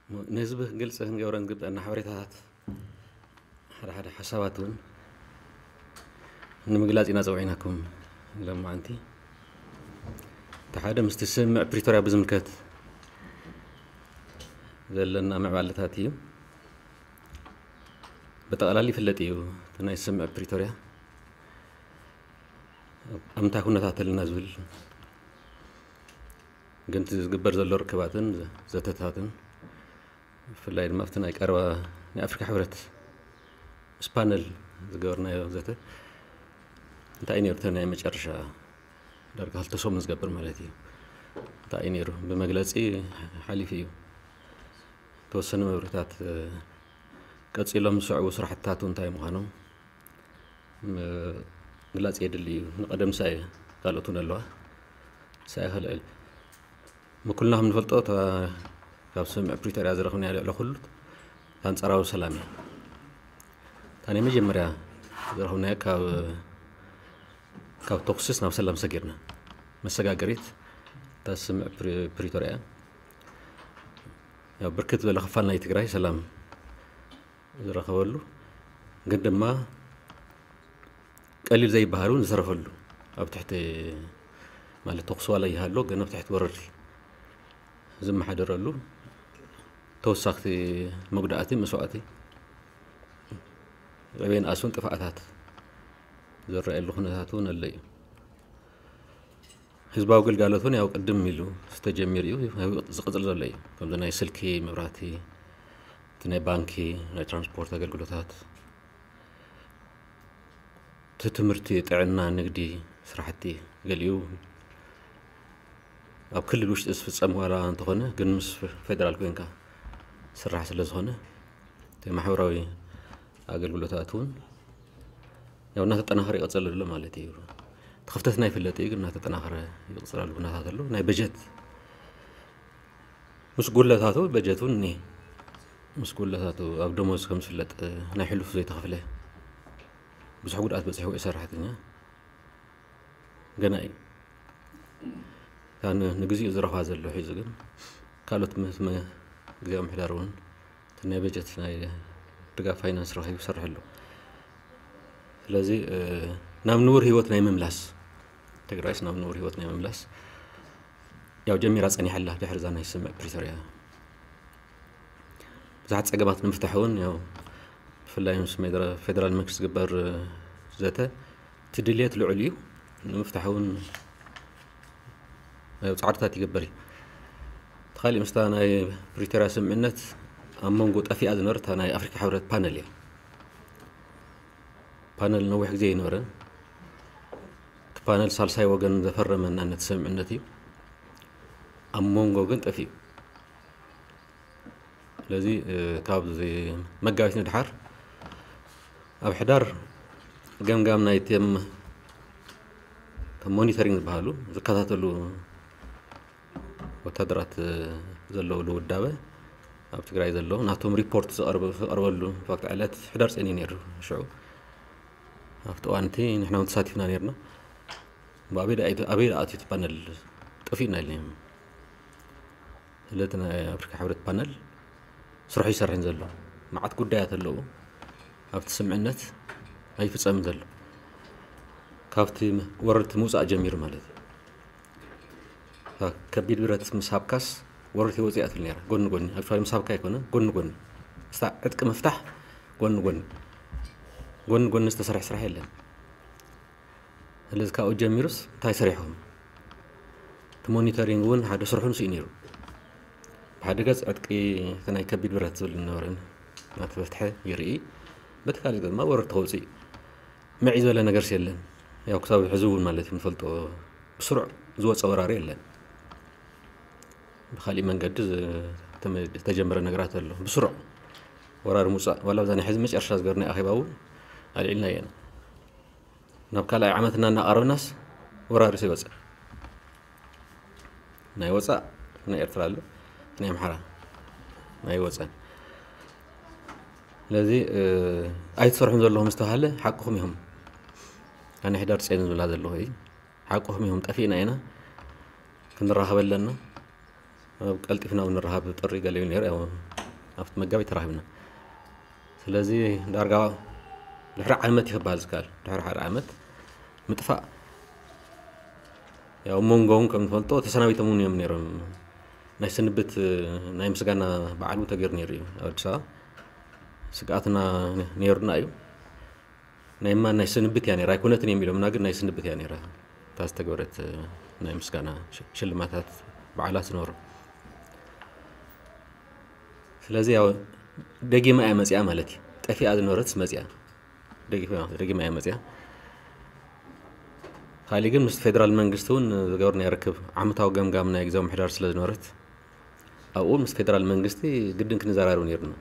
ንህዝቢ ግልፂ ክንገብረን ዝግበአና ሓበሬታታት፣ ሓደ ሓደ ሓሳባት እውን ንምግላፅ ኢና ፀውዒናኩም። ሎማዓንቲ እቲ ሓደ ምስቲ ስምምዕ ፕሪቶርያ ብዝምልከት ዘለና ምዕባለታት እዩ። ብጠቕላሊ ይፍለጥ እዩ። እቲ ናይ ስምምዕ ፕሪቶርያ ኣብ እንታይ ኩነታት ኣለና ዝብል፣ ግን እቲ ዝግበር ዘሎ ርክባትን ዘተታትን፣ ብፍላይ ድማ ኣብቲ ናይ ቀረባ ናይ ኣፍሪካ ሕብረት ምስ ፓነል ዝገበርናዮ ዘተ እንታይ እዩ ነይሩ? እቲ ናይ መጨረሻ ዳርጋ ክልተ ሰሙን ዝገብር ማለት እዩ። እንታይ እዩ ነይሩ? ብመግለፂ ሓሊፉ እዩ። ተወሰኑ መብርህታት፣ እ፣ ቀፂሎም ዝስዕቡ ስራሕትታት እንታይ ምዃኖም ምግላፅ የድሊ እዩ። ንቐደም ሳይ ካልኦት እውን ኣለዋ። ሳይ ከልዕል ምኩልና ከም ንፈልጦ እታ ካብ ስምምዕ ፕሪቶርያ ዝረኽብናያ ልዕሊ ኩሉ ኣንጻራዊ ሰላም እያ። እታ ናይ መጀመርያ ዝረኽብናያ ካብ ካብ ተኩስስ ናብ ሰላም ሰጊርና መሰጋገሪት እታ ስምምዕ ፕሪ- ፕሪቶርያ እያ። ያው ብርክት ዝበለ ክፋል ናይ ትግራይ ሰላም ዝረኸበሉ፣ ግን ድማ ቀሊል ዘይበሃል እውን ዝተረፈሉ፣ ኣብ ትሕቲ ማለት ተኩሲ ዋላ ይሃሎ ግን ኣብ ትሕቲ ወረርቲ ዝመሓደረሉ፣ ተወሳኽቲ መጉዳእቲ መስዋእቲ ዕቤን ኣስውን ጥፍኣታት ዝረኣየሉ ኩነታት እውን ኣሎ እዩ። ህዝባዊ ግልጋሎት እውን ያው ቅድም ኢሉ ዝተጀሚሩ እዩ፣ ዝቕፅል ዘሎ እዩ። ከምዚ ናይ ስልኪ፣ መብራህቲ፣ እቲ ናይ ባንኪ፣ ናይ ትራንስፖርት ኣገልግሎታት፣ እቲ ትምህርቲ፣ ጥዕና፣ ንግዲ፣ ስራሕቲ ገሊኡ ኣብ ክልል ውሽጢ ዝፍፀም ዋላ እንተኾነ ግን ምስ ፌደራል ኮይንካ ስራሕ ስለ ዝኾነ እቲ ማሕበራዊ ኣገልግሎታት እውን ያው እናተጠናኸረ ይቐፅል ኣሎ ማለት እዩ። እቲ ክፍተትና ይፍለጥ እዩ፣ ግን እናተጠናኸረ ይቕፅል ኣሎ ኩነታት ኣሎ። ናይ በጀት ምስ ጉድለታቱ በጀት እውን እኒሄ። ምስ ጉድለታቱ ኣብ ደሞዝ ከም ዝፍለጥ ናይ ሕሉፍ ዘይተኸፍለ ብዙሕ ጉድኣት በፂሕዎ እዩ ሰራሕተኛ። ገና እዩ። እታ ን- ንግዚኡ ዝረኽባ ዘሎ ሒዙ ግን ካልኦት ምስ መ- ግዜያዊ ምሕዳር እውን እቲ ናይ በጀት ናይ ድጋፍ ፋይናንስ ረኺቡ ይሰርሕ ኣሎ። ስለዚ እ፣ ናብ ንቡር ህይወት ናይ ምምላስ ትግራይስ ናብ ንቡር ህይወት ናይ ምምላስ ያው ጀሚራ ፀኒሓ ኣላ ድሕሪ እዛ ናይ ስምምዕ ፕሪቶርያ ብዙሓት ፀገማት ንምፍታሕ እውን ያው ብፍላይ ምስ ሜድረ- ፌደራል መንግስቲ ዝግበር ዘተ እቲ ድልየት ልዑል እዩ ንምፍታሕ እውን ያው ፃዕርታት ይግበር እዩ። እቲ ካሊእ ምስታ ናይ ፕሪቶርያ ስምምዕነት ኣብ መንጎ ጠፊኣ ዝነበረት እታ ናይ ኣፍሪካ ሕብረት ፓነል እያ። ፓነል ነዊሕ ግዜ ኣይነበረን። እቲ ፓነል ሳልሳይ ወገን ዘፈረመና ነቲ ስምምዕነት እዩ። ኣብ መንጎ ግን ጠፊኡ። ስለዚ እ፣ ካብ መጋቢት ንድሓር ኣብ ሕዳር ገምጋም ናይ ቴም ሞኒተሪንግ ዝበሃሉ ዝከታተሉ ወታደራት ዘለውሉ ውዳበ ኣብ ትግራይ ዘሎ ናቶም ሪፖርት ዝቐርበሉ ፋክት ዕለት ሕዳር ፀኒ ነይሩ። ሽዑ ኣብቲ እዋንቲ ንሕና እውን ተሳቲፍና ነርና። ኣበይ ደኣ ኣትዩ እቲ ፓነል ጠፊእና ኢለ። ስለቲ ናይ ኣፍሪካ ሕብረት ፓነል ስርሑ ይሰርሕን ዘሎ መዓት ጉዳያት ኣለዉ ኣብቲ ስምዕነት ኣይፍፀምን ዘሎ ካብቲ ወረርቲ ምውፃእ ጀሚሩ ማለት እዩ። ከቢድ ብረት ምስ ሃብካስ ወረርቲ ወፂኣ ትብል ነራ ጎኒ ጎኒ ኣክል ምስ ሃብካ ኣይኮነ ጎኒ ጎኒ ስታ ዕጥቂ ምፍታሕ ጎኒ ጎኒ ጎኒ ጎኒ ዝተሰርሐ ስራሕ የለን። ስለዚ ካብኡ ጀሚሩስ እንታይ ሰሪሕኹም? እቲ ሞኒተሪንግ እውን ሓደ ስርሑ ንስኡ ነይሩ። ብሓደ ገፅ ዕጥቂ እቲ ናይ ከቢድ ብረት ዝብል ዝነበረ እናተፈትሐ ይርኢ፣ በቲ ካልእ ድማ ወረርቲ ከውፅእ ምዒ ዝበለ ነገርስ የለን። ያው ክሳብ ሕዚ እውን ማለት እዩ ንፈልጦ ብስሩዕ ዝወፀ ወራሪ የለን። ብካሊእ መንገዲ ዝተጀመረ ነገራት ኣሎ። ብስሩዕ ወራሪ ምውፃእ ዋላ ብዛ ናይ ሕዚ መጨረሻ ዝገርና ኣኼባ እውን ኣልዒልና እየና። ናብ ካልኣይ ዓመትና እናቐረብናስ ወራሪስ ይወፅእ ናይ ወፃእ ናይ ኤርትራ ኣሎ ናይ ኣምሓራ ናይ ወፀን ስለዚ ኣይትሰርሑን ዘለኹም ዝተባሃለ ሓቅኹም ኢኹም። ኣነ ሕዳር ፀይን ዝብላ ዘለኹ እዩ ሓቅኹም ኢኹም። ጠፊእና ኢና ክንራኸብ ኣለና። ኣብ ቀልጢፍና እውን ንራኸብ ጥሪ ገለ እዩ ነይሩ። ያው ኣብቲ መጋቢት ተራኺብና። ስለዚ ዳርጋ ድሕሪ ዓመት እዩ ክበሃል ዝከኣል። ድሕሪ ሓደ ዓመት ምጥፋእ፣ ያው መንጎውን ከም ትፈልጦ ተሰናቢቶም እውን እዮም ነይሮም። ናይ ስንብት፣ ናይ ምስጋና በዓል እውን ተገይሩ ነይሩ እዩ ኣብ ኣዲስ ኣበባ። ስግኣትና ነይሩና እዩ። ናይ እማ ናይ ስንብት እያ ነይራ፣ ኣይኮነትን እዮም ኢሎምና፣ ግን ናይ ስንብት እያ ነይራ እታ ዝተገበረት ናይ ምስጋና ሽ-፣ ሽልማታት በዓላት ዝነበሩ። ስለዚ ያው ደጊማ እያ መፅያ ማለት እዩ። ጠፊኣ ዝነበረት መፅያ፣ ደጊማ፣ ደጊማ እያ መፅያ። ካሊእ ግን ምስ ፌደራል መንግስቲ እውን ዝገበርናዮ ርክብ ዓመታዊ ገምጋም ናይ ግዜ ምሕዳር ስለ ዝነበረት ኣብኡ ምስ ፌደራል መንግስቲ ግድን ክንዘራረብ ነይሩና።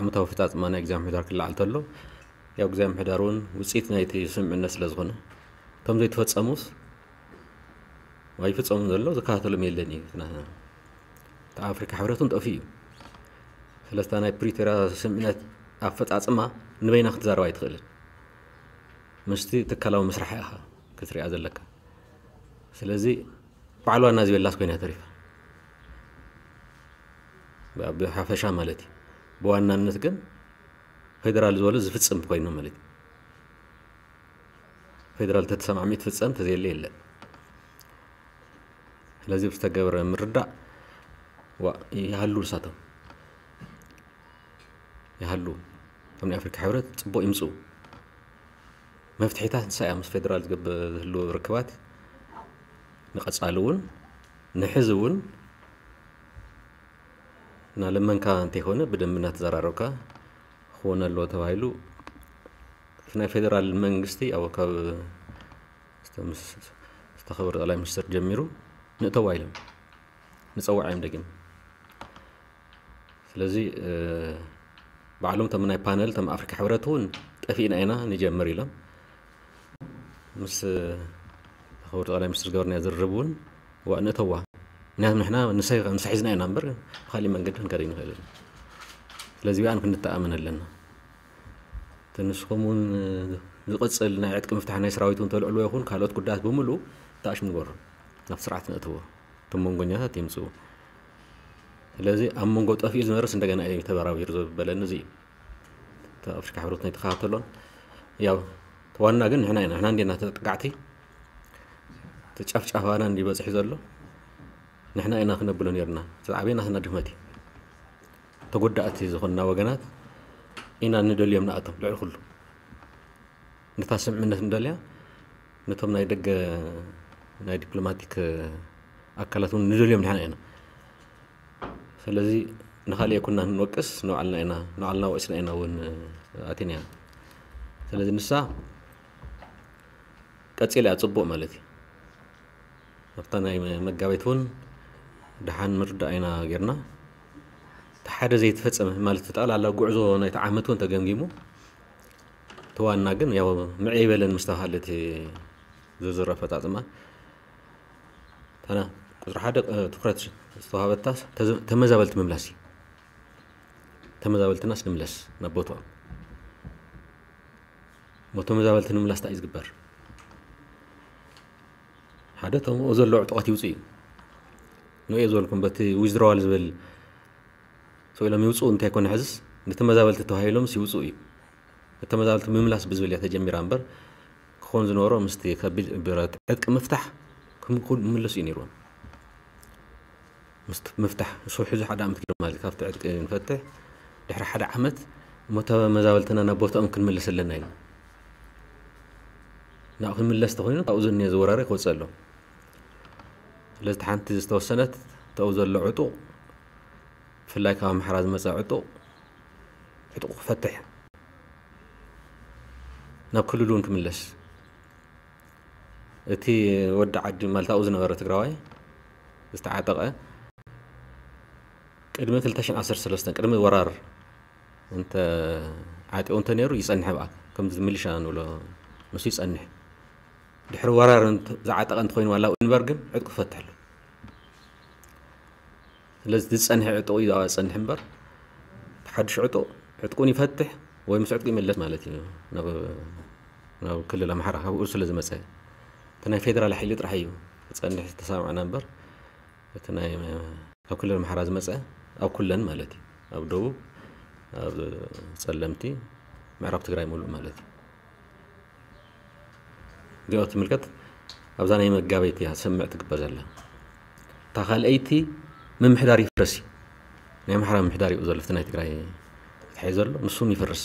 ዓመታዊ ኣፈፃፅማ ናይ ግዜ ምሕዳር ክለዓል ተሎ ያው ግዜ ምሕዳር እውን ውፅኢት ናይቲ ስምምዕነት ስለ ዝኾነ እቶም ዘይተፈፀሙስ ኣይፍፀሙን ዘሎ ዝከታተሎም የለን እዩ። እቲ ኣፍሪካ ሕብረት እውን ጠፊኡ እዩ። ስለስታ ናይ ፕሪቶርያ ስምምዕነት ኣፈፃፅማ ንበይና ክትዛረብ ኣይትኽእልን። ምስቲ ትካላዊ ምስራሕ ኢኻ ክትሪኣ ዘለካ። ስለዚ በዓል ዋና ዝበላስ ኮይና ተሪፋ። ብ-፣ ብሓፈሻ ማለት እዩ። ብዋናነት ግን ፌደራል ዝበሎ ዝፍጽም ኮይኑ ማለት እዩ። ፌደራል ተተሰማዕሚ ትፍጸም፣ ተዘየለ የለን። ስለዚ ብዝተገብረ ምርዳእ ዋ-፣ ይሃሉ ንሳቶም። ይሃሉ። እቶም ናይ ኣፍሪካ ሕብረት ጽቡቕ ይምጽኡ። መፍትሒታት ንሳ እያ ምስ ፌደራል ዝገብ-፣ ዝህሉ ርክባት ንቐጻሊ እውን ንሕዚ እውን እናለመንካ እንተይኮነ ብደንቢ እናተዘራረብካ ክኾነ ኣለዎ ተባሂሉ እቲ ናይ ፌደራል መንግስቲ ኣብ ካብ ዝተምስ-፣ ዝተኸበረ ጠቅላይ ሚኒስትር ጀሚሩ ንእተዋ ኢሎም ንጸዋዕ እዮም ደጊም። ስለዚ፣ እ፣ ባዕሎም እቶም ናይ ፓነል እቶም ኣፍሪካ ሕብረት እውን ጠፊእና ኢና ንጀምር ኢሎም ምስ ክቡር ጠቅላይ ሚኒስትር ዝገበርናዮ ዝርርብ እውን ዋ ንእተዋ። ምክንያቱ ንሕና ንሳ፣ ንሳ ሒዝና ኢና እምበር ብካሊእ መንገዲ ክንከደ ይንኽእል። ስለዚ ብኣን ክንተኣመን ኣለና። እቲ ንስኹም እውን ዝቕጽል ናይ ዕጥቂ ምፍታሕ ናይ ሰራዊት እውን ተልዕልዎ ይኹን ካልኦት ጉዳያት ብምሉእ ተኣሽሙ ንገሮ። ናብ ስርዓት ነእትዎ። እቶም መንጎኛታት ይምጽኡ። ስለዚ ኣብ መንጎ ጠፊኡ ዝነበረስ እንደገና እዩ ተበራቢሩ ዘበለኒ እዚ እዩ። እቲ ኣፍሪካ ሕብረት ናይ ተኸታተሎን ያው እቲ ዋና ግን ንሕና ኢና። ንሕና እንዴና ተጠቃዕቲ፣ እቲ ጨፍጫፋና እንዲ በፂሑ ዘሎ ንሕና ኢና ክነብሎ ነርና። እቲ ዝዓበየ ናትና ድኽመት እዩ። ተጎዳእቲ ዝኾንና ወገናት ኢና ንደልዮም ንኣቶም ልዕሊ ኩሉ። ነታ ስምምነት ንደልያ፣ ነቶም ናይ ደገ ናይ ዲፕሎማቲክ ኣካላት እውን ንደልዮም ንሕና ኢና። ስለዚ ንኻልእ የኩና ንወቅስ፣ ንባዕልና ኢና፣ ንባዕልና ወቂስና ኢና እውን ኣቲና። ስለዚ ንሳ ቀጺላ እያ ጽቡቕ ማለት እዩ። ኣብታ ናይ መጋቢት እውን ደሓን ምርዳእ ኢና ጌርና። እቲ ሓደ ዘይተፈጸመ ማለት ጠቕላላ ጉዕዞ ናይቲ ዓመት እውን ተገምጊሙ፣ እቲ ዋና ግን ያው ምዕይ በለን ምስ ተባሃለ እቲ ዝርዝር ኣፈጻጽማ፣ እታ ቁጽሪ ሓደ፣ እ፣ ትኹረት ዝተዋሃበታ ተዘ-፣ ተመዛበልቲ ምምላስ እዩ። ተመዛበልትናስ ንምለስ ናብ ቦትኦም። እሞ ተመዛበልቲ ንምምላስ እንታይ እዩ ዝግበር? ሓደ እቶም ኣብኡ ዘለዉ ዕጡቓት ይውፁ እዩ። ንኡ እየ ዝበልኩም፣ በቲ ዊዝድሮዋል ዝብል ስቕ ኢሎም ይውፅኡ እንተይኮነ ሕዝስ፣ ንተመዛበልቲ ተባሂሎምስ ይውፅኡ እዩ። ተመዛበልቲ ምምላስ ብዝብል እያ ተጀሚራ እምበር፣ ክኾን ዝነበሮ ምስቲ ከቢድ ብረት ዕጥቂ ምፍታሕ ክም-፣ ክምለሱ እዩ ነይርዎም። ምስቲ ምፍታሕ፣ ንሱ ሕዚ ሓደ ዓመት ገይሩ ማለት እዩ፣ ካብቲ ዕጥቂ ንፈትሕ፣ ድሕሪ ሓደ ዓመት እሞ ተመዛበልትና ናብ ቦታኦም ክንምልስ ኣለና ኢልና። ናብ ክንምለስ ተኾይኑ፣ ካብኡ ዝኒሀ ዝወራሪ ክወፅእ ኣሎ። ስለዚ፣ እቲ ሓንቲ ዝተወሰነት፣ ተው ዘሎ ዕጡቕ፣ ብፍላይ ካብ ኣምሓራ ዝመፀ ዕጡቕ፣ ዕጡቕ ክፈትሕ፣ ናብ ክልሉ እውን ክምለስ። እቲ ወዲ ዓዲ፣ ማለት ኣብኡ ዝነበረ ትግራዋይ፣ ዝተዓጠቐ፣ ቅድሚ ክልተ ሽሕን ዓሰርተ ሰለስተን፣ ቅድሚ ወራር እንተ ዓጢቑ እንተ ነይሩ፣ ይጸንሕ ብኣ፣ ከምዚ ሚሊሻ ንብሎ፣ ንሱ ይጸንሕ። ድሕሪ ወራር እንተ-፣ ዝዓጠቐ እንተኾይኑ ዋላ እምበር ግን ዕጥቁ ክፈትሕ ኣሎ። ስለዚ ዝጸንሐ ዕጥቁ እዩ ዝጸንሕ እምበር፣ እቲ ሓድሽ ዕጡቕ፣ ዕጥቁን ይፈትሕ ወይ ምስ ዕጥቁ ይመለስ ማለት እዩ። ናብ፣ ናብ ክልል ኣምሓራ ካብኡ ስለ ዝመጸ፣ እቲ ናይ ፌደራል ሓይሊ ጥራሕ እዩ ክጸንሕ ዝተሰማማዕና እምበር፣ እቲ ናይ፣ ካብ ክልል ኣምሓራ ዝመጸ ኣብ ኩለን ማለት እዩ። ኣብ ደቡብ፣ ኣብ ጸለምቲ፣ ምዕራብ ትግራይ ሙሉእ ማለት እዩ። እዚኦ ትምልከት፣ ኣብዛ ናይ መጋቤት እያ ሰምዕ ትግበር ዘላ። እታ ካልኣይቲ ምምሕዳር ይፍረስ እዩ። ናይ ኣምሓራ ምምሕዳር እዩ ዘሎ፣ እቲ ናይ ትግራይ ተታሒዙ ዘሎ፣ ንሱን ይፍርስ።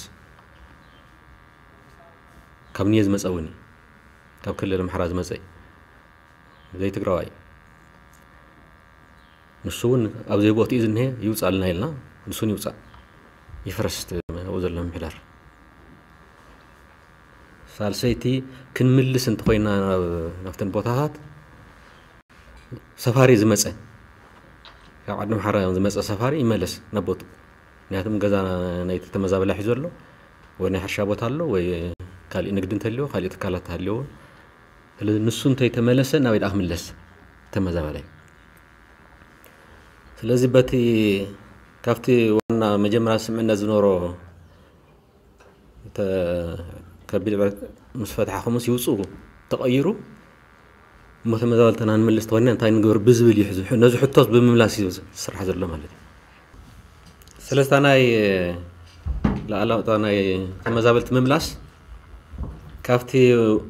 ካብ ንየ ዝመፀ እውን እዩ። ካብ ክልል ኣምሓራ ዝመፀ እዩ። ዘይትግራዋይ እዩ። ንሱ እውን ኣብ ዘይቦትኡ ዝንሄ ይውፃልና ኢልና፣ ንሱን ይውፃእ። ይፍረስ እቲ ኣብኡ ዘሎ ምምሕዳር። ሳልሰይቲ ክንምልስ እንተኾይና ናብ-፣ ናብተን ቦታታት ሰፋሪ ዝመፀ፣ ካብ ዓዲ ኣምሓራ ዝመፀ ሰፋሪ ይመለስ ናብ ቦትኡ። ምክንያቱም ገዛ ናይቲ ተመዛበላይ ሒዙ ኣሎ፣ ወይ ናይ ሕርሻ ቦታ ኣሎ፣ ወይ ካሊእ ንግዲ እንተልዮ፣ ካሊእ ትካላት ተሃልዮ። ስለዚ ንሱ እንተይተመለሰ ናበይ ደኣ ክምለስ ተመዛበላይ? ስለዚ በቲ ካብቲ ዋና መጀመርያ ስምዕነት ዝነበሮ እተ-፣ ከቢድ ዕረት ምስ ፈትሓ ከምኡስ ይውፅኡ ተቐይሩ እሞ ተመዛበልትና ንምልስ ተኾይና እንታይ ንግበር ብዝብል እዩ ሕዚ። ነዚ ሕቶስ ብምምላስ እዩ ዝስራሕ ዘሎ ማለት እዩ። ስለዚ እታ ናይ ላዕላውታ ናይ ተመዛበልቲ ምምላስ ካብቲ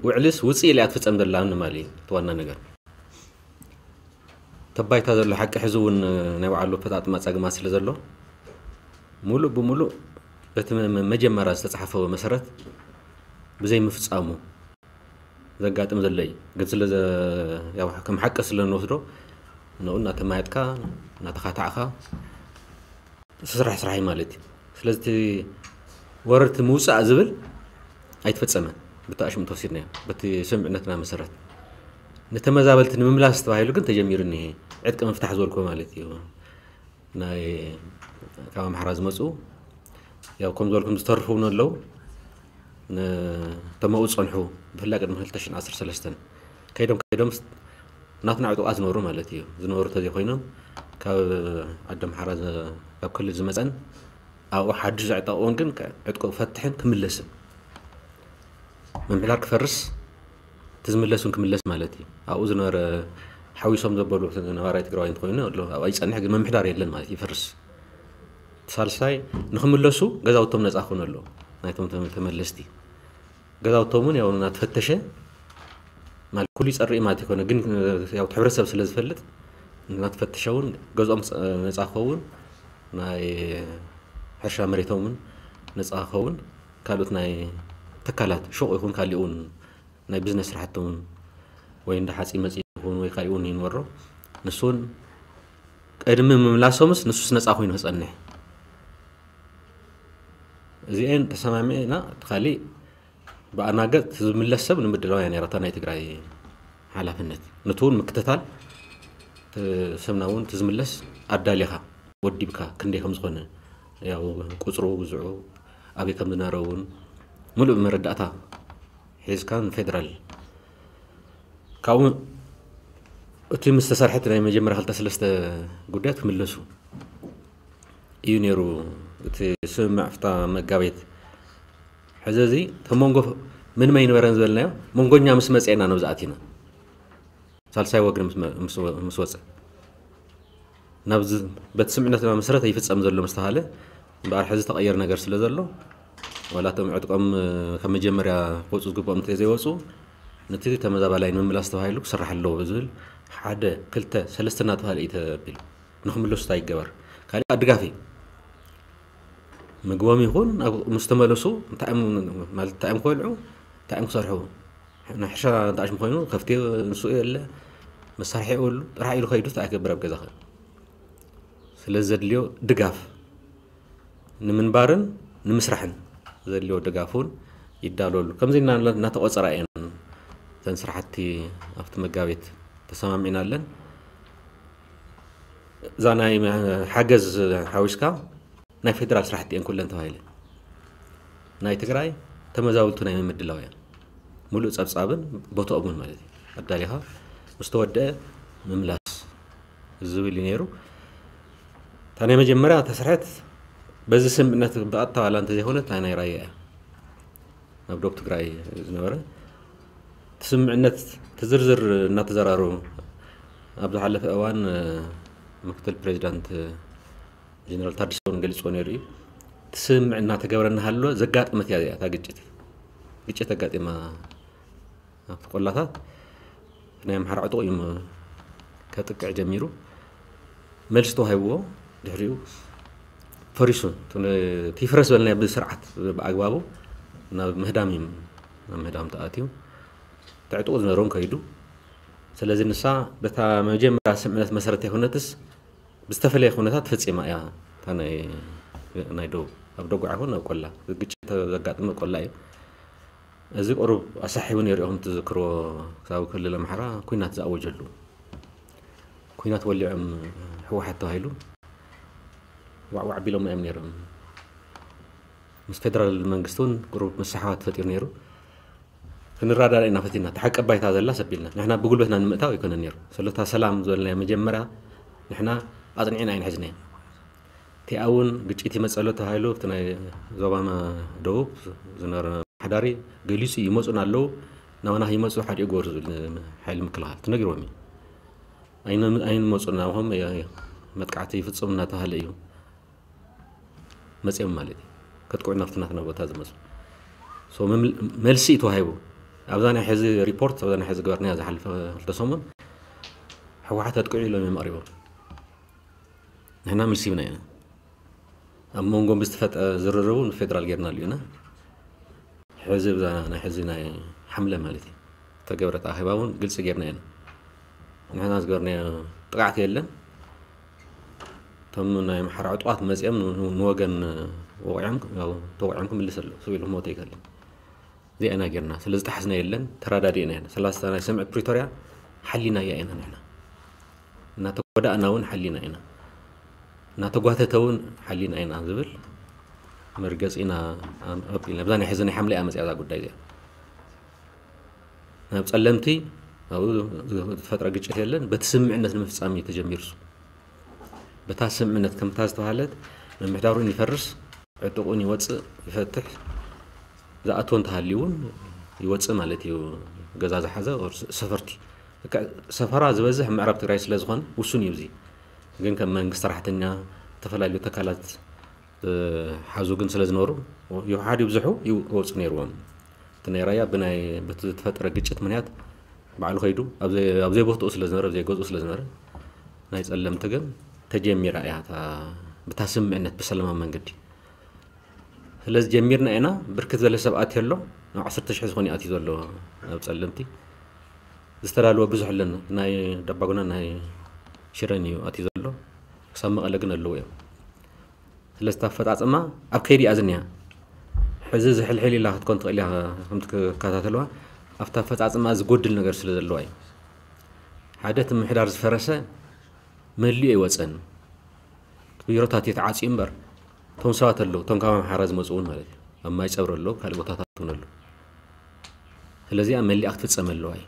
ውዕልስ ውፅእ ኢላ እያ ትፍፀም ዘላ ንማል እዩ እቲ ዋና ነገር። ተባይታ ዘሎ ሓቂ ሕዚ እውን ናይ ባዕሉ ኣፈፃፅማ ፀግማት ስለ ዘሎ ሙሉእ ብሙሉእ በቲ መ-፣ መ-፣ መጀመርያ ዝተፅሓፈ መሰረት ብዘይምፍፃሙ ዘጋጥም ዘሎ እዩ። ግን ስለ ዘ-፣ ያው ከም ሓቂ ስለ እንወስዶ ንኡ እናተማየጥካ እናተኻታዕካ ስራሕ ስራሕ እዩ ማለት እዩ። ስለዚ እቲ ወረርቲ ምውፃእ ዝብል ኣይተፈፀመን። ብቲ ኣሽሙ ተወሲድናዮ፣ በቲ ስምምዕነትና መሰረት። ንተመዛበልቲ ንምምላስ ተባሂሉ ግን ተጀሚሩ እኒሄ። ዕጥቂ ምፍታሕ ዝበልኩ ማለት እዩ። ናይ ካብ ኣምሓራ ዝመፁ፣ ያው ከም ዝበልኩም ዝተርፉ እውን ኣለዉ። ን-፣ እቶም ኣብኡ ዝፀንሑ፣ ብፍላይ ቅድሚ ክልተ ሽሕን ዓሰርተ ሰለስተን ከይዶም ከይዶም ስ-፣ ናትና ዕጡቓት ዝነበሩ ማለት እዩ። ዝነበሩ ተዘይኮይኖም ካብ ዓዲ ኣምሓራ ዝ-፣ ካብ ክልል ዝመፀን ኣብኡ ሓድሽ ዘዕጠቕዎን ግን ከ-፣ ዕጥቁ ክፈትሕን ክምለስን። ምምሕዳር ክፈርስ፣ እቲ ዝምለስ እውን ክምለስ ማለት እዩ። ኣብኡ ዝነበረ ሓዊሶም ዘበሉ ነባራይ ትግራዋይ እንተኾይኑ ኣሎ፣ ኣብኣ ይጸንሕ፣ ግን ምምሕዳር የለን ማለት እዩ፣ ይፈርስ። እቲ ሳልሳይ ንኽምለሱ ገዛውቶም ነጻ ክኾኑ ኣለዎ፣ ናይቶም ተመ-፣ ተመለስቲ። ገዛውቶም እውን ያው እናተፈተሸ ማለት ኩሉ ይጸሪ ማለት ይኮነ፣ ግን ያው እቲ ሕብረተሰብ ስለ ዝፈልጥ እናተፈተሸ እውን ገዝኦም ጸ-፣ ነጻ ክኸውን፣ ናይ ሕርሻ መሬቶም እውን ነጻ ክኸውን፣ ካልኦት ናይ ትካላት ሹቕ ይኹን ካሊእ እውን ናይ ቢዝነስ ስራሕቲ እውን ወይ እንዳ ሓፂን መፂን ይኹን ወይ ካሊእ እውን ይንበሮ። ንሱ እውን ቅድሚ ምምላሶምስ ንሱስ ነጻ ኮይኑ ክጸንሕ። እዚኤን ተሰማሚዕና፣ እቲ ካሊእ ብኣና ገጽ ዝምለስ ሰብ ንምድላው እያ ነይራታ ናይ ትግራይ ሓላፍነት። ነቲ እውን ምክትታል፣ እቲ ሰብና እውን እቲ ዝምለስ ኣዳሊኻ፣ ወዲብካ፣ ክንደይ ከም ዝኾነ፣ ያው ቁጽሩ፣ ብዝዑ፣ ኣበይ ከም ዝነበረ እውን ምሉእ መረዳእታ ሒዝካ ንፌደራል። ካብኡ እቲ ምስ ተሰርሐት ናይ መጀመርያ ክልተ ሰለስተ ጉዳያት ክምለሱ እዩ ነይሩ እቲ ስምምዕ ፍታ መጋቤት። ሕዚ እዚ እቲ መንጎ ምንም ኣይነበረን ዝበልናዮ፣ መንጎኛ ምስ መጽኤና ነብዚ ኣቲና። ሳልሳይ ወግኒ ምስ መ-፣ ምስ ወ-፣ ምስ ወጸ። ናብዚ በቲ ስምምዕነትና መሰረት ይፍጸም ዘሎ ምስ ተባሃለ፣ እምበኣር ሕዚ ተቐየር ነገር ስለ ዘሎ፣ ዋላ እቶም ዕጥቆም፣ እ፣ ካብ መጀመርያ ክወጹ ዝግብኦም እንተዘይወጹ፣ ነቲ ተመዛባላይ ንምምላስ ተባሂሉ ክስራሕ ኣለዎ ዝብል ሓደ፣ ክልተ፣ ሰለስተ እናተባሃለ እዩ ተቢሉ። ንኽምለሱ እንታይ ይገበር? ካሊእ ድጋፍ እዩ። ምግቦም ይኹን ኣብ፣ ምስ ተመለሱ እንታይ እዮም፣ ማለት እንታይ እዮም ክበልዑ፣ እንታይ እዮም ክሰርሑ? ናይ ሕርሻ እንተኣሽሙ ኮይኑ ከፍቲ ንሱ የለ፣ መሳርሒ የብሉ፣ ጥራሕ ኢሉ ከይዱ እንታይ ክገብር ኣብ ገዛ ኸ? ስለዚ ዘድልዮ ድጋፍ ንምንባርን ንምስራሕን ዘድልዮ ድጋፍ እውን ይዳለወሉ። ከምዚ እና-፣ እናተቖጸራ እየን እተን ስራሕቲ ኣብቲ መጋቤት ተሰማሚዕና ኣለን። እዛ ናይ መ-፣ ሓገዝ ሓዊስካ ናይ ፌደራል ስራሕቲ እየን ኩለን ተባሂለን። ናይ ትግራይ ተመዛበልቱ ናይ ምምድላው እያ። ሙሉእ ጸብጻብን ቦታኦምን ማለት እዩ። ኣዳሊኻ ምስ ተወደአ ምምላስ ዝብል እዩ ነይሩ። እታ ናይ መጀመርያ ተስርሐት በዚ ስምምዕነት ብቐጥታ ዋላ እንተዘይኮነት እታ ናይ ራያ እያ። ናብ ዶብ ትግራይ ዝነበረ እቲ ስምምዕነት እቲ ዝርዝር እናተዘራረቡ ኣብ ዝሓለፈ እዋን፣ እ፣ ምክትል ፕሬዚዳንት፣ እ፣ ጀነራል ታደሰ እውን ገሊፅዎ ነይሩ እዩ። እቲ ስምምዕ እናተገበረ እናሃለወ ዘጋጠመት እያ እዚኣ እታ ግጭት። ግጭት ኣጋጢማ ኣብቲ ቆላታት ናይ ኣምሓራ ዕጡቕ እዩ ከጥቅዕ ጀሚሩ። መልሲ ተዋሂብዎ። ድሕሪኡ ፈሪሱ። እቲ ይፍረስ በልናዮ ብስርዓት ብኣግባቡ ናብ ምህዳም እዩ ናብ ምህዳም ተኣትዩ። እቲ ዕጡቕ ዝነበሮም ከይዱ። ስለዚ ንሳ በታ መጀመርያ ስምምዕነት መሰረት ዘይኮነትስ ብዝተፈለየ ኩነታት ፈፂማ እያ። እታ ናይ ናይ ደቡብ ኣብ ደጉዓ ይኹን ኣብ ቆላ ግጭት ዘጋጥመ ቆላ እዩ። እዚ ቁሩብ ኣሳሒቡ ነይሩ ኢኹም ትዝክርዎ። ክሳብ ክልል ኣምሓራ ኩናት ዝኣወጀሉ ኩናት ወሊዖም ህወሓት ተባሂሉ ዋዕዋዕ ቢሎም እዮም ነይሮም። ምስ ፌደራል መንግስቲ እውን ቁሩብ ምስሕሓብ ተፈጢሩ ነይሩ። ክንረዳዳ ኢና ፈቲና። እቲ ሓቂ ባይታ ዘላ ሰቢልና ንሕና ብጉልበትና ንምእታው ኣይኮነን ነይሩ። ስለታ ሰላም ዝበልናዮ መጀመርያ ንሕና ኣፅኒዕና ኣይንሕዝናዮ። እቲኣ እውን ግጭት ይመፀሎ ተባሂሉ ኣብቲ ናይ ዞባ ደቡብ ዝነበረ ሓዳሪ ገሊፁ ይመፁና ኣለዉ ናባና ይመፁ ሓዲኡ ግበሩ ዝብል ሓይሊ ምክልኻል ተነጊሮም እዩ። ኣይንመፁ ናባኹም መጥቃዕቲ ይፍፅም እናተባሃለ እዩ መፅኦም ማለት እዩ። ከጥቅዑ ናብቲ ናትና ቦታ ዝመፁ መልሲ እዩ ተዋሂቡ። ኣብዛ ናይ ሕዚ ሪፖርት ኣብዛ ናይ ሕዚ ግበርናያ ዝሓለፈ ክልተ ሰሙን ህወሓት ኣጥቅዑ ኢሎም እዮም ኣቕሪቦም። ንሕና መልሲ ሂብና ኢና። ኣብ መንጎ ብዝተፈጠ ዝርርቡ ንፌደራል ጌርናሉ ኢና። ሕዚ ብዛ ናይ ሕዚ ናይ ሓምለ ማለት እዩ ተገብረት ኣኼባ እውን ግልፂ ጌርና ኢና። ንሕና ዝገበርናዮ ጥቃዕቲ የለን። እቶም ናይ ኣምሓራ ዕጡቓት መፂኦም ንወገን ወቂዖም ተወቂዖም ክምልስ ኣለዉ። ሰብ ኢሉ ክመውት ኣይክእልን። እዚኣ ኢና ጌርና። ስለ ዝጠሓስና የለን፣ ተረዳዲእና ኢና። ሰላሳ ናይ ስምምዕ ፕሪቶርያ ሓሊናያ ኢና ንሕና። እናተጎዳእና እውን ሓሊና ኢና። እናተጓተተ እውን ሓሊና ኢና ዝብል መርገፂ ኢና ኣቢልና። ብዛ ናይ ሕዚ ናይ ሓምለ እያ መፅያ እዛ ጉዳይ እዚኣ። ናብ ፀለምቲ ኣብኡ ዝተፈጥረ ግጭት የለን። በቲ ስምምዕነት ንምፍፃም እዩ ተጀሚሩ። በታ ስምምዕነት ከምታ ዝተባሃለት ምምሕዳሩን ይፈርስ ዕጥቁን ይወፅእ ይፈትሕ ዝኣቶ እንተሃልዩ እውን ይወፅእ ማለት እዩ። ገዛ ዝሓዘ ሰፈርቲ ሰፈራ ዝበዝሕ ምዕራብ ትግራይ ስለ ዝኾነ ውሱን እዩ። እዚ ግን ከም መንግስቲ ሰራሕተኛ ዝተፈላለዩ ተካላት ሓዙ ግን ስለ ዝነበሩ ይውሓድ ይብዝሑ ይወፁ ነይርዎም። እቲ ናይ ራያ ብናይ በቲ ዝተፈጠረ ግጭት ምክንያት ባዕሉ ከይዱ ኣብ ዘይቦትኡ ስለ ዝነበረ ኣብ ዘይገዝኡ ስለ ዝነበረ ናይ ፀለምቲ ግን ተጀሚራ እያ ብታ ስምምዕነት ብሰላማዊ መንገዲ። ስለዚ ጀሚርና ኢና። ብርክት ዝበለ ሰብ ኣትዮ ኣሎ። ናብ ዓሰርተ ሽሕ ዝኾነ ኣትዩ ዘሎ ኣብ ፀለምቲ ዝተዳለወ ብዙሕ ኣለና። ናይ ዳባጉና ናይ ሽረን እዩ ኣትዩ ዘሎ። ክሳብ መቐለ ግን ኣለዉ እዮም። ስለዚ ኣፈፃፅማ ኣብ ከይዲ እያ ዝኒያ። ሕዚ ዝሕልሕል ኢላ ክትኮን ትኽእል እያ ከምቲ ክከታተልዋ ኣብቲ ኣፈፃፅማ ዝጎድል ነገር ስለ ዘለዋ እዩ። ሓደ እቲ ምሕዳር ዝፈረሰ መሊኡ ኣይወፀን። ቢሮታት እዩ ተዓፅዩ እምበር እቶም ሰባት ኣለዉ እቶም ካብ ኣምሓራ ዝመፁ እውን ማለት እዩ ኣብ ማይ ፀብሪ ኣለዉ ካልእ ቦታታት እውን ኣለዉ። ስለዚኣ መሊኣ ክትፍፀም ኣለዋ እዩ።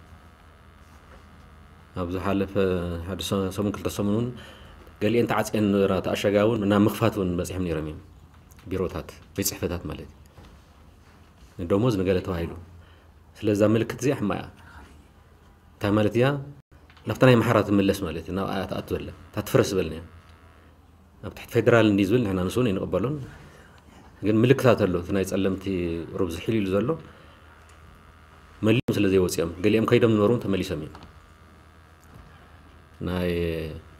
ኣብ ዝሓለፈ ሓደ ሰሙን ክልተ ሰሙን እውን ገሊአን ተዓፅየን ነበራ ተኣሸጋ እውን ናብ ምኽፋት እውን በፂሖም ነይሮም እዮም። ቢሮታት ቤት ፅሕፈታት ማለት እዩ ንደሞዝ ንገለ ተባሂሉ። ስለዛ ምልክት እዚኣ ሕማ እያ። እንታይ ማለት እያ? ናብታ ናይ ኣምሓራ ትምለስ ማለት እዩ ናብ ኣያ ትኣቱ ዘለ እታ ትፍረስ ዝበልና እያ። ኣብ ትሕቲ ፌደራል እንዲ ዝብል ንሕና ንስውን ኣይንቕበሎን። ግን ምልክታት ኣሎ እቲ ናይ ፀለምቲ ሩብ ዝሕል ኢሉ ዘሎ መሊኦም ስለ ዘይወፅኦም ገሊኦም ከይዶም ዝነበሩ ተመሊሶም እዮም። ናይ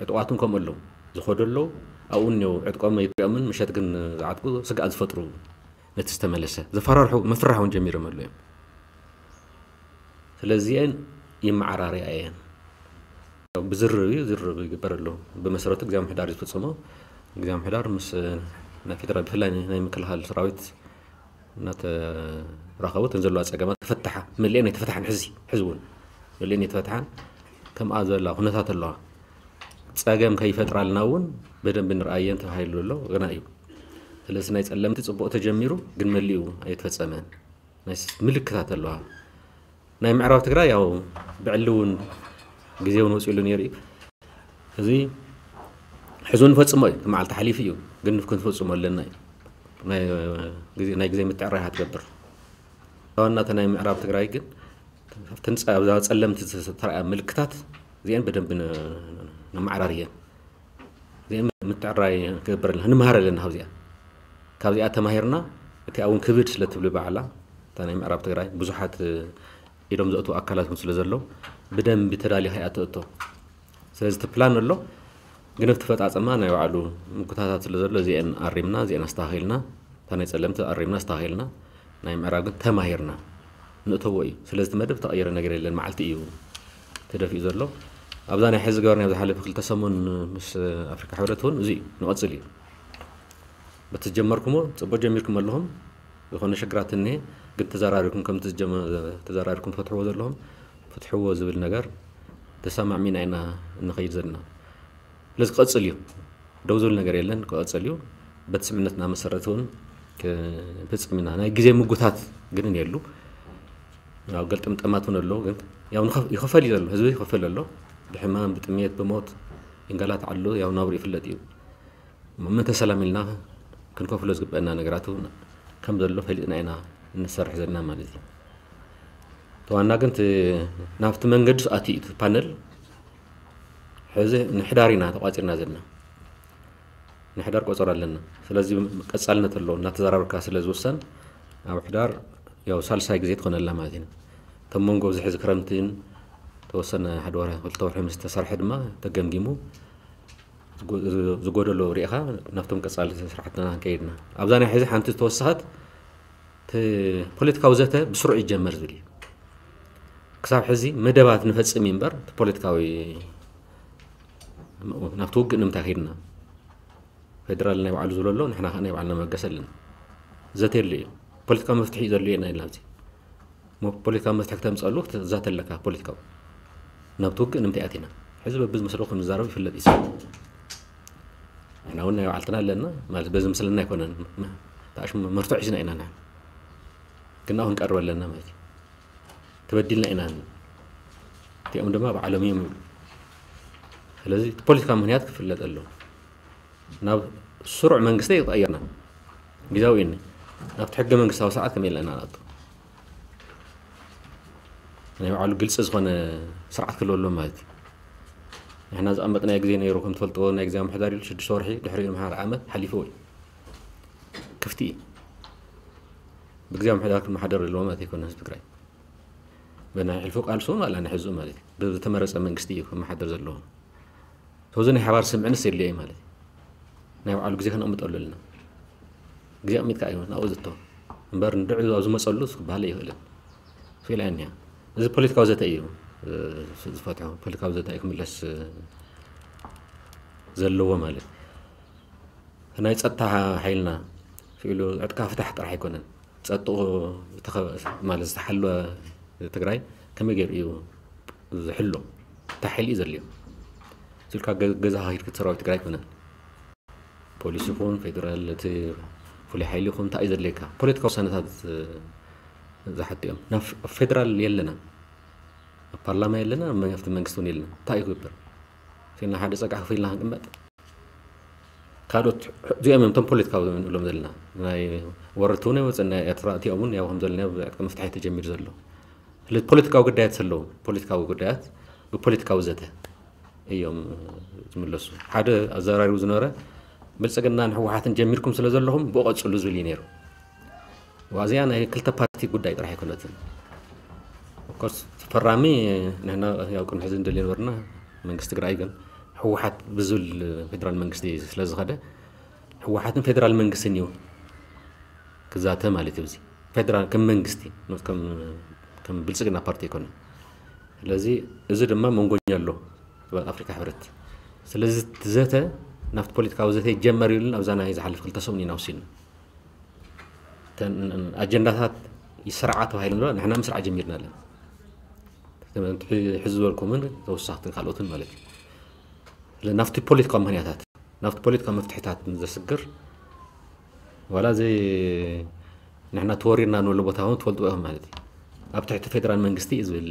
ዕጡቓትን ከምኡ ኣለዉ ዝኸዱ ኣለዉ ኣብኡ እኒው ዕጥቆም ኣይትሪኦምን ምሸት ግን ዝዓጥቁ ስግኣት ዝፈጥሩ ነቲ ዝተመለሰ ዘፈራርሑ ምፍራሕ እውን ጀሚሮም ኣለዉ እዮም። ስለዚአን ይመዓራርያ እየን። ብዝርርብ እዩ ዝርርብ ይግበር ኣሎ። ብመሰረቱ ግዜ ምሕዳር ዝፍፅሞ ግዜ ምሕዳር ምስ ናይ ፌደራል ብፍላይ ናይ ምክልኻል ሰራዊት እናተራኸቡ እተን ዘለዋ ፀገማት ክፈትሓ መሊአን ኣይተፈትሓን ሕዚ ሕዚ እውን መሊአን ኣይተፈትሓን ከምኣ ዘላ ኩነታት ኣለዋ። ፀገም ከይፈጥራልና እውን በደንብ ንርኣየን ተባሂሉ ኣሎ ገና እዩ። ስለዚ ናይ ፀለምቲ ፅቡቕ ተጀሚሩ ግን መሊኡ ኣይተፈፀመን። ናይ ምልክታት ኣለዋ። ናይ ምዕራብ ትግራይ ያው ብዕሊ እውን ግዜ እውን ወፂሉ ነይሩ እዩ። እዚ ሕዚ ንፈፅሞ እዩ እቲ መዓልቲ ሓሊፉ እዩ ግን ክንፈፅሞ ኣለና እዩ። ናይ ግዜ ምትዕራይ ትገብር ዋናተ ናይ ምዕራብ ትግራይ ግን ኣብተን ኣብዛ ፀለምቲ ዝተረኣያ ምልክታት እዚአን በደንብ ነመዓራርየን እዚአን ምትዕራይ ክገብር ኣለና፣ ንመሃር ኣለና ካብዚኣ። ካብዚኣ ተማሂርና፣ እቲኣ እውን ክብድ ስለ ትብሊ ባዕላ፣ እታ ናይ ምዕራብ ትግራይ ብዙሓት ኢዶም ዘእትዉ ኣካላት እውን ስለ ዘሎ፣ ብደንቢ ተዳሊኻ እያ ትእቶ። ስለዚ እቲ ፕላን ኣሎ፣ ግን ኣብቲ ፈጻጸማ ናይ ባዕሉ ምጉታታት ስለ ዘሎ፣ እዚአን ኣሪምና፣ እዚአን ኣስተኻኺልና፣ እታ ናይ ጸለምቲ ኣሪምና፣ ኣስተኻኺልና፣ ናይ ምዕራብ ግን ተማሂርና ንእተዎ እዩ። ስለዚ እቲ መደብ ዝተቐየረ ነገር የለን፣ መዓልቲ እዩ ተደፊኡ ዘሎ። ኣብዛ ናይ ሕዚ ገበርና ኣብ ዝሓለፈ ክልተ ሰሙን ምስ ኣፍሪካ ሕብረት እውን እዚ እዩ፣ ንቐጽል እዩ። በቲ ዝጀመርኩሞ ጽቡቅ ጀሚርኩም ኣለኹም። ዝኾነ ሽግራት እኒሄ፣ ግን ተዘራሪብኩም ከምቲ ዝጀመ-፣ ተዘራሪብኩም ትፈትሕዎ ዘለኹም፣ ፍትሕዎ ዝብል ነገር ተሰማዕሚና ኢና እንኸይድ ዘለና። ስለዚ ክቐጽል እዩ። ደው ዝብል ነገር የለን፣ ክቐጽል እዩ። በቲ ስምምነትና መሰረት እውን ክንፍጽም ኢና። ናይ ግዜ ምጉታት ግን የሉ። ያው ገልጥምጠማት እውን ኣሎ፣ ግን ያው ንኸፍ-፣ ይኸፈል እዩ ዘሎ፣ ህዝቢ ይኸፈል ኣሎ። ብሕማም፣ ብጥሜት፣ ብሞት ይንገላታዕ ኣሎ፣ ያው ናብሩ ይፍለጥ እዩ። እሞ ምእንተ ሰላም ኢልና ክንከፍሎ ዝግበአና ነገራት እውን ከም ዘሎ ፈሊጥና ኢና እንሰርሕ ዘለና ማለት እዩ። እቲ ዋና ግን እቲ ናብቲ መንገዲ ኣትዩ እዩ እቲ ፓነል። ሕዚ ንሕዳር ኢና ተቋጺርና ዘለና። ንሕዳር ቆጸሮ ኣለና። ስለዚ ቀጻልነት ኣለዎ። እናተዘራረብካ ስለ ዝውሰን ኣብ ሕዳር ያው ሳልሳይ ግዜ ትኾነላ ማለት እዩ። እቶም መንጎ ኣብዚ ሕዚ ክረምትን ተወሰነ ሓደ ወርሒ ክልተ ወርሒ ምስ ተሰርሐ ድማ ተገምጊሙ ዝጎ-፣ ዝጎደሎ ርኢኻ ናብቶም ቀጻሊ ስራሕትና ክንከይድና። ኣብዛ ናይ ሕዚ ሓንቲ ዝተወሰኸት እቲ ፖለቲካዊ ዘተ ብስሩዕ ይጀመር ዝብል እዩ። ክሳብ ሕዚ መደባት ንፈጽም እዩ እምበር፣ እቲ ፖለቲካዊ ናብቲ ውግእ ንምንታይ ከይድና? ፌደራል ናይ ባዕሉ ዝብሎ ኣሎ፣ ንሕና ከኣ ናይ ባዕልና መበገሲ ኣለና። ዘተ የድልዮ እዩ። ፖለቲካዊ መፍትሒ እዩ ዘድልዮ ኢና ኢልና ኣብዚ። እሞ ፖለቲካዊ መፍትሒ ክተምጸሉ ክትዛተ ኣለካ ፖለቲካዊ። ናብቲ ውግእ ንምንታይ ኣቲና? ሕዚ በብዝመስሎ ከም ዝዛረብ ይፍለጥ እዩ። ንሕና እውን ናይ ባዕልትና ኣለና፣ ማለት በዚ ምስለና ኣይኮነን። ተኣሽሙ መርትዖ ሒዝና ኢና ንሕና። ግን ኣብኡ ክንቀርብ ኣለና ማለት እዩ። ተበዲልና ኢና። እቲኦም ድማ ባዕሎም እዮም ይብሉ። ስለዚ እቲ ፖለቲካዊ ምኽንያት ክፍለጥ ኣለዎ። ናብ ስሩዕ መንግስቲ ይቐየርና። ግዜያዊ እዩ። ናብቲ ሕገ መንግስታዊ ስርዓት ከመይ ኢልና ኢና ንኣቱ? ናይ ባዕሉ ግልፂ ዝኾነ ስርዓት ክህልዎ ኣለዎ ማለት እዩ። ንሕና ዘቐመጥናዮ ግዜ ነይሩ፣ ከም ትፈልጥዎ ናይ ግዜያዊ ምምሕዳር ኢሉ ሽዱሽተ ወርሒ፣ ድሕሪኡ ድማ ሓደ ዓመት ሓሊፍዎ እዩ። ክፍቲ እዩ። ብግዜያዊ ምምሕዳር ክመሓደር ኣለዎ ማለት ኣይኮነን ህዝቢ ትግራይ። ብናይ ሕልፉ ቃልሱ ዋላ ናይ ሕዝኡ ማለት እዩ። ብዝተመረፀ መንግስቲ እዩ ክመሓደር ዘለዎ። ስለዚ ናይ ሓባር ስምዕንስ የድልዮ እዩ ማለት እዩ። ናይ ባዕሉ ግዜ ከነቕምጠሉ ኣለና። ግዜ ኣቕሚጥካ እዩ ናብኡ ዝእቶ። እምበር ንድዑ ኣብ ዝመፀሉ ክበሃል ኣይኽእልን። ስኢላ እያ እኒኣ። እዚ ፖለቲካዊ ዘተ እዩ፣ እ፣ ዝፈትሖ። ፖለቲካዊ ዘተ እዩ ክምለስ፣ እ፣ ዘለዎ ማለት እዩ። ናይ ጸጥታ ሓይልና ስኢሉ ዕጥቃ ፍታሕ ጥራሕ ኣይኮነን። ጸጥኡ ዝተኸ-፣ ማለት ዝተሓለወ ትግራይ ከመይ ገይሩ እዩ ዝሕሎ? እንታይ ሓይሊ እዩ ዘድልዮ? ስኢልካ ገ-፣ ገዛኻ ሂድካ ሰራዊት ትግራይ ኣይኮነን። ፖሊስ ይኹን ፌደራል፣ እቲ ፍሉይ ሓይሊ ይኹን እንታይ እዩ ዘድልየካ? ፖለቲካዊ ውሳነታት ዝሓቱ እዮም። ናብ ፌ-፣ ፌደራል የለና፣ ኣብ ፓርላማ የለና፣ ኣብ መንግስቲ እውን የለና። እንታይ እዩ ክግበር? ስኢልና ሓደ ጸግዒ ከፊልና ክንቅመጥ? ካልኦት እዚኦም እዮም እቶም ፖለቲካዊ ንብሎም ዘለና። ናይ ወረርቲ እውን ኣይወፅን፣ ናይ ኤርትራ እቲኦም እውን ያው ከም ዘለና ብዕጥቂ ምፍታሕ እዩ ተጀሚሩ ዘሎ። ስለዚ ፖለቲካዊ ጉዳያት ዘለዎም፣ ፖለቲካዊ ጉዳያት ብፖለቲካዊ ዘተ እዮም ዝምለሱ። ሓደ ኣዘራሪቡ ዝነበረ ብልፅግናን ህወሓትን ጀሚርኩም ስለ ዘለኹም ብኡ ቀፅሉ ዝብል እዩ ነይሩ። ዋዚኣ ናይ ክልተ ፓርቲ ጉዳይ ጥራሕ ኣይኮነትን። ኦፍኮርስ ፈራሚ ንሕና ያው ቅድሚ ሕዚ እንደልዮ ነበርና፣ መንግስቲ ትግራይ ግን ህወሓት ብዝብል ፌደራል መንግስቲ ስለ ዝኸደ ህወሓትን ፌደራል መንግስትን እዩ ክዛተ ማለት እዩ። እዚ ፌደራል ከም መንግስቲ፣ ከም፣ ከም ብልፅግና ፓርቲ ኣይኮነን። ስለዚ እዚ ድማ መንጎኛ ኣሎ ኣብ ኣፍሪካ ሕብረት። ስለዚ እቲ ዘተ ናብቲ ፖለቲካዊ ዘተ ይጀመር ኢሉን ኣብዛ ናይ ዝሓለፈ ክልተ ሰሙን ኢና ወሲድና። እተን ኣጀንዳታት ይስርዓ ተባሂሉ ኣሎ፣ ንሕና ምስራዕ ጀሚርና ኣለና። እተን ሕዚ ዝበልኩምን ተወሳኽትን ካልኦትን ማለት እዩ። ስለ ናብቲ ፖለቲካዊ ምኽንያታት፣ ናብቲ ፖለቲካዊ መፍትሒታት ዘስግር፣ ዋላ እዚ ንሕና ተወሪርና ንብሎ ቦታ እውን ትፈልጥዎ ኢኹም ማለት እዩ። ኣብ ትሕቲ ፌደራል መንግስቲ እዩ ዝብል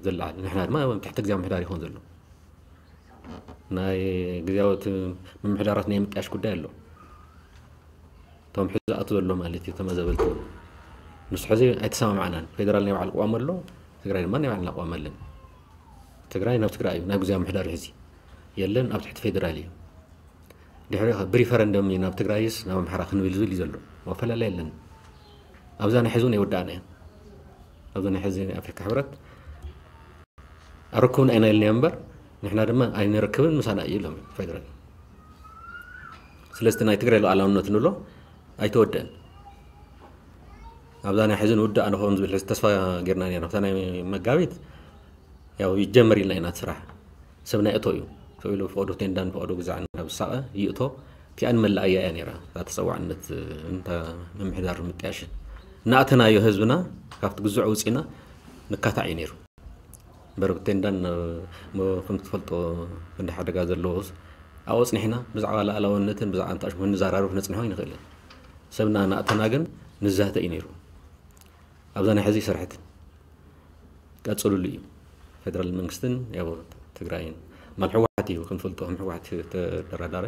ዘለዓል። ንሕና ድማ ኣብ ትሕቲ ግዜያዊ ምምሕዳር ይኾን ዘሎ። ናይ ግዜያዊ እቲ ምምሕዳራት ናይ ምጥያሽ ጉዳይ ኣሎ። እቶም ሕዚ ዝኣቱ ዘሎ ማለት እዩ፣ ተመዛበልቲ እውን። ንሱ ሕዚ ኣይተሰማማዕናን። ፌደራል ናይ ባዕሉ ቅዋም ኣሎ፣ ትግራይ ድማ ናይ ባዕልና ቅዋም ኣለን። ትግራይ ናብ ትግራይ እዩ፣ ናብ ግዜያዊ ምምሕዳር እዩ ሕዚ። የለን፣ ኣብ ትሕቲ ፌደራል እዩ። ድሕሪ ብሪፈረንደም እዩ ናብ ትግራይስ ናብ ኣምሓራ ክንብል ዝብል እዩ ዘሎ። ኣፈላላይ የለን። ኣብዛ ናይ ሕዚ እውን ኣይወዳእና እያ። ኣብዛ ናይ ሕዚ ናይ ኣፍሪካ ሕብረት ኣረክቡን ኣይናይልንያ እምበር ንሕና ድማ ኣይንረክብን ምሳና እዩ ኢሎም ፌደራል። ስለዚ ናይ ትግራይ ሉዓላውነት ንብሎ ኣይተወደአን። ኣብዛ ናይ ሕዚ ንውዳእ ንኸውን ዝብል ሕዚ ተስፋ ጌርና ኔርና። ኣብታ ናይ መጋቢት ያው ይጀመር ኢልና ኢና እቲ ስራሕ። ሰብ ናይ እቶ እዩ። ሰው ኢሉ ፈቐዶ ቴንዳን ፈቐዶ ግዛዕን ናብ ዝሳቐ ይእቶ። እቲኣን መላእያ እያ ነይራ። እታ ተፀዋዕነት እንታ ምምሕዳር ምጥያሽን። እናእተናዮ ህዝብና ካብቲ ግዙዕ ውፂና ንካታዕ እዩ ነይሩ። እምበር ብቴንዳን ሞ-፣ ከም ትፈልጦ ክንዲ ሓደጋ ዘለዎስ ኣብኡ ኣፅኒሕና ብዛዕባ ላእላውነትን ብዛዕባ እንታሽ ንዘራርብ ክነፅንሖ ኣይንኽእልን። ሰብና እናእተና ግን ንዛተ እዩ ነይሩ። ኣብዛ ናይ ሕዚ ይሰርሐት ቀፅሉሉ እዩ። ፌደራል መንግስትን ያው ትግራይን ማል ህወሓት እዩ ክንፈልጦ ከም ህወሓት ተደራዳሪ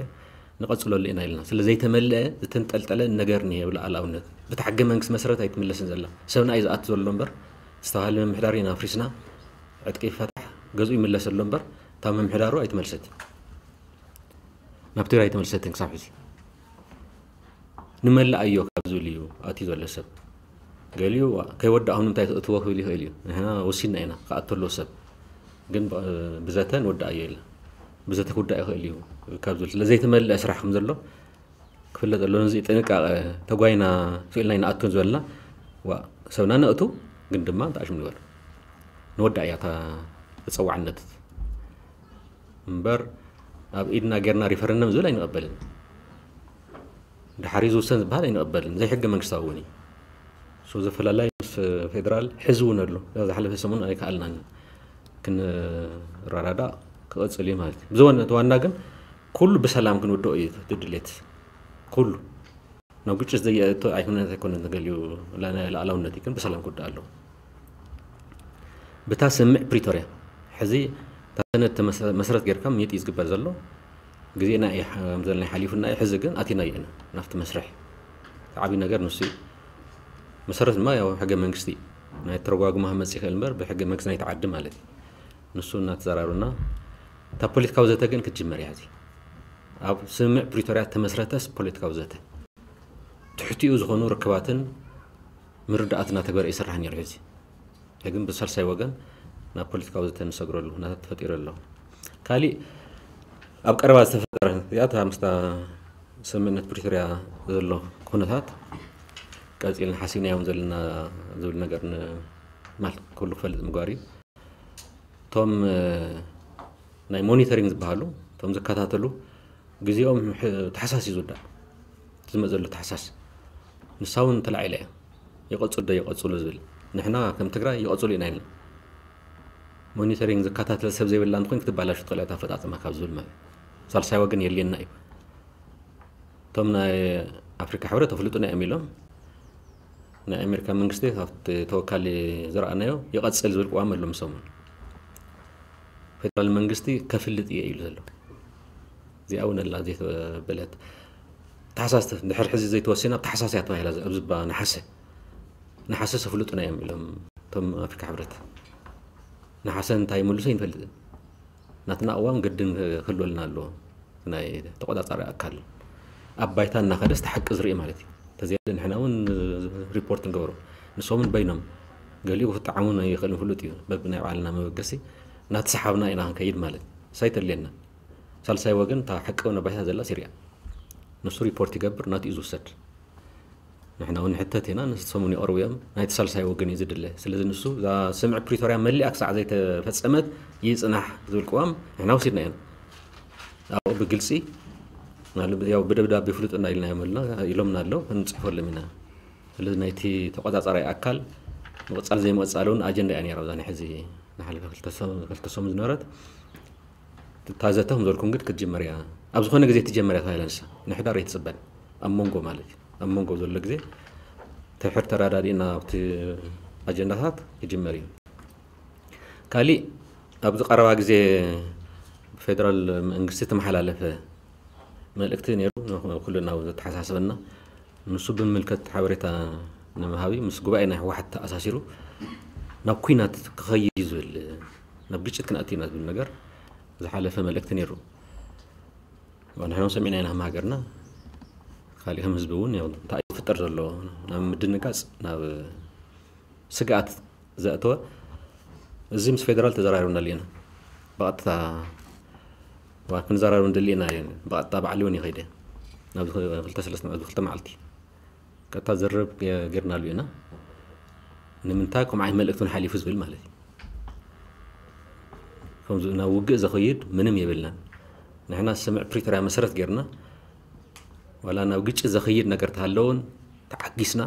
ንቐፅለሉ ኢና ኢልና። ስለ ዘይተመልአ ዝተንጠልጠለ ነገር እኒሄ ብሉዓላውነት። ብቲ ሕገ መንግስቲ መሰረት ኣይትምለስን ዘላ። ሰብና እዩ ዝኣቱ ዘሎ እምበር ዝተባሃለ ምምሕዳር ኢና ኣፍሪስና ዕጥቂ ይፈታሕ ገዝኡ ይምለስ ኣሎ እምበር እታ ምምሕዳሩ ኣይትመልሰትን። ናብ ትግራይ ኣይተመልሰትን ክሳብ ሕዚ። ንመላእ ኣዮ ካብ ዝብል እዩ ኣትዩ ዘሎ ሰብ። ገሊኡ ከይወዳእኹም ንምንታይ ትእትዎ ክብል ይኽእል እዩ። ንሕና ወሲንና ኢና ክኣቱ ኣለዎ ሰብ። ግን ብ-፣ ብዘተ ንወዳእ ኣዮ ኢልና። ብዘተ ክውዳእ ይኽእል እዩ ካብ ዝብል። ስለ ዘይተመልአ ስራሕ ከም ዘሎ ክፍለጥ ኣለዎ። ነዚ ጥንቃቐ ተጓይና ስኢልና ኣይንኣቱን ዝበልና። ዋ፣ ሰብና ነእቱ፣ ግን ድማ እንታይ ሽም ንበል። ንወዳእ እያ እታ ተፀዋዕነት። እምበር ኣብ ኢድና ጌርና ሪፈረንደም ዝብል ኣይንቐበልን። ድሓር እዩ ዝውሰን ዝበሃል ኣይንቐበልን። ዘይሕገ መንግስታዊ እውን እዩ። ሶ ዘፈላላይ ምስ ፌደራል ሕዚ እውን ኣሎ። እዛ ዝሓለፈ ሰሙን ኣይከኣልናን። ክንረዳዳእ ክቐፅል እዩ ማለት እዩ። ብዝኾነ እቲ ዋና ግን ኩሉ ብሰላም ክንውድኦ እዩ እቲ ድሌት። ኩሉ ናብ ግጭት ዘየእቶ ኣይኮነን፣ ኣይኮነን ተገሊዩ ላ-፣ ናይ ሉዓላውነት እዩ፣ ግን ብሰላም ክውዳእ ኣለዎ። ብታ ስምምዕ ፕሪቶርያ ሕዚ እታ ሰነድ ተመሰ-፣ መሰረት ጌርካ ምይጥ እዩ ዝግበር ዘሎ። ግዜና እዩ ሕ-፣ ከም ዘለና ሓሊፉና እዩ። ሕዚ ግን ኣቲና እዩ ኢና ናብቲ መስርሕ። እቲ ዓብዪ ነገር ንሱ እዩ። መሰረት ድማ ያው ሕገ መንግስቲ እዩ። ናይ ተረጓጉማ ክመፅእ ይኽእል እምበር ብሕገ መንግስቲ ናይቲ ዓዲ ማለት እዩ። ንሱ እናተዘራሩና እታ ፖለቲካዊ ዘተ ግን ክትጅመር እያ። ሕዚ ኣብ ስምምዕ ፕሪቶርያ ተመስረተስ ፖለቲካዊ ዘተ ትሕቲኡ ዝኾኑ ርክባትን ምርዳእት እናተግበረ ይስራሕ ነይሩ። ሕዚ ግን ብሳልሳይ ወገን ናብ ፖለቲካዊ ዘተ ንሰግረሉ ኩነታት ተፈጢሩ ኣሎ። ካሊእ ኣብ ቀረባ ዝተፈጠረ እዚኣ እታ ምስታ ስምምዕነት ፕሪቶርያ ዘሎ ኩነታት ቀፂልና ሓሲብናዮም ዘለና ዝብል ነገር ን-፣ ማለት ኩሉ ክፈልጥ ምግባር እዩ። እቶም፣ እ፣ ናይ ሞኒተሪንግ ዝበሃሉ፣ እቶም ዝከታተሉ ግዜኦም ሕ-፣ ታሕሳስ እዩ ዝውዳእ። ዝመፅ ዘሎ ታሕሳስ። ንሳ እውን ተላዒላ እያ። ይቐፅሉ ዶ ይቐፅሉ ዝብል። ንሕና ከም ትግራይ ይቐፅሉ ኢና ኢልና። ሞኒተሪንግ ዝከታተል ሰብ ዘይብላ እንተኾይን ክትባላሹ ትኽእል እያ እታ ኣፈፃፅማ ካብ ዝብል ማለት እዩ። ሳልሳይ ወገን የድልየና እዩ። እቶም ናይ ኣፍሪካ ሕብረት ኣፍልጡና እዮም ኢሎም ናይ ኣሜሪካ መንግስቲ ካብቲ ተወካሊ ዝረኣናዮ ይቐፅል ዝብል ቅዋም ኣሎ ምሶምን። ፌደራል መንግስቲ ከፍልጥ እየ ኢሉ ዘሎ። እዚኣ እውን ኣላ ዘይተበለት። ታሕሳስ ተ-፣ ድሕሪ ሕዚ ዘይተወሲና ኣብ ታሕሳስ እያ ተባሂላ ኣብዚ ባ ነሓሰ። ነሓሰ ሰፍልጡና እዮም ኢሎም እቶም ኣፍሪካ ሕብረት። ነሓሰ እንታይ ይምልሱ ኣይንፈልጥን። ናትና ቅዋም ግድን ክህልወልና ኣለዎ። ናይ ተቆፃፃሪ ኣካል ኣብ ባይታ እናኸደስ እቲ ሓቂ ዝርኢ ማለት እዩ። ተዘይለ ንሕና እውን ሪፖርት ንገብሮ። ንሶምን በይኖም ገሊኡ ክጠዓሙ ይኽእል ፍሉጥ እዩ። በብናይ ባዕልና መበገሲ እናተሰሓብና ኢና ክንከይድ ማለት እዩ። ሳይተልየና። ሳልሳይ ወገን እታ ሓቂ እውን ኣብ ባይታ ዘላ ሲርያ። ንሱ ሪፖርት ይገብር፣ ናቱ እዩ ዝውሰድ። ንሕና እውን ንሕተት ኢና፣ ንሶም እውን ይቐርቡ እዮም። ናይቲ ሳልሳይ ወገን እዩ ዝድለ። ስለዚ ንሱ እዛ ስምምዕ ፕሪቶርያ መሊኣ ክሳዕ ዘይተፈጸመት ይጽናሕ ዝብል ቅዋም ንሕና ወሲድና ኢና። ኣብኡ ብግልጺ፣ ማለት ያው ብደብዳቤ ፍሉጥ እና ኢልና እዮም ኣለና፣ ኢሎምና ኣለዉ፣ ክንጽሕፈሎም ኢና። ስለዚ ናይቲ ተቆጻጻራይ ኣካል ምቕጻል ዘይምቕጻል እውን ኣጀንዳ እያ ነይራ፣ እዛ ናይ ሕዚ ንሓለፈ ክልተ ሰ-፣ ክልተ ሰሙን ዝነበረት። እታ ዘተ ከም ዝበልኩም ግን ክትጅመር እያ። ኣብ ዝኾነ ግዜ ትጀመር እያ ተባሂላ ንሳ። ንሕዳር ኣይትጽበን። ኣብ መንጎ ማለት እዩ። ኣብ መንጎ ዘሎ ግዜ ድሕር ተረዳዲእና ኣብቲ ኣጀንዳታት ክጅመር እዩ። ካሊእ ኣብዚ ቀረባ ግዜ ብፌደራል መንግስቲ ተመሓላለፈ መልእክቲ ነይሩ፣ ንኹልና እውን ዘተሓሳስበና። ንሱ ብምልከት ሓበሬታ ንምሃብ እዩ። ምስ ጉባኤ ናይ ህወሓት ተኣሳሲሩ ናብ ኲናት ክኸይድ እዩ ዝብል፣ ናብ ግጭት ክንኣቱ ኢና ዝብል ነገር ዝሓለፈ መልእክቲ ነይሩ። ንሕና እውን ሰሚዕና ኢና ከም ሃገርና። ካሊእ ከም ህዝቢ እውን ያው እንታይ እዩ ዝፍጠር ዘሎ ናብ ምድንጋፅ፣ ናብ ስግኣት ዘእተወ፣ እዚ ምስ ፌደራል ተዘራሪብናሉ ኢና። ብቐጥታ ዋ ክንዘራረብ ንደሊ ኢና። ብቐጥታ ባዕሊ እውን ይኸይደ ናብ ክልተ ሰለስተ መዓልቲ፣ ክልተ መዓልቲ ቀጥታ ዝርርብ ገ- ጌርናሉ ኢና። ንምንታይ ከምኡ ዓይነት መልእክቲ እውን ሓሊፉ ዝብል ማለት እዩ። ከምዚ ናብ ውግእ ዘኸይድ ምንም የብልናን። ንሕና ስምዕ ፕሪቶርያ መሰረት ጌርና ዋላ ናብ ግጭት ዘኸይድ ነገር ተሃለውን ተዓጊስና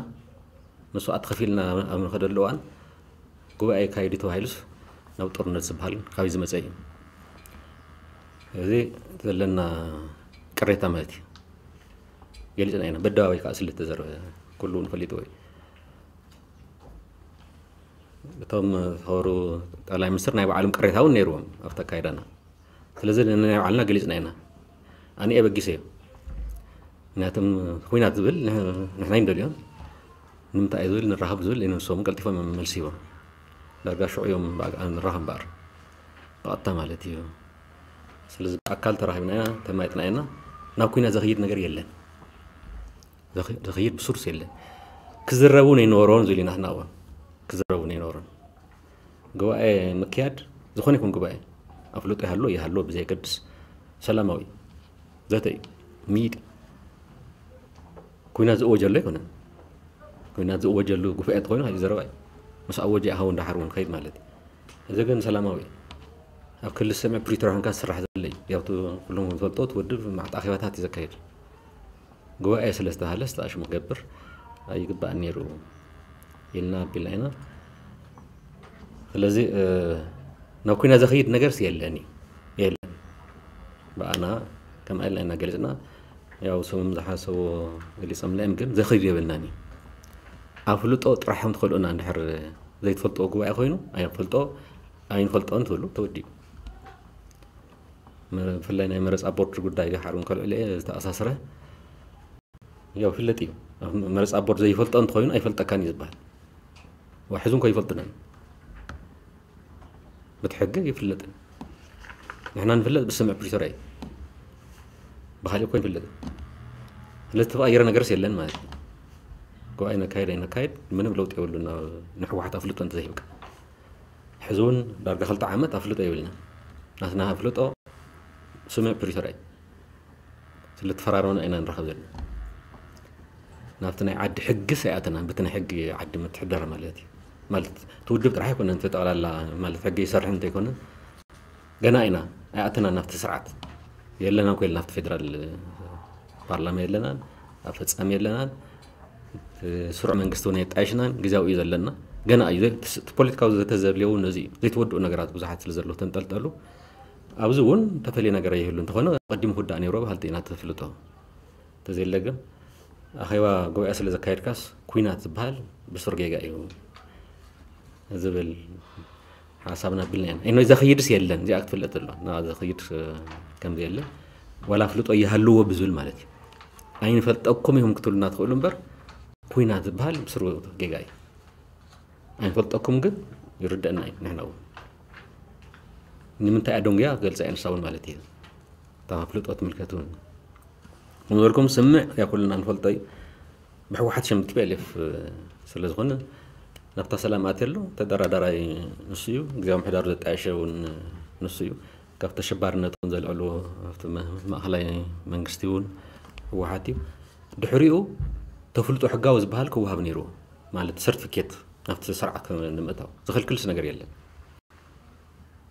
መስዋእቲ ከፊልና ኣብ ንኸደሉ እዋን ጉባኤ ካይዲ ተባሂሉስ ናብ ጦርነት ዝበሃል ካብይ ዝመፀ እዩ። እዚ ዘለና ቅሬታ ማለት እዩ። ገሊፅና ኢና። በደባባይ ከዓ ስለ ዝተዘረበ ኩሉ እውን ፈሊጥዎ እዩ። እቶም ዝኸበሩ ጠቅላይ ሚኒስትር ናይ ባዕሎም ቅሬታ እውን ነይርዎም ኣብቲ ኣካይዳና። ስለዚ ንናይ ባዕልና ገሊፅና ኢና። ኣነ ኣበጊሰ እዩ። ምክንያቱም ኩናት ዝብል ንሕ- ንሕና ይንደልዮም ንምንታይ እዩ ዝብል ንራኸብ ዝብል ንሶም ቀልጢፎም እዮም መልሲ ሂቦም። ዳርጋ ሽዑ እዮም ብኣግኣ ንራኸብ እምበኣር ብቐጥታ ማለት እዩ። ስለዚ ብኣካል ተራኺብና ኢና፣ ተማይጥና ኢና። ናብ ኩናት ዘኽይድ ነገር የለን። ዘኽ- ዘኽይድ ብሱርስ የለን። ክዝረቡ ነይነበሮን ዝብል ኢና ናትናእዋ ክዝረቡ ነይነበሮን። ጉባኤ ምክያድ ዝኾነ ይኹን ጉባኤ ኣፍልጦ ይሃሎ ይሃሎ ብዘየገድስ ሰላማዊ ዘተ እዩ። ሚድ ኩናት ዝእወጀሉ ኣይኮነን። ኩናት ዝእወጀሉ ጉባኤ እንተኾይኑ ካልእ ዘረባ እዩ። ምስ ኣወጀ ኣሃው እንዳሓር እውን ከይድ ማለት እዩ። እዚ ግን ሰላማዊ እዩ። ኣብ ክልል ሰምዕ ፕሪቶርያ ኮንካ ዝስራሕ ዘሎ እዩ። ያው እቲ ኩሎም ዝፈልጦ እቲ ውድብ ማዕጣ ኣኼባታት እዩ ዘካየድ። ጉባኤ ስለ ዝተባሃለ ዝተኣሽሙ ክገብር ኣይግባእን ነይሩ ኢልና ኣቢልና ኢና። ስለዚ ናብ ኩናት ዘኽይድ ነገርስ የለን እዩ። የለን። ብኣና ከምኣ ኢልና ኢና ገሊፅና። ያው ሰብም ዝሓሰቦ ገሊፆምና እዮም፣ ግን ዘኽይድ የብልናን እዩ። ኣፍልጦ ጥራሕ ከም ትኸልኡና እንድሕር ዘይትፈልጥዎ ጉባኤ ኮይኑ ኣይንፈልጦ ኣይንፈልጦን ትብሉ ተወዲኡ። ብፍላይ ናይ መረፃ ቦርድ ጉዳይ ሓሩን ከልዕለ ዝተኣሳስረ ያው ፍለጥ እዩ። መረፃ ቦርድ ዘይፈልጦ እንተኾይኑ ኣይፈልጠካን እዩ ዝበሃል። ዋሕዙ እንኮ ይፈልጡናን ብቲ ሕጊ ይፍለጥን። ንሕና ንፍለጥ ብስምዕ ፕሪቶርያ እዩ። ብካሊእ እኮ ይፍለጥ። ስለዚ ተቐይረ ነገርስ የለን ማለት እዩ። ጉባኤ ነካይድ ኣይነካይድ ምንም ለውጥ የብሉን። ንሕወሓት ኣፍልጦ እንተዘይብካ ሕዚ እውን ዳርጋ ክልተ ዓመት ኣፍልጦ የብልና። ናትና ኣፍልጦ ስምዕ ፕሪቶርያ እዩ። ስለተፈራረምና ኢና ንራኸብ ዘለና። ናብቲ ናይ ዓዲ ሕጊ ሰይኣተና በቲ ናይ ሕጊ ዓዲ ምትሕደር ማለት እዩ። ማለት እቲ ውድብ ጥራሕ ኣይኮነን እቲ ጠቕላላ ማለት ሕጊ ይሰርሕ እንተይኮነ ገና ኢና ኣይኣተና ናብቲ ስርዓት የለና ኮ ናብቲ ፌደራል ፓርላማ የለናን ኣፈፃሚ የለናን ስሩዕ መንግስቲ እውን የጣየሽናን ግዜያዊ እዩ ዘለና። ገና እዩ ዘ- እቲ ፖለቲካዊ ዘተዘብልየው ነዚ እዩ ዘይተወድኡ ነገራት ብዙሓት ስለ ዘለዉ ተንጠልጠሉ ኣብዚ እውን ተፈልየ ነገር ይህሉ እንተኾነ ቀዲሙ ክውዳእ ነይሮ ብሃልቲ ኢና ተፍልጦ። እንተዘየለ ግን ኣኼባ ጉባኤ ስለ ዘካየድካስ ኩናት ዝበሃል ብሱር ጌጋ እዩ ዝብል ሓሳብና ኣቢልና ኢና። ኢኖ ዘኽይድስ የለን እዚኣ ክትፍለጥ ዘለዋ ና ዘኽይድ ከምዘየለ ዋላ ፍልጦ ይሃልዎ ብዝብል ማለት እዩ። ኣይንፈልጠኩም ኢኹም ክትብሉና ትኽእሉ እምበር ኩናት ዝበሃል ብስሩ ጌጋ እዩ። ኣይንፈልጠኩም ግን ይርደአና እዩ ንሕና እውን ንምንታይ ኣደንጉያ ክገልፃ እየ ንሳ እውን ማለት እዩ። እታ ፍልጦ ትምልከት እውን ከም ዝበልኩም ስምዕ ያ ኩልና ንፈልጦ እዩ። ብሕወሓት ሽም ቲፒኤልኤፍ ስለ ዝኾነ ናብታ ሰላም ኣትየ ኣሎ ተደራዳራይ ንሱ እዩ። ግዜያዊ ምሕዳሩ ዘጣየሸ እውን ንሱ እዩ። ካብ ተሸባርነት እውን ዘልዕልዎ ኣብቲ መ- ማእኸላይ መንግስቲ እውን ህወሓት እዩ። ድሕሪኡ ተፍልጦ ሕጋዊ ዝበሃል ክወሃብ ነይርዎ ማለት ሰርቲፊኬት ናብቲ ስርዓት ንምእታው ዝኽልክልስ ነገር የለን።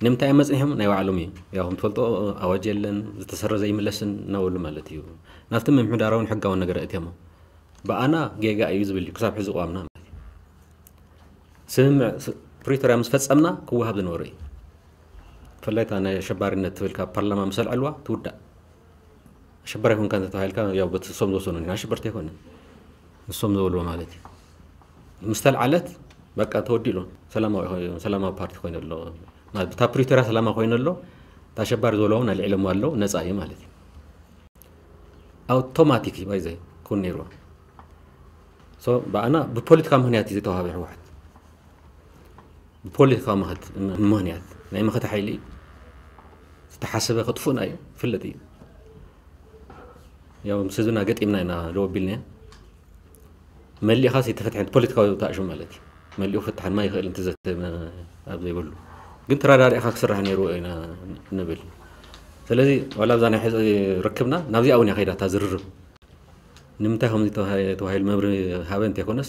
ንምንታይ እዮም መፅኒሖም ናይ ባዕሎም እዩ ያው ከም ትፈልጦ ኣዋጅ የለን ዝተሰረዘ ይምለስን እናበሉ ማለት እዩ። ናብቲ ምምሕዳራውን ሕጋውን ነገር እትሞ ብኣና ጌጋ እዩ ዝብል እዩ ክሳብ ሕዚ ቅዋምና ማለት እዩ። ስምምዕ ፕሪቶርያ ምስ ፈፀምና ክወሃብ ዝነበሩ እዩ። ብፍላይ እታ ናይ ኣሸባሪነት ትብል ካብ ፓርላማ ምስ ኣልዐልዋ ትውዳእ። ኣሸባሪ ኮንካ እንተተባሂልካ ያው በቲ እሶም ዝወሰኑ ኢና ኣሸበርቲ ኣይኮንን ንሶም ዝበልዎ ማለት እዩ። ምስ ተልዓለት በቃ ተወዲሉ ሰላማዊ ሰላማዊ ፓርቲ ኮይኑ ኣሎ። ብታ ፕሪቶርያ ሰላማዊ ኮይኑ ኣሎ። እታ ኣሸባሪ ዝበልዎ እውን ኣልዒሎሞ ኣለዉ ነፃ እዩ ማለት እዩ። ኣውቶማቲክ እዩ ባይዘ ክውን ነይርዎ። ብኣና ብፖለቲካ ምክንያት እዩ ዝተዋሃበ ህወሓት ብፖለቲካዊ ምኽት- ምኽንያት ናይ መኸተ ሓይሊ ዝተሓሰበ ክጥፉእና እዩ ፍለጥ እዩ። ያው ምስ ህዝብና ገጢምና ኢና ደው ኣቢልና። መሊእኻስ ኣይተፈትሐን፣ ፖለቲካዊ ተኣሽሙ ማለት እዩ። መሊኡ ፍትሓን ማይ ይኽእል እንተዘተ ኣብ ዘይብሉ ግን ተራዳሪእኻ ክስራሕ ነይርዎ ኢና ንብል። ስለዚ ዋላ ኣብዛ ናይ ሕዚ ርክብና ናብዚኣ እውን እያ ከይዳ እታ ዝርርብ። ንምንታይ ከምዚ ተባሂ- ተባሂሉ መብርሂ ሃበ እንተይኮነስ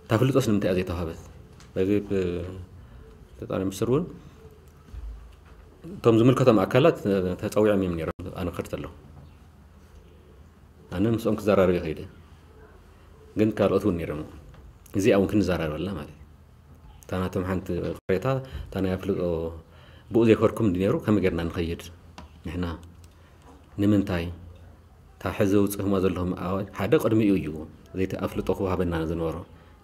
እታ ፍልጦስ ንምንታይ እያ ዘይተዋሃበት? በዚ ብ- ጠቅላይ ሚኒስትር እውን እቶም ዝምልከቶም ኣካላት ተፀዊዖም እዮም ነይሮም ኣነ ክኸድ ከለኹ። ኣነ ምስኦም ክዘራረብ ይኸይደ ግን ካልኦት እውን ነይሮም። እዚኣ እውን ክንዘራረበላ ማለት እዩ። እታ ናቶም ሓንቲ ቅሬታ እታ ናይ ኣፍልጦ ብኡ ዘይከድኩም እንዲ ነይሩ ከመይ ጌርና ንኸይድ ንሕና ንምንታይ እታ ሕዚ ውፅእኹማ ዘለኹም ኣዋጅ ሓደ ቅድሚኡ እዩ ዘይቲ ኣፍልጦ ክወሃበና ዝነበሮ።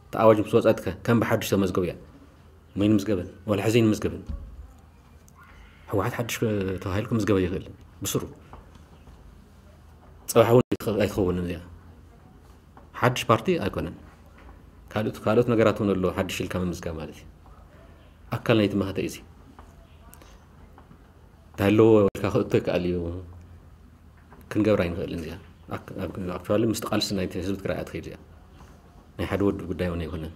እታ ኣዋጅ ምስ ወፀትከ ከም ብሓድሽ ተመዝገቡ እያ። መይን ምዝገበን ዋላ ሕዚ ይንምዝገበን። ህወሓት ሓድሽ ተባሂሉ ክምዝገበ ይኽእል ብስሩ ፅባሕ እውን ኣይትኸ- ኣይትኸውንን እዚኣ። ሓድሽ ፓርቲ ኣይኮነን። ካልኦት ካልኦት ነገራት እውን ኣሎ ሓድሽ ኢልካ ምምዝጋብ ማለት እዩ። ኣካል ናይቲ መኸተ እዩ እዚ። እንታይ ኣለዎ ኢልካ ክእቶ ይከኣል እዩ። ክንገብር ኣይንኽእልን እዚኣ። ኣክ- ኣብ- ኣክቹዋሊ ምስቲ ቃልሲ ናይቲ ህዝቢ ትግራይ ኣትኸይድ እዚኣ። ናይ ሓደ ወዲ ጉዳይ እውን ኣይኮነን።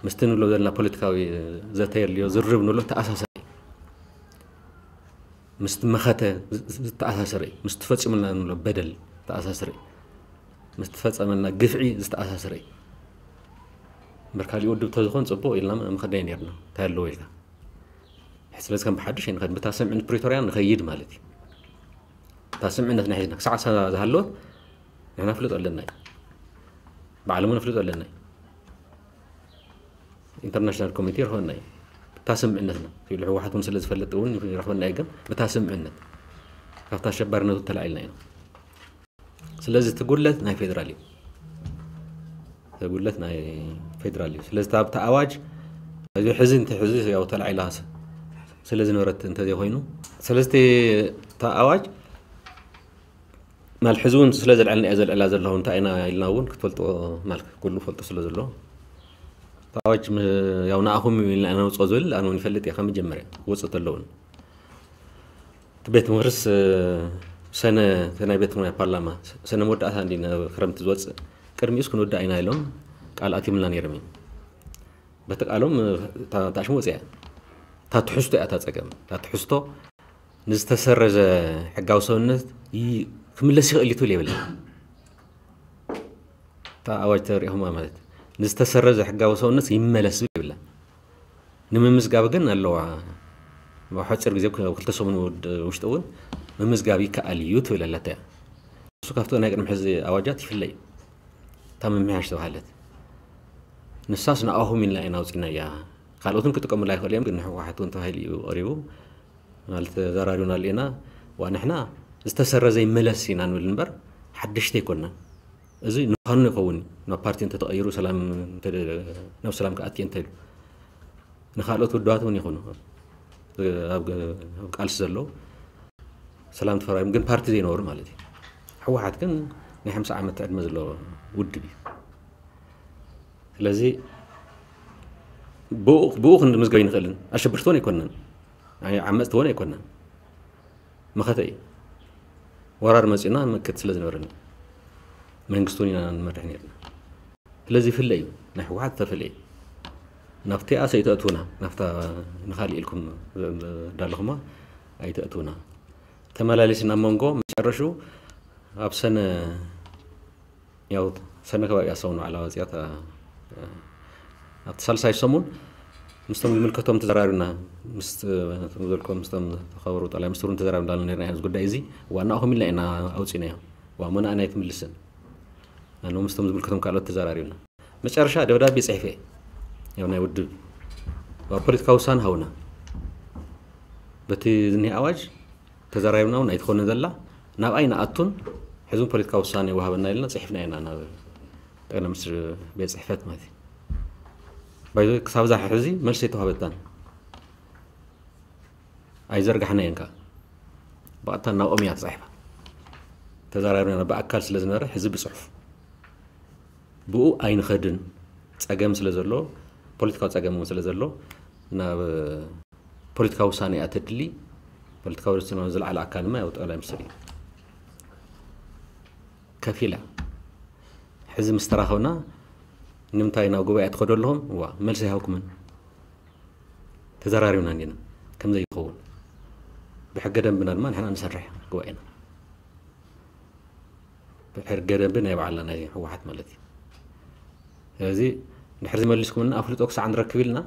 ምስቲ ንብሎ ዘለና ፖለቲካዊ ዘተ የድልዮ ዝርርብ ንብሎ ተኣሳሰሪ ምስቲ መኸተ ዝተኣሳሰረ እዩ። ምስቲ ፈፂሙልና ንብሎ በደል ዝተኣሳሰረ እዩ። ምስቲ ፈፀመልና ግፍዒ ዝተኣሳሰረ እዩ። እምበር ካሊእ ውድብ ተዝኾን ፅቡቅ ኢልና ምኸድናዮ ነርና እንታይ ኣለዎ ኢልካ። ስለዚ ከም ብሓድሽ ኣይንኸድ ብታ ስምዕነት ፕሪቶርያ ንኸይድ ማለት እዩ። እታ ስምዕነትና ሒዝና ክሳዕ ሳ- ዝሃለወት ንሕና ፍልጦ ኣለና እዩ። ብዓለም እውን ፍልጦ ኣለና እዩ። ኢንተርናሽናል ኮሚቴ ይረኽበና እዩ። ብታ ስምዕነትና ኢሉ ህወሓት እውን ስለ ዝፈልጥ እውን ይረኽበና እዩ። ግን ብታ ስምዕነት ካብታ ኣሸባሪነቱ ተላዒልና ኢና። ስለዚ እቲ ጉድለት ናይ ፌደራል እዩ። እቲ ጉድለት ናይ ፌደራል እዩ። ስለዚ ኣብቲ ኣዋጅ እዚ ሕዚ እንተ ሕዚ ያው ተላዒላ ስለ ዝነበረት እንተዘይኮይኑ ስለዚ እቲ ኣዋጅ ማል ሕዚ እውን ስለ ዘልዐልና እየ ዘልዕላ ዘለኹ እንታይ ኢና ኢልና እውን ክትፈልጦ ማል ኩሉ ፈልጡ ስለ ዘሎ እቲ ኣዋጅ ም- ያው ንኣኹም ኢልና ነውፅኦ ዝብል ኣነ እውን ይፈልጥ እየ ካብ መጀመርያ ክወፅእ ተለውን እቲ ቤት ምኽርስ ሰነ እቲ ናይ ቤት ናይ ፓርላማ ሰነ መወዳእታ እንዲ ናብ ክረምቲ ዝወፅእ ቅድሚኡስ ክንወዳእ ኢና ኢሎም ቃል ኣትምልና ነይሮም እዮም። በቲ ቃሎም ታሽሙ ወፅያ እታ ትሕዝቶ እያ እታ ፀገም እታ ትሕዝቶ ንዝተሰረዘ ሕጋዊ ሰውነት ይ- ክምለስ ይኽእል እዩ ትብል የብላ እታ ኣዋጅ ተሪእኹማ ማለት ንዝተሰረዘ ሕጋዊ ሰውነት ይመለስ ዝብል የብላ ንምምዝጋብ ግን ኣለዋ ኣብ ሓፂር ግዜ ኣብ ክልተ ሰሙን ውድ- ውሽጢ እውን ምምዝጋብ ይከኣል እዩ ትብል ኣለታ እያ እሱ ካብቲ ናይ ቅድሚ ሕዚ ኣዋጃት ይፍለ እዩ እታ ምምሕያሽ ተባሃለት ንሳስ ንኣኹም ኢልና ኢና ኣውፂና እያ ካልኦትን ክጥቀሙላ ይኽእሉ እዮም ግን ንሕወሓት እውን ተባሂሉ እዩ ቀሪቡ ማለት ተዘራሪብና ኣለና ዋ ንሕና ዝተሰረዘ ይመለስ ኢና ንብል እምበር ሓደሽቲ ኣይኮንና እዚ ንፋኑ ይኸውን ናብ ፓርቲ እንተተቐይሩ ሰላም ናብ ሰላም ክኣት እንተኢሉ ንካልኦት ውድባት እውን ይኹኑ ኣብ ቃልሲ ዘለዉ ሰላም ተፈራሪም ግን ፓርቲ ዘይነበሩ ማለት እዩ ሕወሓት ግን ናይ ሓምሳ ዓመት ዕድመ ዘለዎ ውድብ እዩ ስለዚ ብኡ ክንዲ ምዝገብ ይንኽእልን ኣሸብርቲ እውን ኣይኮነን ዓመፅቲ እውን ኣይኮነን መኸተ እዩ ወራር መፂኡና መክት ስለ ዝነበረኒ መንግስቲ እውን ኢና ንመርሕ ነርና ስለዚ ይፍለ እዩ ናይ ህወሓት ዝተፈለየ ናብቲኣ ሰይተእትውና ናብታ ንካሊእ ኢልኩም ዳለኹማ ኣይተእትውና ተመላሊስና መንጎ መጨረሹ ኣብ ሰነ ያው ሰነ ከባቢ ኣሰውኑ ዓላ ወፅያ ኣብቲ ሳልሳይ ሰሙን ምስቶም ዝምልከቶም ተዘራሪብና ምስ ዘልኮ ምስቶም ተኸበሩ ጠላይ ሚኒስትሩን ተዘራሪብና ኣለና ነርና እዚ ጉዳይ እዚ ዋናኹም ኢልና ኢና ኣውፂናዮ ዋሞና ኣና ኣይትምልስን ኣነ ምስቶም ዝምልከቶም ካልኦት ተዘራሪብና መጨረሻ ደብዳቤ ፅሒፈ ያው ናይ ውድብ ፖለቲካዊ ውሳነ ሃውና በቲ ዝኒሄ ኣዋጅ ተዘራሪብና እውን ኣይትኾንን ዘላ ናብኣይ ንኣቱን ሕዚ እውን ፖለቲካዊ ውሳነ ይወሃበና ኢልና ፅሒፍና ኢና ናብ ጠቅላይ ሚኒስትር ቤት ፅሕፈት ማለት እዩ ባይዞ ክሳብ ዛ ሕዚ መልሲ ኣይተዋህበትናን ኣይዘርጋሕናየን ከዓ ብቐጥታ ናብኦም እያ ተፃሒፋ ተዘራሪብና ብኣካል ስለ ዝነበረ ሕዚ ብፅሑፍ ብኡ ኣይንኸድን ፀገም ስለ ዘሎ ፖለቲካዊ ፀገም እውን ስለ ዘሎ ናብ ፖለቲካዊ ውሳነ እያ ተድሊ ፖለቲካዊ ውሳነ ዝለዓለ ኣካል ድማ ያው ጠቅላይ ሚኒስትር እዩ ከፊላ። ሕዚ ምስ ተራኸብና ንምንታይ ናብ ጉባኤ ትኸዱ ኣለኹም? ዋ፣ መልሲ ኣይሃብኩምን። ተዘራሪብና እንዲና ከም ዘይኸውን። ብሕገ ደንብና ድማ ንሕና ንሰርሕ ጉባኤና። ብሕገ ደንቢ ናይ ባዕልና ናይ ህወሓት ማለት እዩ። ስለዚ ድሕሪ ዝመልስኩምና ኣፍልጦ ክሳዕ ንረክብ ኢልና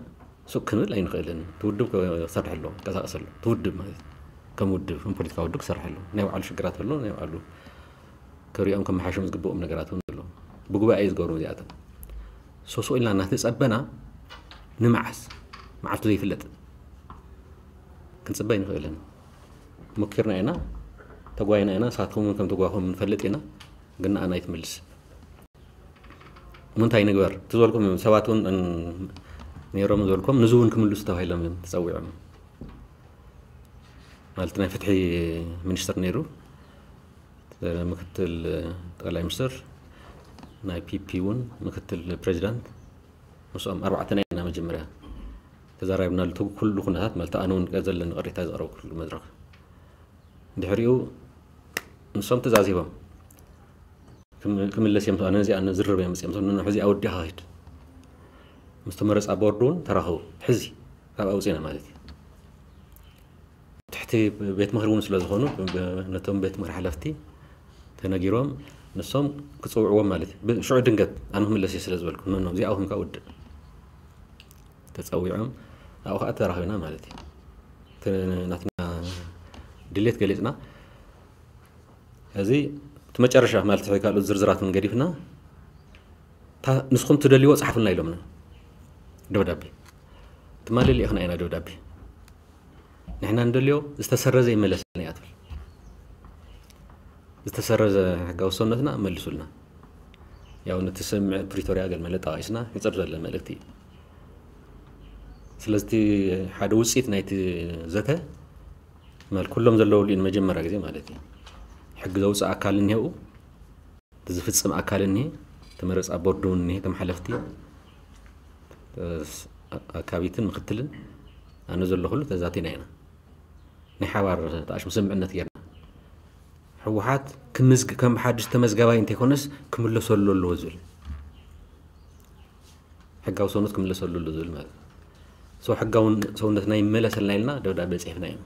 ሱቅ ክንብል ኣይንኽእልን። እቲ ውድብ ክሰርሕ ኣለዎ፣ ክንቀሳቀስ ኣለዎ። እቲ ውድብ ማለት እዩ። ከም ውድብ፣ ከም ፖለቲካዊ ውድብ ክሰርሕ ኣለዎ። ናይ ባዕሉ ሽግራት ኣለዎ፣ ናይ ባዕሉ ክሪኦም ከመሓይሾም ዝግብኦም ነገራት እውን ኣለዉ። ብጉባኤ እዩ ዝገብሮም እዚኣቶም። ሶ ሱቅ ኢልና እናተጸበና ንመዓስ? መዓልቱ ዘይፍለጥ ክንጽበ ኣይንኽእልን። ሞኪርና ኢና፣ ተጓይና ኢና፣ ንሳትኩም እውን ከም ተጓኹም ንፈልጥ ኢና፣ ግን ንኣና ኣይትመልስ። እሞ እንታይ ንግበር? እቲ ዝበልኩም ሰባት እውን እን-፣ ነይሮም ዝበልኩም ንዚ እውን ክምልሱ ተባሂሎም እዮም ተጸዊዖም። ማለት ናይ ፍትሒ ሚኒስትር ነይሩ፣ ምክትል ጠቅላይ ሚኒስትር፣ ናይ ፒፒ እውን ምክትል ፕሬዚዳንት፣ ምስኦም ኣርባዕተና ኢና መጀመርያ ተዛራቢብናሉ። እቲ ኩሉ ኩነታት ማለት ኣነ እውን ዘለኒ ቅሬታ ዘቕረብኩሉ መድረኽ። ድሕሪኡ ንሶም ትእዛዝ ሂቦም ክም-፣ ክምለስ እዮም። ኣነ እዚኣ ዝርርብ እዮም መፅኦም። ንሕዚ ኣወዲኻ ሂድ ምስ ተመረፃ ቦርድ እውን ተራኸቡ። ሕዚ ካብ ኣውፅና ማለት እዩ። ትሕቲ ቤት ምኽሪ እውን ስለ ዝኾኑ ብ-፣ ነቶም ቤት ምኽሪ ሓለፍቲ ተነጊሮም ንሶም ክፅውዕዎም ማለት እዩ። ብ-፣ ሽዑ ድንገት ኣነ ክምለስ እየ ስለ ዝበልኩ፣ ኖ፣ ኖ፣ እዚኣ ኮንካ ውድእ። ተፀዊዖም ኣብኡ ከዓ ተራኺብና ማለት እዩ። እቲ ናትና ድሌት ገሊፅና። እዚ እቲ መጨረሻ ማለት ሕጂ ካልኦት ዝርዝራት እውን ገዲፍና፣ እታ ንስኹም ትደልይዎ ጸሓፉልና ኢሎምና። ደብዳቤ። ትማሊ ልኢኽና ኢና ደብዳቤ። ንሕና ንደልዮ ዝተሰረዘ ይመለሰልና እያ ትብል። ዝተሰረዘ ሕጋዊ ውሰነትና መልሱልና። ያው ነቲ ስምምዕ ፕሪቶርያ ገለ መለ ጠቓቒስና፣ ሕጽር ዘለ መልእክቲ እዩ። ስለዚ እቲ ሓደ ውጽኢት ናይቲ ዘተ ማለት ኩሎም ዘለውሉ እዩ ንመጀመርያ ግዜ ማለት እዩ። ሕጊ ዘውፅእ ኣካል እኒሄው፣ እቲ ዝፍፅም ኣካል እኒሄ፣ ተመረፃ ቦርድ እውን እኒሄ፣ እቶም ሓለፍቲ፣ እ፣ ኣካቢትን ምክትልን ኣነ ዘለኹሉ ተዛቲና ኢና። ናይ ሓባር ተኣሽሙ ስምምዕነት ጌርና። ህወሓት ክምዝግ-፣ ከም ሓድሽ ተመዝጋባይ እንተይኮነስ ክምለሰሉ ኣለዎ ዝብል። ሕጋዊ ሰውነት ክምለሰሉ ኣሎ ዝብል ማለት እዩ። ሶ ሕጋዊ ሰውነትና ይመለሰልና ኢልና ደብዳቤ ጽሒፍና ኢና።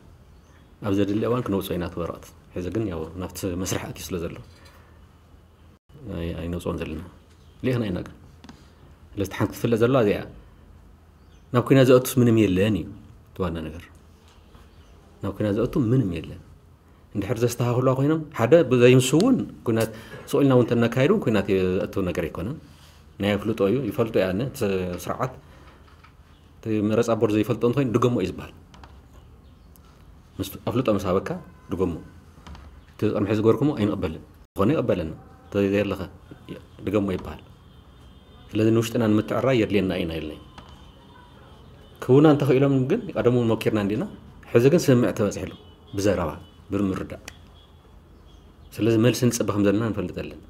ኣብ ዘድሊ እዋን ክነውፅኦ ኢና እቲ ወረቐት። ሕዚ ግን ያው ናብቲ መስርሕ ኣትዩ ስለ ዘሎ ኣይ-፣ ኣይነውፅኦን ዘለና። ልኢኽና ኢና ግን። ስለዚ ሓንቲ ክትፍለጥ ዘለዋ እዚኣ እያ። ናብ ኲናት ዘእቱስ ምንም የለን እዩ እቲ ዋና ነገር። ናብ ኲናት ዘእቱ ምንም የለን። እንድሕር ዘስተኻኽሉዋ ኮይኖም፣ ሓደ ብዘይምሱ እውን ኲናት ስቕ ኢልና እውን እንተነካይዱ እውን ኲናት ዘእቱ ነገር ኣይኮነን። ናይ ኣፍልጦ እዩ፣ ይፈልጦ እየ ኣነ፣ እቲ ስርዓት እቲ መረፃ ቦርድ ዘይፈልጦ እንተኮይኑ ድገሞ እዩ ዝበሃል። ምስ ኣፍልጦ ምስ ሃበካ ድገሞ። እቲ ቅድሚ ሕዚ ዝገበርኩሞ ኣይንቕበልን። ዝኾነ ይቕበለና። እንተዘየለኸ ድገሞ ይበሃል። ስለዚ ንውሽጥና ንምትዕራይ የድልየና እዩ ኢልና ኢልና። ክውና እንተኽኢሎም ግን ቀደሙ እውን መኪርና እንዲና። ሕዚ ግን ስምምዕ ተበፂሕሉ። ብዘረባ፣ ብምርዳእ። ስለዚ መልሲ ንፅበ ከም ዘለና ንፈልጥ ኣለና።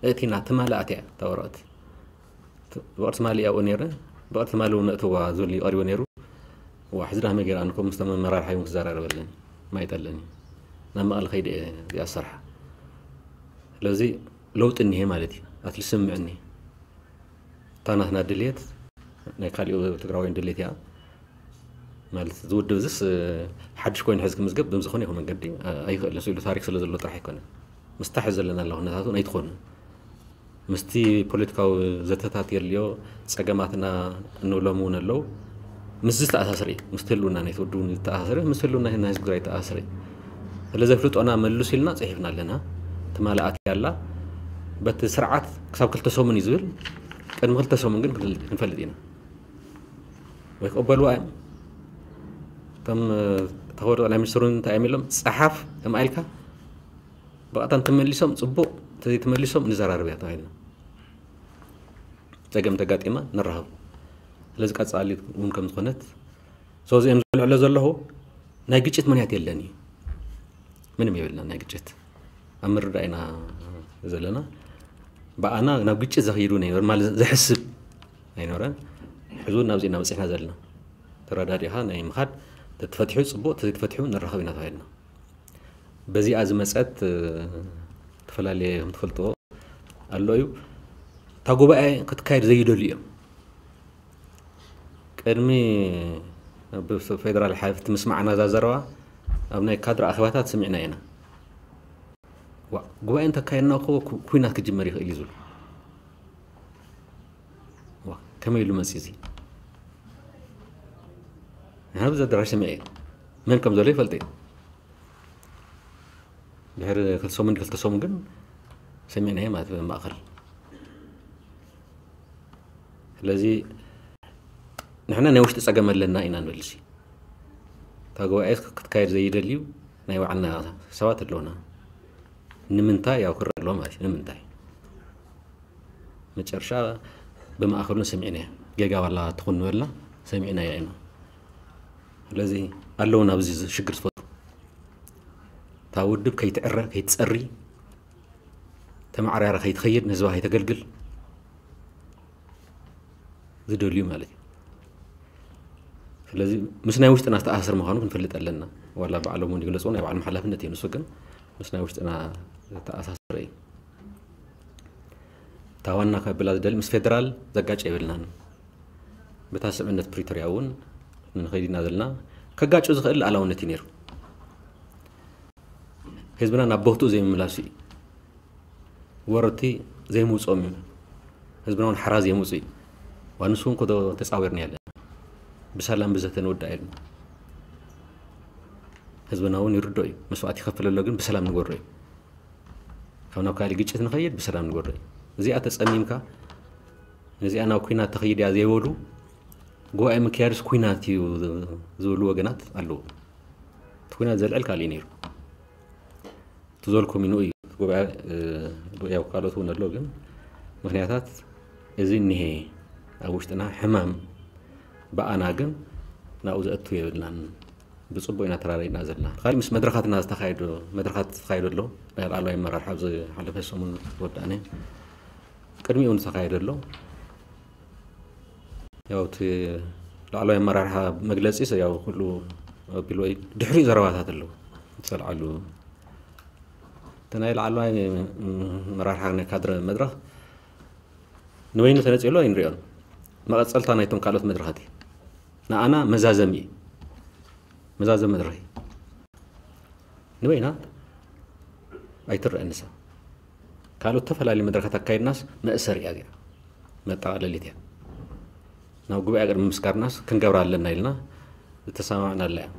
እቲ ናቲ ማሊ ኣትያ እታ ወረቐት። ት-፣ ብቕርሲ ማሊ ኣብኡ ነይረ፣ ብቕርሲ ማሊ እውን ነእትዋ ዝብል እዩ ቀሪቡ ነይሩ። ዋ፣ ሕዚ ዳህመ ገይረ ኣነ እኮ ምስቶም መመራርሓ እውን ክዘራረበለን ማይጠለኒ። ናብ መቐለ ከይደ እየ እዚኣ ዝሰርሓ። ስለዚ ለውጢ እኒሄ ማለት እዩ። ኣትሊስት ስምምዕ እኒሄ። እታ ናትና ድልየት ናይ ካሊኡ ትግራዋይን ድልየት እያ። ማለት እዚ ውድብ እዚስ፣ እ፣ ሓድሽ ኮይኑ ሕዚ ክምዝገብ ብምዝኾነ ይኹን መንገዲ፣ እ፣ ኣይኽእልን። ስኢሉ ታሪክ ስለ ዘሎ ጥራሕ ኣይኮነን። ምስታ ሕዚ ዘለና ኣለኹ ኩነታት እውን ኣይትኾኑን። ምስቲ ፖለቲካዊ ዘተታት የድልዮ፣ ጸገማትና እንብሎም እውን ኣለዉ። ምስዚ ዝተኣሳሰረ እዩ። ምስቲ ህልውና ናይቲ ውድብ እውን ዝተኣሳሰረ፣ ምስቲ ህልውና ናይ ህዝቢ ትግራይ ዝተኣሳሰረ እዩ። ስለዚ ኣፍልጦና መልሱ ኢልና ጽሒፍና ኣለና። ትማሊ ኣትያ ኣላ። በቲ ስርዓት ክሳብ ክልተ ሰሙን እዩ ዝብል። ቅድሚ ክልተ ሰሙን ግን ክንፈል-፣ ክንፈልጥ ኢና። ወይ ክቕበልዋ እዮም። እቶም፣ እ፣ ተኸበሩ ጠቅላይ ሚኒስትር እውን እንታይ እዮም ኢሎም? ጸሓፍ፣ ከምኣ ኢልካ ብቐጥታ እንተመሊሶም ጽቡቕ፣ እንተዘይተመሊሶም ንዘራረብ እያ ተባሂልና። ጸገም ተጋጢማ ንራኸብ። ስለዚ ቀጻሊ እውን ከም ዝኾነት፣ ሶ እዚኦም ዝልዕሎ ዘለኹ ናይ ግጭት ምኽንያት የለን እዩ። ምንም የብልና ናይ ግጭት። ኣብ ምርዳእ ኢና ዘለና። ብኣና ናብ ግጭት ዘኽይዱ ነይበር ማለት ዘሕስብ ኣይነበረን። ሕዚ እውን ናብዚ ኢና በጺሕና ዘለና። ተረዳዲኻ ናይ ምኻድ፣ ተተፈቲሑ ጽቡቕ፣ ተዘይተፈቲሑ ንራኸብ ኢና ተባሂልና። በዚኣ ዝመጸት፣ እ፣ ዝተፈላለየ ከም ትፈልጥዎ ኣሎ እዩ። እታ ጉባኤ ክትካየድ ዘይደልዩ እዮም። ቅድሚ ፌደራል ሓለፍቲ ምስማዕና እዛ ዘረባ ኣብ ናይ ካድረ ኣኼባታት ስሚዕና ኢና። ጉባኤ እንተካየድና እኮ ኩናት ክጅመር ይኽእል እዩ ዝብሉ። ከመይ ኢሉ መፂ እዚ? ንሕና ብዚ ኣዳራሽ ሰሚዐ እየ። መን ከም ዘሎ ይፈልጥ እየ። ድሕሪ ክልተ ሰሙን ክልተ ሰሙን ግን ሰሚዕናዮ ማለት ማእኸል። ስለዚ ንሕና ናይ ውሽጢ ፀገም ኣለና ኢና ንብል። እታ ጉባኤ ክትካየድ ዘይደልዩ ናይ ባዕልና ሰባት ኣለውና። ንምንታይ ያው ክረአ ኣለዎ ማለት እዩ። ንምንታይ መጨረሻ ብማእኸሉ ሰሚዕናዮ። ጌጋ ዋላ ትኹን ንበልና ሰሚዕናዮ ኢና። ስለዚ ኣለውና ኣብዚ ሽግር ዝፈጥሩ። እታ ውድብ ከይትዕረ ከይትፀሪ፣ ተማዕራራ ከይትኸይድ፣ ንህዝባ ከይተገልግል ዝደልዩ ማለት እዩ። ስለዚ ምስ ናይ ውሽጥና ዝተኣሳሰር ምዃኑ ክንፈልጥ ኣለና። ዋላ ባዕሎም እውን ይግለፁ፣ ናይ ባዕሎም ሓላፍነት እዩ። ንሱ ግን ምስ ናይ ውሽጥና ዝተኣሳሰረ እዩ። እታ ዋና ከብላ ዝደሊ ምስ ፌደራል ዘጋጭ የብልናን። በታ ስምምነት ፕሪቶርያ እውን ንኸይድ ኢና ዘለና። ከጋጩ ዝኽእል ሉዓላውነት እዩ ነይሩ። ህዝብና ናብ ቦትኡ ዘይምምላሱ እዩ። ወረርቲ ዘይምውፅኦም እዩ። ህዝብና እውን ሓራ ዘይምውፁ እዩ። ዋንሱ እውን ኮዶ ተፃዊርና ያለ ብሰላም ብዘተ ንወዳእ ኢልና። ህዝብና እውን ይርዶ እዩ። መስዋዕት ይኸፍል ኣሎ፣ ግን ብሰላም ንጎሮ እዩ። ካብ ናብ ካልእ ግጭት ንኸይድ ብሰላም ንጎሮ እዩ። እዚኣ ተፀሚምካ፣ ነዚኣ ናብ ኩናት ተኸይድ እያ ዘይበሉ፣ ጉባኤ ምክያድስ ኩናት እዩ ዝብሉ ወገናት ኣለዉ። እቲ ኩናት ዘልዕል ካልእ እዩ ነይሩ። ትዘልኩም ይንኡ እዩ። ጉባኤ፣ እ፣ ያው ካልኦት እውን ኣሎ፣ ግን ምኽንያታት እዚ እኒሄ ኣብ ውሽጥና ሕማም ብኣና ግን ናብኡ ዘእቱ የብልናን። ብፅቡቅ ኢና ተራዳኢና ዘለና። ካልእ ምስ መድረኻትና ዝተኻየደ፣ መድረኻት ዝተኻየደ ኣሎ። ናይ ላዕለዋይ ኣመራርሓ ኣብዚ ሓለፈ ሰሙን ወዳእነ። ቅድሚኡ እውን ዝተኻየደ ኣሎ። ያው እቲ ላዕለዋይ ኣመራርሓ መግለጺ ሰ-፣ ያው ኩሉ ኣቢልዎ እዩ። ድሕሪኡ ዘረባታት ኣለዉ። ዝተልዓሉ እቲ ናይ ላዕለዋይ ኣመራርሓ ናይ ካድረ መድረኽ ንበይኑ ተነጺሉ ኣይንሪኦን። መቐጸልታ ናይቶም ካልኦት መድረኻት እዩ። ንኣና መዛዘሚ እዩ። መዛዘሚ መድረኽ እዩ። ንበይና ኣይትረአን ንሳ። ካልኦት ዝተፈላለዩ መድረኻት ኣካይድናስ መእሰሪ እያ እዚኣ። መጠቓለሊት እያ። ናብ ጉባኤ ቅድሚ ምስጋርናስ ክንገብራ ኣለና ኢልና ዝተሰማማዕናላ እያ።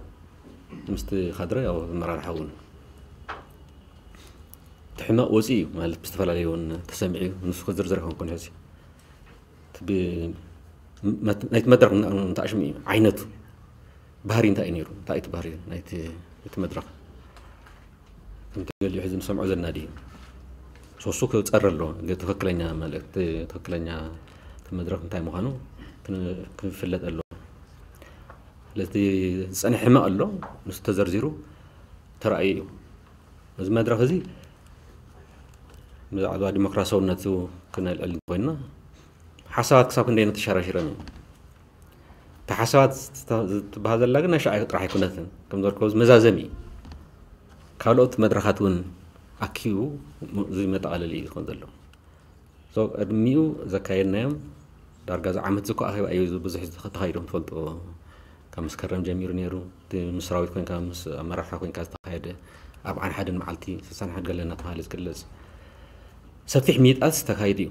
ምስቲ ካድረ ያው ኣመራርሓ እውን እቲ ሕመቕ ወፂኡ እዩ ማለት ብዝተፈላለዩ እውን ተሰሚዑ እዩ። ንሱ ክዝርዝር ኣይኮንኩን ሕዚ። እቲ ብ-፣ መት-፣ ናይቲ መድረኽ እንዳ-፣ እንዳ ሽሙ እዩ ዓይነቱ። ባህሪ እንታይ እዩ ነይሩ? እንታይ እዩ እቲ ባህሪ ናይቲ፣ እቲ መድረኽ? ከምቲ ገሊኡ ሕዚ ንሰምዖ ዘለና ድዩ? ሶሱ ክጸሪ ኣለዎ። ግን ትኽክለኛ መልእኽቲ፣ ትኽክለኛ እቲ መድረኽ እንታይ ምዃኑ ክን-፣ ክፍለጥ ኣለዎ። ስለዚ ዝጸንሐ ሕመቕ ኣሎ፣ ንሱ ተዘርዚሩ ተራእዩ እዩ። እዚ መድረኽ እዚ ብዛዕባ ዲሞክራሲያውነቱ ክነልዕል እንተኾይንና፣ ሓሳባት ክሳብ ክንደይ ተሸራሺረን እዩ። እታ ሓሳባት ዝተ-፣ ዝትበሃል ዘላ ግን ናይ ሻዕብያ ጥራሕ ኣይኮነትን። ከም ዘልከዎ መዛዘሚ እዩ። ካልኦት መድረኻት እውን ኣኪቡ እዚ መጠቓለሊ እዩ ዝኸውን ዘሎ። So፣ ቅድሚኡ ዘካየድናዮም ዳርጋ እዚ ዓመት እዚ እኮ ኣኼባ እዩ ብዙሕ ተኻይዶም ትፈልጦ። ካብ መስከረም ጀሚሩ ነይሩ። እቲ ምስ ሰራዊት ኮንካ፣ ምስ ኣመራርሓ ኮንካ ዝተኻየደ፣ ኣብ ዓንሓድን መዓልቲ ስሳን ሓድ ገለ እናተባሃለ ዝግለጽ ሰፊሕ ምይጣት ተካይዱ እዩ።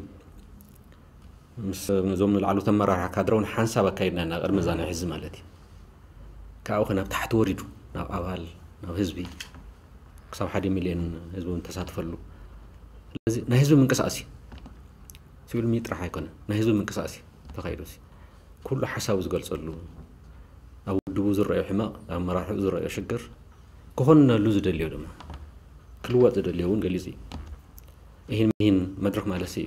ምስ፣ ነዞም ንላዕለዎት ኣመራርሓ ካድረ እውን ሓንሳብ ኣካይድና ኢና፣ ቅድሚ እዛ ናይ ሕዚ ማለት እዩ። ካብኡ ከ ናብ ታሕቲ ወሪዱ፣ ናብ ኣባል፣ ናብ ህዝቢ፣ ክሳብ ሓደ ሚልዮን ህዝቢ እውን ተሳትፈሉ። ስለዚ ናይ ህዝቢ ምንቅስቃስ እዩ። ሲቪል ምይጥ ጥራሕ ኣይኮነን፣ ናይ ህዝቢ ምንቅስቃስ እዩ ተኻይዱ። ኩሉ ሓሳቡ ዝገልጸሉ፣ ኣብ ውድቡ ዝረኣዮ ሕመቕ፣ ኣብ ኣመራርሓኡ ዝረኣዮ ሽግር፣ ክኾነሉ ዝደልዮ ድማ፣ ክልወጥ ዝደልዮ እውን ገሊጹ እዩ። ይህን ሚሂን መድረኽ ማለት እዩ።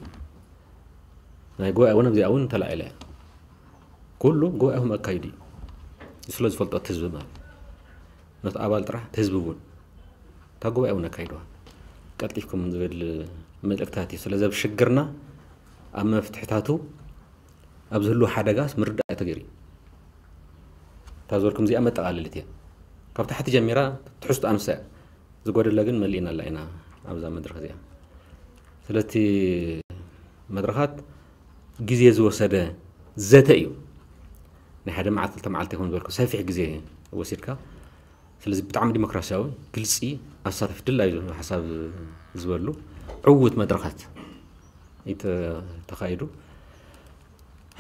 ናይ ጉባኤ እውን ኣብዚኣ እውን ተላዒላ እያ። ኩሉ ጉባኤኹም ኣካይዱ እዩ። ስለ ዝፈልጦ እቲ ህዝቢ ማለት። ነቲ ኣባል ጥራሕ፣ እቲ ህዝቢ እውን። እታ ጉባኤ እውን ኣካይድዋ። ቀልጢፍኩም ዝብል መልእክታት እዩ። ስለዚ ኣብ ሽግርና፣ ኣብ መፍትሕታቱ፣ ኣብ ዝህልዉ ሓደጋስ ምርዳእ ተገይሩ እዩ። እታ ዝበልኩም እዚኣ መጠቓለሊት እያ። ካብ ታሕቲ ጀሚራ ትሕዝቶ ኣንሳ እያ። ዝጎደለ ግን መሊእናላ ኢና ኣብዛ መድረኽ እዚኣ። ስለቲ መድረኻት ግዜ ዝወሰደ ዘተ እዩ። ናይ ሓደ መዓልቲ ክልተ መዓልቲ ይኹን ዝበልኩ ሰፊሕ ግዜ ወሲድካ። ስለዚ ብጣዕሚ ዲሞክራሲያዊ፣ ግልፂ፣ ኣሳተፊ፣ ድላዩ ሓሳብ ዝበሉ ዕዉት መድረኻት እዩ ተ- ተኻይዱ።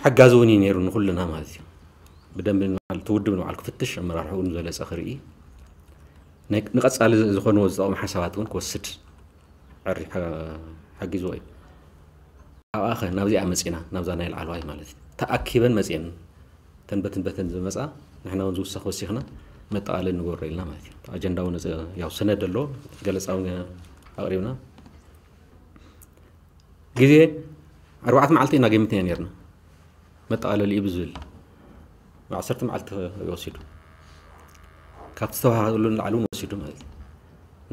ሓጋዚ እውን እዩ ነይሩ ንኩልና ማለት እዩ። ብደንቢ ንባዕሉ እቲ ውድብ ንባዕሉ ክፍትሽ፣ ኣመራርሕኡ ንዝበለፀ ክርኢ፣ ናይ- ንቐፃሊ ዝኾንዎ ዝጠቕሙ ሓሳባት እውን ክወስድ ዕሪ ሓ- ሓጊዝዎ እዩ። ኣብኣ ኸ ናብዚኣ መፂና፣ ናብዛ ናይ ላዕለዋይ ማለት እዩ። ተኣኪበን መፂአን፣ ተን በትን በትን ዝመፃ፣ ንሕና እውን ዝውሰኽ ወሲኽና መጠቓለል ንገብሮ ኢልና ማለት እዩ። ኣጀንዳ እውን እዚ ያው ሰነድ ኣሎ፣ ገለፃ እውን ኣቕሪብና። ግዜ ኣርባዕተ መዓልቲ ኢና ገሚትና ነርና። መጠቓለሊ እዩ ብዝብል ዓሰርተ መዓልቲ ወሲዱ፣ ካብቲ ዝተባሃሉ ንላዕሊ እውን ወሲዱ ማለት እዩ።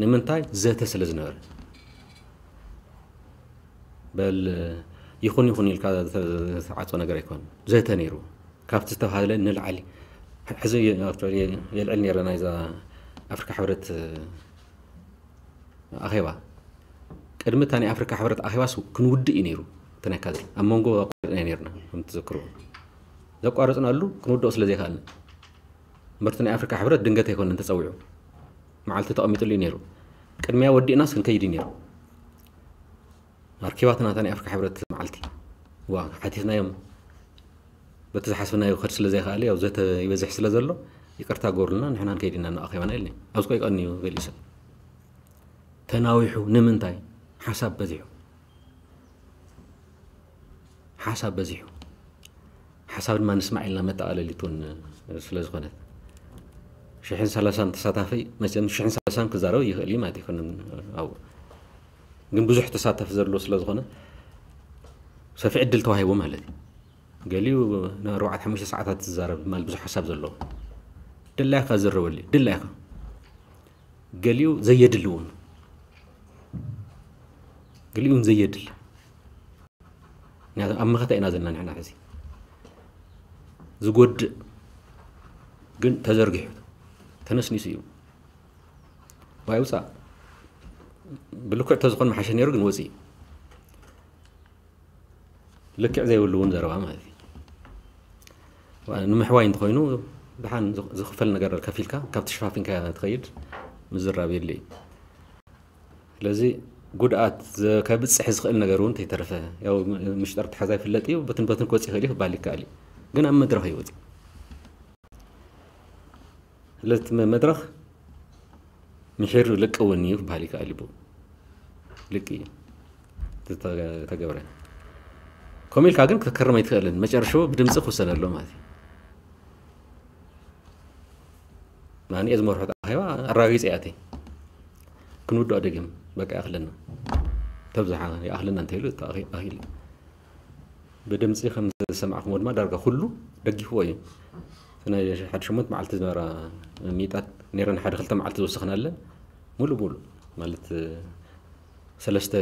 ንምንታይ? ዘተ ስለ ዝነበረ። በል ይኹን ይኹን ኢልካ ዝተዓፀ ነገር ኣይኮን፣ ዘተ ነይሩ። ካብቲ ዝተባሃለ ንላዕሊ ሕዚ የልዕል ነረ ናይዛ ኣፍሪካ ሕብረት ኣኼባ። ቅድሚ እታ ናይ ኣፍሪካ ሕብረት ኣኼባስ ክንውድእ እዩ ነይሩ። እቲ ናይ ካድረ ኣብ መንጎ ኣቋሪፅና ነርና። ከም ትዘክርዎ፣ ዘቋረፅናሉ ክንውድኦ ስለ ዘይከኣልና። እምበርቲ ናይ ኣፍሪካ ሕብረት ድንገት ኣይኮነን ተፀዊዑ፣ መዓልቲ ተቐሚጥሉ እዩ ነይሩ። ቅድሚያ ወዲእናስ ክንከይድ እዩ ነይሩ። ኣርኪባትና እታ ናይ ኣፍሪካ ሕብረት መዓልቲ ዋ ሓቲትናዮም። በቲ ዝሓስብናዮ ክኸድ ስለ ዘይከኣለ፣ ያው ዘተ ይበዝሕ ስለ ዘሎ፣ ይቅርታ ገሩልና፣ ንሕና ንከይድ ኢና እናኣኼባና ኢልኒ። ኣብዚ ቆይ ቀንዩ ገሊኡ ሰብ ተናዊሑ። ንምንታይ? ሓሳብ በዚሑ። ሓሳብ በዚሑ። ሓሳብ ድማ ንስማዕ ኢልና መጠቓለሊት እውን ስለ ዝኾነት፣ ሽሕን ሰላሳን ተሳታፊ፣ መቸም ሽሕን ሰላሳን ክዛረብ ይኽእል እዩ ማለት ኣይኮነን ኣብኡ። ግን ብዙሕ ተሳታፊ ዘሎ ስለ ዝኾነ ሰፊሕ ዕድል ተዋሂቡ ማለት እዩ። ገሊኡ ንኣርባዕተ ሓሙሽተ ሰዓታት ዝዛረብ፣ ማለት ብዙሕ ሓሳብ ዘለዎ፣ ድላይካ ዝረበሉ ድላይካ። ገሊኡ ዘየድሊ እውን፣ ገሊኡ እውን ዘየድሊ። ምክንያቱ ኣብ መኸተ ኢና ዘለና ንሕና። ሕዚ ዝጎድእ ግን ተዘርጊሑ ተነስኒሱ እዩ። ዋይ ውፃእ። ብልክዕ ተዝኾን መሓሸ ነይሩ፣ ግን ወፂኡ። ልክዕ ዘይብሉ እውን ዘረባ ማለት እዩ። ንምሕዋይ እንተኾይኑ፣ ደሓን ዝኽፈል ነገር ከፊልካ ካብቲ ሸፋፊንካ ትኸይድ ምዝራብ የድሊ እዩ። ስለዚ ጉድኣት ከብፅሕ ዝኽእል ነገር እውን ተይተረፈ፣ ያው ምሽጠር ተሓዛ ይፍለጥ እዩ፣ በትን በትን ክወፅእ ይኽእል እዩ ክበሃል ይከኣል እዩ። ግን ኣብ መድረኽ እዩ ወፂኡ። ስለዚ መድረኽ ምሒር ልቂ እውን እዩ ክበሃል ይከኣል እዩ። ልቂ እዩ ዝተገብረ። ከምኡ ኢልካ ግን ክትከርም ኣይትኽእልን። መጨረሻ ብድምፂ ክውሰን ኣሎ ማለት እዩ። ናንኤ ዝመርሖ ኣኼባ ኣረጋጊፀ እያ እተይ። ክንውድኦ ደጊም በቃ ይኣኽለና፣ ተብዝሓ ይኣኽለና እንተኢሉ ኣኺሉ። ብድምፂ ከም ዝሰማዕኩሞ ድማ ዳርጋ ኩሉ ደጊፍዎ እዩ። እቲ ናይ ሓደ ሸሞንተ መዓልቲ ዝነበራ ሚጣት ነይረን፣ ሓደ ክልተ መዓልቲ ዝወሰኽናለን ሙሉእ ሙሉእ ማለት ሰለስተ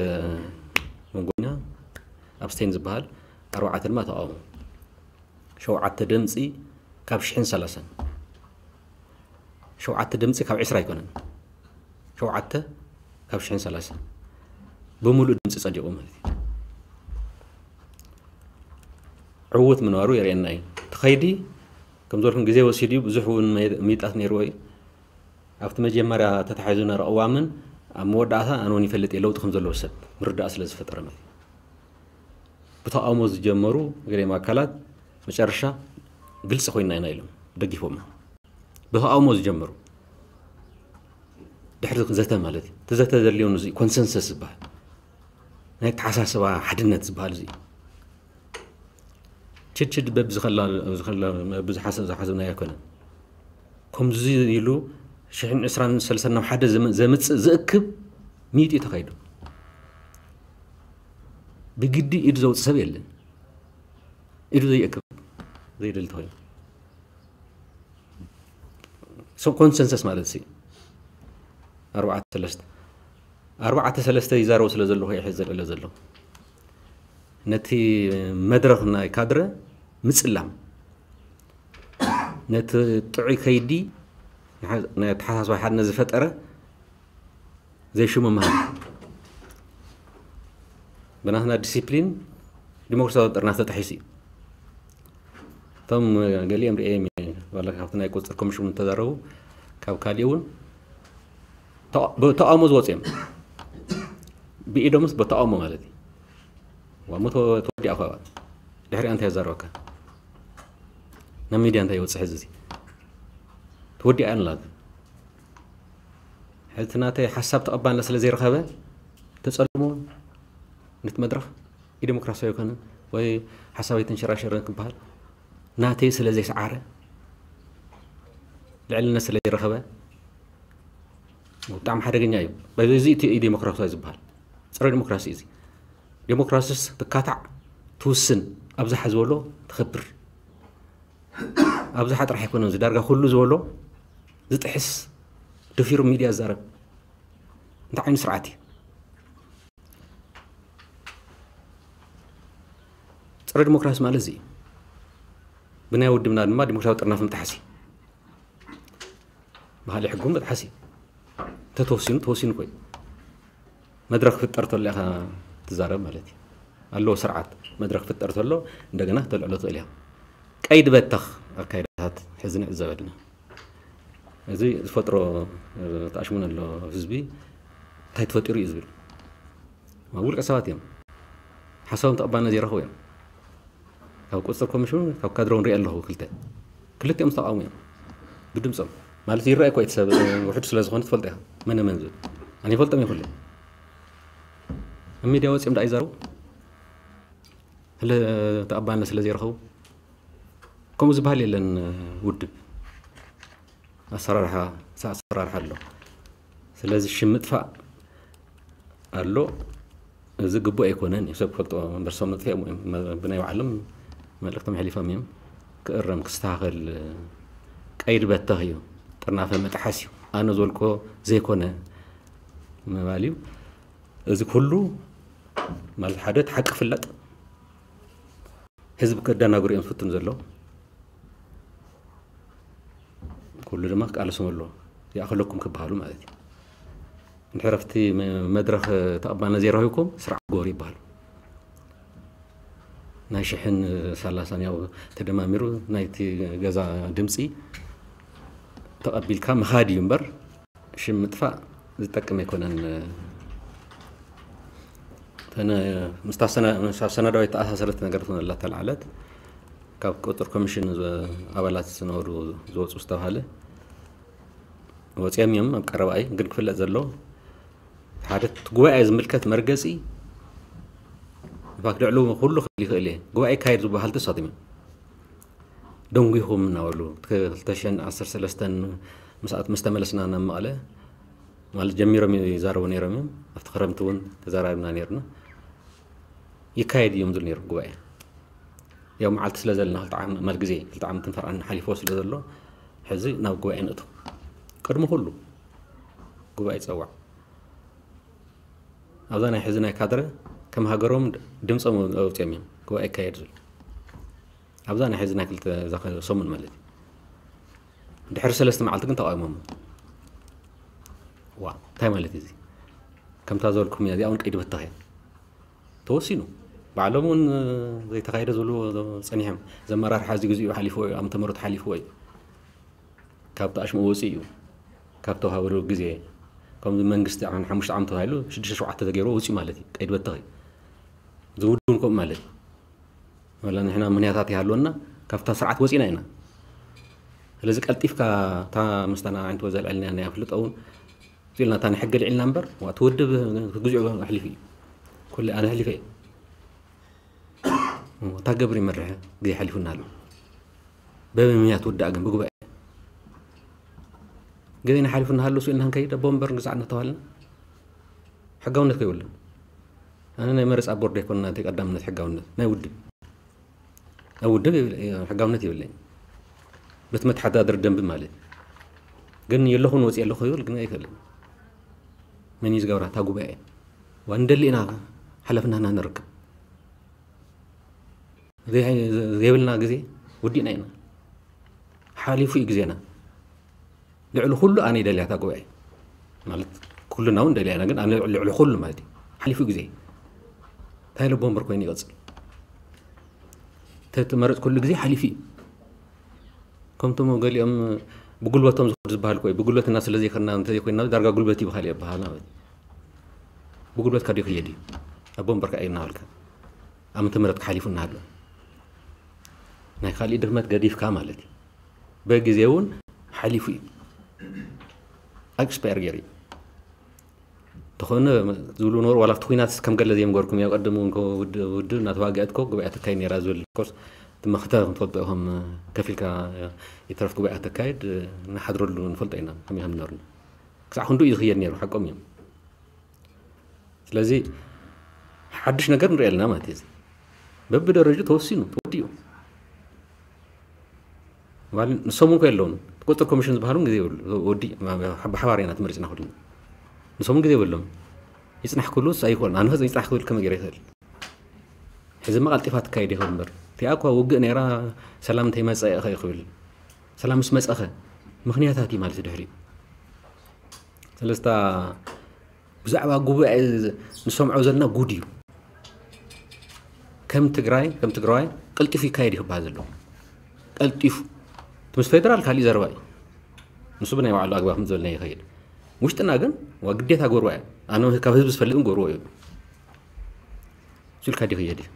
መንጎኛ ኣብስቴን ዝበሃል፣ ኣርባዕተ ድማ ተቃውሞ። ሸውዓተ ድምፂ ካብ ሽሕን ሰላሳን። ሸውዓተ ድምፂ ካብ ዕስራ ኣይኮነን፣ ሸውዓተ ካብ ሽሕን ሰላሳን ብምሉእ ድምፂ ፀዲቑ ማለት እዩ። ዕዉት ምንባሩ የርእየና እዩ። እቲ ኸይዲ ከም ዝበልኩም ግዜ ወሲዱ እዩ። ብዙሕ እውን ሚጣት ነይርዎ እዩ። ኣብቲ መጀመርያ ተታሒዙ ነረ ቅዋምን ኣብ መወዳእታ ኣነ እውን ይፈልጥ እየ ለውጢ ከም ዘለዎ ሰብ ምርዳእ ስለ ዝፈጠረ ማለት እዩ። ብተቃውሞ ዝጀመሩ ገሊኦም ኣካላት መጨረሻ ግልፂ ኮይና ኢና ኢሎም ደጊፎም። ብተቃውሞ ዝጀመሩ ድሕሪ ዘተ ማለት እዩ። እቲ ዘተ ዘድልዮ እዚ ኮንሰንሰስ ዝበሃል ናይ ኣተሓሳስባ ሓድነት ዝበሃል እዚ ችድችድ በብዝኸላ በብዝሓሰብ ዝሓሰብናዮ ኣይኮነን። ከምዚ ኢሉ ሽሕን ዕስራን ሰልሳን ናብ ሓደ ዘም- ዘምፅእ ዝእክብ ሚጢ ተኻይዱ ብግዲ ኢዱ ዘውፅእ ሰብ የለን። ኢዱ ዘይእክብ ዘይደሊ ተኾይኑ ኮንሰንሰስ ማለት ሲ ኣርባዕተ ሰለስተ ኣርባዕተ ሰለስተ ይዛረቡ ስለ ዘለኹ ይሕ ዘልዕሎ ዘሎ ነቲ መድረኽ ናይ ካድረ ምፅላም ነቲ ጥዑይ ከይዲ ናይ ኣተሓሳስባ ሓድነት ዝፈጠረ ዘይሽሙ ምሃብ ብናትና ዲሲፕሊን ዲሞክራሲያዊ ጥርናፍ ተጣሒሱ እዩ። እቶም ገሊኦም ርእዮም እየ፣ ዋላ ካብቲ ናይ ቁፅር ኮሚሽን ተዛረቡ፣ ካብ ካሊእ እውን ተቃ- ብተቃውሞ ዝወፁ እዮም። ብኢዶምስ ብተቃውሞ ማለት እዩ። ዋሞ ተወ- ተወዲኣ እኳ ድሕሪኣ እንታይ የዛረበካ? ናብ ሚድያ እንታይ ይወፅእ ሕዚ? እዚ ተወዲኣ እያ ንላት። ሕዚ እቲ ናተይ ሓሳብ ተቐባልነት ስለ ዘይረኸበ ተፀልሞ ነቲ መድረኽ ኢዴሞክራሲያዊ ኣይኮነን ወይ ሓሳብ ኣይተንሸራሸረን ክበሃል ናተይ ስለ ዘይሰዓረ ልዕልነት ስለ ዘይረኸበ ብጣዕሚ ሓደገኛ እዩ። በዚ እቲ ኢዴሞክራሲያዊ ዝበሃል ፀረ ዲሞክራሲ እዩ። ዲሞክራሲስ ትካታዕ ትውስን ኣብዝሓ ዝበሎ ትኸብር ኣብዝሓ ጥራሕ ኣይኮነን ዝዳርጋ ኩሉ ዝበሎ ዝጥሕስ ደፊሩ ሚድያ ዝዛረብ እንታይ ዓይነት ስርዓት እዩ? ፀረ ዲሞክራሲ ማለት እዚ እዩ። ብናይ ውድብና ድማ ዲሞክራሲያዊ ጥርናፍ ምጥሓስ እዩ። ብካሊእ ሕጉ ምጥሓስ እዩ። እንተተወሲኑ ተወሲኑ ኮይ መድረክ ክፍጠር ተሎ ኢኻ ትዛረብ ማለት እዩ። ኣለዎ ስርዓት መድረክ ክፍጠር ተሎ እንደገና ተልዕሎ ትኽእል ኢኻ። ቀይዲ በተኽ ኣካይዳታት ሕዚ ንዕዘብ ኣለና። እዚ ዝፈጥሮ ተኣሽሙን ኣሎ ህዝቢ እንታይ ተፈጢሩ እዩ ዝብል ውልቀ ሰባት እዮም። ሓሳቦም ተቐባልነት ዘይረኽቡ እዮም። ካብ ቁፅፅር ኮሚሽን ካብ ካድሮ ንሪኦ ኣለኹ ክልተ ክልቲኦም ዝተቃወሙ እዮም ብድምፆም ማለት ይረኣይ እኮ እቲ ሰብ ውሕድ ስለ ዝኾነ ትፈልጦ ኢኻ መነ መን ዝብል ኣነ ይፈልጦም ይኹሉ ኣብ ሚድያ ወፂኦም ዳ ይዛረቡ ስለ ተቐባልነት ስለ ዘይረኸቡ ከምኡ ዝበሃል የለን ውድብ ኣሰራርሓ ኣሰራርሓ ኣሎ ስለዚ ሽም ምጥፋእ ኣሎ እዚ ግቡእ ኣይኮነን እዩ ሰብ ክፈልጦ እምበር ሰብ መጥፍኦም እዮም ብናይ ባዕሎም መልእክቶም ሕሊፎም እዮም ክእረም ክስተካከል ቀይድ በተኽ እዩ ጥርናፈ መጥሓስ እዩ ኣነ ዘልኮ ዘይኮነ ምባል እዩ እዚ ኩሉ ማለት ሓደ ሓቂ ፍለጥ ህዝቢ ከደናግሩ እዮም ዝፍትኑ ዘለዉ ኩሉ ድማ ክቃለሶም ኣለዎ ይኣኸለኩም ክበሃሉ ማለት እዩ እንድሕር ኣብቲ መድረኽ ተቐባልነት ዘይረኺብኩም ስርዓት ግበሩ ይበሃሉ ናይ ሽሕን ሰላሳን ያው ተደማሚሩ ናይቲ ገዛ ድምፂ ተቐቢልካ ምኻድ እዩ እምበር ሽም ምጥፋእ ዝጠቅም ኣይኮነን ምስታ ሰናዳዊት ተኣሳሰረት ነገር ትኾነላ ተላዓለት ካብ ቁፅር ኮሚሽን ኣባላት ዝነበሩ ዝወፁ ዝተባሃለ ወፂኦም እዮም ኣብ ቀረባይ ግን ክፍለጥ ዘሎ ሓደ ጉባኤ ዝምልከት መርገፂ ፋክ ልዕሉ ኩሉ ክብል ይኽእል እየ ጉባኤ ይካየድ ዝበሃል ተሳቲም እዮም ደንጒኹም እናበሉ ክልተ ሽሕን ዓሰርተ ሰለስተን ምስኣት ምስ ተመለስና ናብ መቐለ ማለት ጀሚሮም ይዛረቡ ነይሮም እዮም ኣብቲ ክረምቲ እውን ተዛራርብና ነይርና ይካየድ እዮም ዝብል ነይሩ ጉባኤ ያው መዓልቲ ስለ ዘለና ክልተ ዓመት ማል ግዜ ክልተ ዓመትን ፈርዓን ሓሊፎ ስለ ዘሎ ሕዚ ናብ ጉባኤ ንእቶ ቅድሚ ኩሉ ጉባኤ ይፀዋዕ ኣብዛ ናይ ሕዚ ናይ ካድረ ከም ሃገሮም ድምፆም ኣውፅኦም እዮም ጉባኤ ይካየድ ዝብል ኣብዛ ናይ ሕዚ ናይ ክልተ ሰሙን ማለት እዩ ድሕሪ ሰለስተ መዓልቲ ግን ተቃውሞም ዋ እንታይ ማለት እዚ ከምታ ዘልኩም እያ እዚኣ እውን ቀይዲ በተኽ እያ ተወሲኑ ባዕሎም እውን ዘይተካየደ ዝብሉ ፀኒሖም ዘመራርሓ እዚ ግዜኡ ሓሊፍዎ እዩ ዓመተ ምህረት ሓሊፍዎ እዩ ካብ ተኣሽሙ ወፂኡ እዩ ካብ ተዋሃበሉ ግዜ ከምዚ መንግስቲ ሓሙሽተ ዓመት ተባሂሉ ሽዱሽተ ሸውዓተ ተገይርዎ ወፂኡ ማለት እዩ ቀይዲ በተኽ እዩ ዝውድን ከምኡ ማለት እዩ ወላ ንሕና ምክንያታት ይሃልወና ካብታ ስርዓት ወፂና ኢና ስለዚ ቀልጢፍካ እታ ምስታና ዓይንት ወዘልዐልና ናይ ኣፍልጦ እውን ኢልና እታ ንሕጊ ልዒልና እምበር እቲ ውድብ ክግዚኦ ኣሕሊፉ እዩ ኩሉ ኣነ ኣሕሊፈ እዩ እታ ገብር ይመርሕ ግዜ ሓሊፉና ኣሎ በበምክንያት ውዳእ ግን ብጉባኤ ግዜ ንሓሊፉና ሃሉ ስኢልና ክንከይድ ኣቦ ወንበር ግዛዕ እናተባሃልና ሕጋውነት ከይብሉ ኣነ ናይ መረፃ ቦርድ ኣይኮንና ናይ ቀዳምነት ሕጋውነት ናይ ውድብ ናይ ውድብ ሕጋውነት የብለይ በቲ መተሓዳደሪ ደንቢ ማለት ግን የለኹን ወፂ ኣለኹ ይብል ግን ኣይክእልን መን እዩ ዝገብራ እታ ጉባኤ ዋ ንደሊ ኢና ሓላፍናና ንርከብ ዘይብልና ግዜ ውዲእና ኢና ሓሊፉ እዩ ግዜና ልዕሊ ኩሉ ኣነ ይደልያ እታ ጉባኤ ማለት ኩልና እውን ደልያና ግን ኣነ ልዕሊ ኩሉ ማለት እዩ ሓሊፉ ግዜ እንታይ ኢለ ቦምበር ኮይኑ ይቐፅል? ተመረፅኩሉ ግዜ ሓሊፉ እዩ። ከምቶም ገሊኦም ብጉልበቶም ዝኸዱ ዝበሃል እኮ እዩ። ብጉልበትና ስለ ዘይኮና እንተዘይኮይና ዳርጋ ጉልበት ይበሃል ይበሃል ማለት እዩ። ብጉልበትካ ዶ ይኸየድ እዩ? ኣብ ቦምበርካ እዩ እናበልካ ኣብ ምትምረትካ ሓሊፉ እናሃሎ ናይ ካሊእ ድኽመት ገዲፍካ ማለት እዩ። በግዜ እውን ሓሊፉ እዩ። ኣክስፓየር ገይሩ እዩ። ተኾነ ዝብሉ ነበሩ። ዋላ ኣብቲ ኩናት ከም ገለ ዘይምገርኩም ያው ቀደም እውን እኮ ውድ- ውድብ እናተዋግአት እኮ ጉባኤ ተካይድ ነይራ ዝብል ኮርስ እቲ መኽተ ክንፈልጦ ኢኹም። ከፊልካ ይትረፍ ጉባኤ ተካይድ ንሓድረሉ ንፈልጦ ኢና ከመይ ከም ዝነበርና ክሳዕ ክንዱ እዩ ዝኽየድ ነይሩ። ሓቆም እዮም። ስለዚ ሓድሽ ነገር ንሪኦ ኣለና ማለት እዩ። በብደረጁ ተወሲኑ ተወዲኡ ማለት ንሶም እውን የለውን። ቁፅር ኮሚሽን ዝበሃሉ ግዜ ይብሉ ወዲ ብሓባር ኢና ተመሪፅና ኩሉ ንሶም እውን ግዜ የብሎም። ይፅናሕ ክብሉ ኣይኮን ኣንፈፅ ይፅናሕ ክብል ከመይ ገይረ ይኽእል? ሕዚ ማ ቀልጢፋ ትካየድ ይኽእል እምበር እቲኣ እኳ ውግእ ነይራ። ሰላም እንተይመፀ ኢኸ ክብል ሰላም ምስ መፀኸ ምክንያታት እዩ ማለት ድሕሪ ስለስታ ብዛዕባ ጉባኤ ንሰምዖ ዘለና ጉድ እዩ። ከም ትግራይ ከም ትግራዋይ ቀልጢፉ ይካየድ ይክበሃል ዘለዎ ቀልጢፉ እቲ ምስ ፌደራል ካሊእ ዘረባ እዩ። ንሱ ብናይ ባዕሉ ኣግባብ ከም ዝበልና ይኸይድ። ውሽጥና ግን ዋ ግዴታ ጎርዋ እዩ። ኣነ ካብ ህዝቢ ዝፈልጥ ግን ጎርዎ እዩ። እሱ ኢልካ ዲ ክየድ እዩ።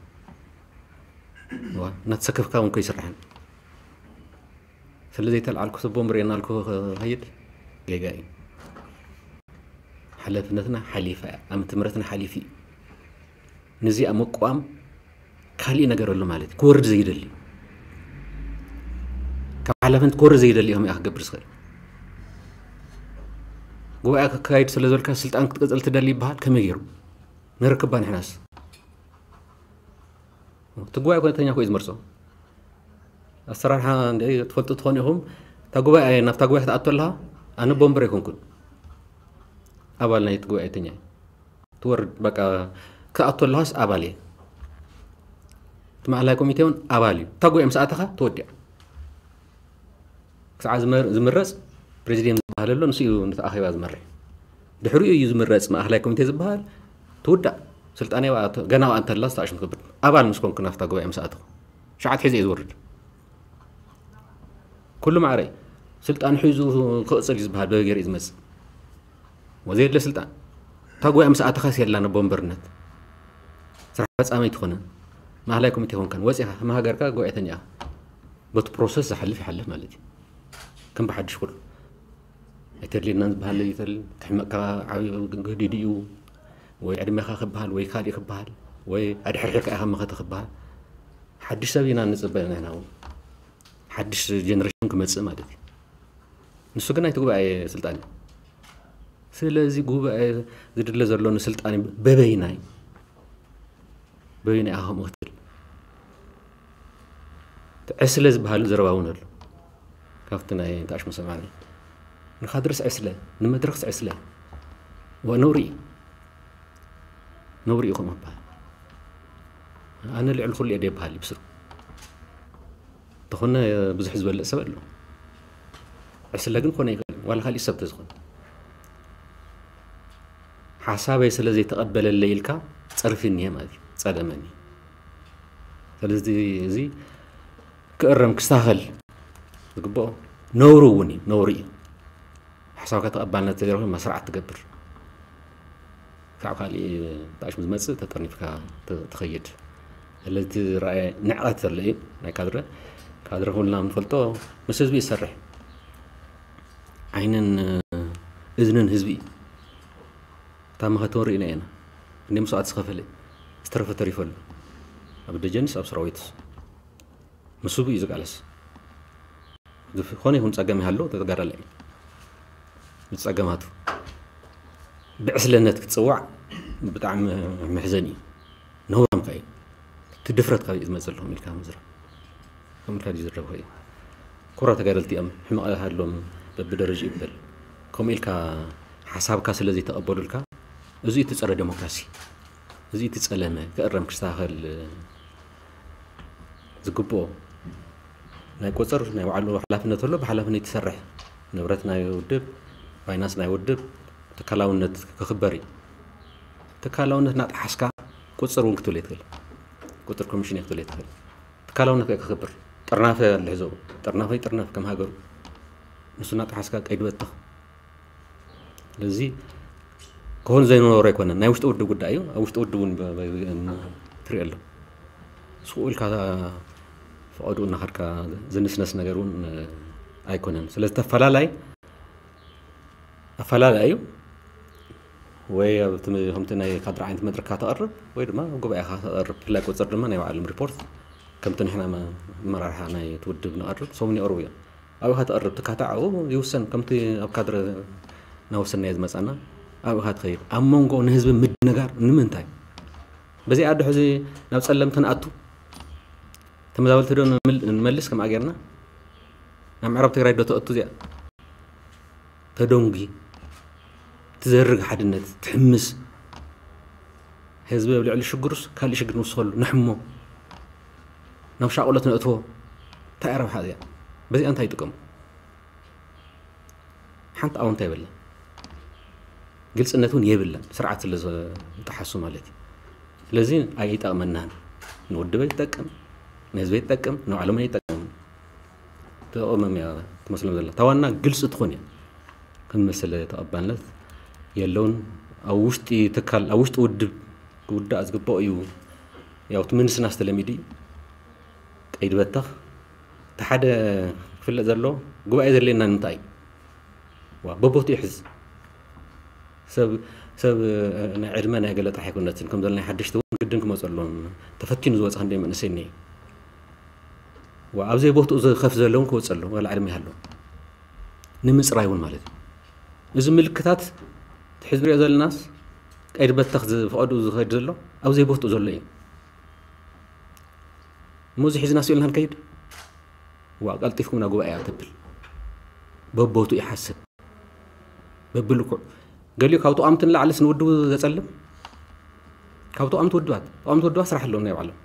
ዋ እናተሰከፍካ እውን ከይስራሕን ስለ ዘይተልዓልኩ ሰብ ወንበር የናልኩ ክኸይድ ጌጋ እዩ። ሓላፍነትና ሓሊፋ እያ ኣብ ትምህርትና ሓሊፉ እዩ። ነዚኣ ምቋም ካሊእ ነገር ኣሎ ማለት እዩ። ክወርድ ዘይደሊ ካብ ሓላፍነት ክወርድ ዘይደሊ እዮም እያ ክገብር ዝኽእል። ጉባኤ ክካየድ ስለ ዝበልካ ስልጣን ክትቀፅል ትደሊ ይበሃል ከመይ ገይሩ ንረክባ ንሕናስ እቲ ጉባኤ ኮነተኛ ኮዩ ዝመርፆ ኣሰራርሓ እንደ ትፈልጡ ትኾኑ ኢኹም። እታ ጉባኤ ናብታ ጉባኤ ክትኣቶ ኣለኻ ኣነ ቦምበር ኣይኮንኩን ኣባል ናይ እቲ ጉባኤተኛ ትወርድ በቃ ክኣቶ ኣለኻስ ኣባል እየ። እቲ ማእላይ ኮሚቴ እውን ኣባል እዩ። እታ ጉባኤ ምስ ኣተኻ ተወዲኣ። ክሳዕ ዝመር- ዝምረፅ ፕሬዚደንት ዝበሃል ኣሎ ንሱ እዩ ነቲ ኣኼባ ዝመርሕ። ድሕሪኡ እዩ ዝምረፅ ማእኸላይ ኮሚቴ ዝበሃል ትውዳእ ስልጣን እያ ገና ዋኣ እንተላ ዝተኣሽም ክብል ኣባል ምስ ኮንኩ ናፍታ ጉባኤ ምስ ኣተኹ ሸዓት ሒዘ እዩ ዝወርድ። ኩሉ ማዕረ እዩ። ስልጣን ሒዙ ክቕፅል እዩ ዝበሃል በበገር እዩ ዝመፅእ። ወዘየድለ ስልጣን እታ ጉባኤ ምስ ኣተኻስ የላ ነቦ ወንበርነት ስራሕ ፈፃሚ ኣይትኾነን። ማእኸላይ ኮሚቴ ኮንካን ወፂኻ ከም ሃገርካ ጉባኤተኛ ኢኻ። በቲ ፕሮሰስ ዝሓልፍ ይሓልፍ ማለት እዩ። ከም ብሓድሽ ኩሉ ኣይተድልየናን ዝበሃል ይተል ክሕመቅካ ዓብዩ ግህዲድ እዩ። ወይ ዕድሜኻ ክበሃል ወይ ካልእ ክበሃል ወይ ኣድሕርሒርካ ኢኻ መኸተ ክበሃል ሓድሽ ሰብ ኢና ንፅበ ንሕና እውን ሓድሽ ጀነሬሽን ክመፅእ ማለት እዩ። ንሱ ግን ናይቲ ጉባኤ ስልጣን እዩ። ስለዚ ጉባኤ ዝድለ ዘሎ ንስልጣን እዩ። በበይናይ በበይናይ ኢኻ ከምኡ ክትብል እቲ ዕስለ ዝበሃል ዘረባ እውን ኣሎ። ካብቲ ናይ ተኣሽሙ ሰማዕና ንካድርስ ዕስለ ንመድረክስ ዕስለ ዋ ነውሪ እዩ። ነውሪ እዩ ከምኡ ክበሃል። ኣነ ልዕሊ ኩሉ እየ ደይበሃል እዩ ብስሩ እንተኾነ ብዙሕ ዝበልእ ሰብ ኣሎ። ዕስለ ግን ክኾነ ይኽእል ዋላ ካሊእ ሰብ ተዝኾነ ሓሳበይ ስለ ዘይተቐበለለይ ኢልካ ፀርፊ እኒሀ ማለት እዩ ፀለመኒ። ስለዚ እዚ ክእረም ክስተኻኸል ዝግብኦ ነውሪ እውን እዩ ነውሪ እዩ። ሓሳብካ ተቐባልነት ተገይሩ መስርዓት ትገብር ካብ ካሊእ ተኣሽሙ ዝመፅእ ተጠርኒፍካ ትኸይድ። ስለዚ ዝረኣየ ንዕቐት ዘሎ እዩ ናይ ካድረ። ካድረ ኩልና ንፈልጦ ምስ ህዝቢ ይሰርሕ ዓይንን እዝንን ህዝቢ እዩ። እታ መኸተውን ርኢና ኢና እንደ መስዋዕት ዝኸፈለ ዝተረፈ ተሪፈሉ ኣብ ደጀንስ ኣብ ሰራዊትስ ምስ ህዝቢ እዩ ዝቃለስ። ዝኾነ ይኹን ፀገም ይሃሎ ተጋዳላይ እዩ። ብፀገማቱ ብዕስለነት ክትፅዋዕ ብጣዕሚ መሕዘኒ እዩ። ነውራምካ እዩ። እቲ ድፍረት ካበይ እዩ ዝመፅእ ኣለኹም ኢልካ ምዝራብ ከምኡ ኢልካ ድዩ ዝረብሖ እዩ። ኮራ ተጋደልቲ እዮም ሕመቕ ሃሎም በብደረጅ ይበል ከምኡ ኢልካ ሓሳብካ ስለ ዘይተቐበሉልካ እዚ እቲ ፀረ ዴሞክራሲ እዚ እቲ ፀለመ ክእረም ክስተኻኸል ዝግብኦ ናይ ቆፀር ናይ ባዕሉ ሓላፍነት ኣሎ ብሓላፍነት ትሰርሕ ንብረት ናይ ውድብ ፋይናንስ ናይ ውድብ ትካላውነት ክኽበር እዩ። ትካላውነት እናጠሓስካ ቁፅር እውን ክትብል የትኽእል። ቁፅር ኮሚሽን ክትብል የትኽእል። ትካላውነት ከ ክኽብር፣ ጥርናፈ ኣሎ ሒዞ፣ ጥርናፈ ይጥርነፍ ከም ሃገሩ። ንሱ እናጠሓስካ ቀይዲ በተኽ። ስለዚ ክኾን ዘይነበሮ ኣይኮነን። ናይ ውሽጢ ውድብ ጉዳይ እዩ። ኣብ ውሽጢ ውድብ እውን ብ- ብ- ብ- ትሪኦ ኣሎ። ስቕ ኢልካ ፈቐድኡ እናኸድካ ዝንስነስ ነገር እውን ኣይኮነን። ስለዚ ተፈላላይ ኣፈላላይ እዩ። ወይ ኣብቲ ም- ከምቲ ናይ ካድር ዓይነት መድረክካ ተቕርብ ወይ ድማ ኣብ ጉባኤኻ ተቕርብ። ብፍላይ ቁፅር ድማ ናይ ባዕሎም ሪፖርት ከምቲ ንሕና መ- ኣመራርሓ ናይ እቲ ውድብ ንቐርብ ሰሙን ይቐርቡ እዮም። ኣብኡ ኢኻ ተቕርብ፣ ትካታዕ ኣብኡ ይውሰን። ከምቲ ኣብ ካድረ እናወሰናዮ ዝመፃና ኣብኡ ኢኻ ትኸይድ። ኣብ መንጎ ንህዝቢ ምድንጋር ንምንታይ? በዚ ኣዶ ሕዚ ናብ ፀለምቲ ንኣቱ ተመዛበልቲ ዶ ንምል- ንመልስ ከምኣ ጌርና ናብ ምዕራብ ትግራይ ዶ ተእቱ እዚኣ ተደንጉ ትዘርግ ሓድነት ትሕምስ ህዝቢ ኣብ ልዕሊ ሽግሩስ ካልእ ሽግር ንውስኸሉ ንሕሞ ናብ ሻቕሎት ነእትዎ እንታይ ረብሓ እዚኣ በዚኣ እንታይ ይጥቀሙ ሓንቲ ኣውንታ የብለን ግልፅነት እውን የብለን ስርዓት ስለ ዝጠሓሱ ማለት እዩ ስለዚ ኣይጠቕመናን ንውድብ ኣይጠቅም ንህዝቢ ኣይጠቅም ንባዕሎም ኣይጠቅም ተቐመም እያ ትመስሎም ዘላ ታዋና ግልፂ ትኾን እያ ክንመስል ተቐባልነት የለውን ኣብ ውሽጢ ትካል ኣብ ውሽጢ ውድብ ክውዳእ ዝግባኦ እዩ ያው እቲ ምንስና ዝተለሚዱ እዩ ቀይዲ በተኽ እቲ ሓደ ክፍለጥ ዘሎ ጉባኤ ዘድልየና ንምንታይ እዩ ዋ በቦቱ ይሕዝ ሰብ ሰብ ናይ ዕድመ ናይ ገለ ጥራሕ ኣይኮነትን ከም ዘሎ ናይ ሓደሽቲ እውን ግድን ክመፁ ኣለዎም ተፈቲኑ ዝወፀ ክንደይ መንእሰይ እኒሀ ዋ ኣብ ዘይቦትኡ ዝኸፍ ዘሎ እውን ክወፅእ ኣለዎ ዋላ ዕድመ ይሃለዎ ንምፅራይ እውን ማለት እዩ እዚ ምልክታት እቲ ሕዚ ንሪኦ ዘለናስ ቀይዲ በተኽ ዝፈቐዱ ዝኸድ ዘሎ ኣብ ዘይቦትኡ ዘሎ እዩ እሞ እዚ ሒዝና ስኢልና ንከይድ ዋ ቀልጢፍኩም ናብ ጉባኤ ተብል በቦቱ ይሓስብ በብልኩዕ ገሊኡ ካብ ተቋምቲ ንላዕልስ ንውድቡ ዘፀልም ካብ ተቋምቲ ውድባት ተቋምቲ ውድባት ስራሕ ኣለዎም ናይ ባዕሎም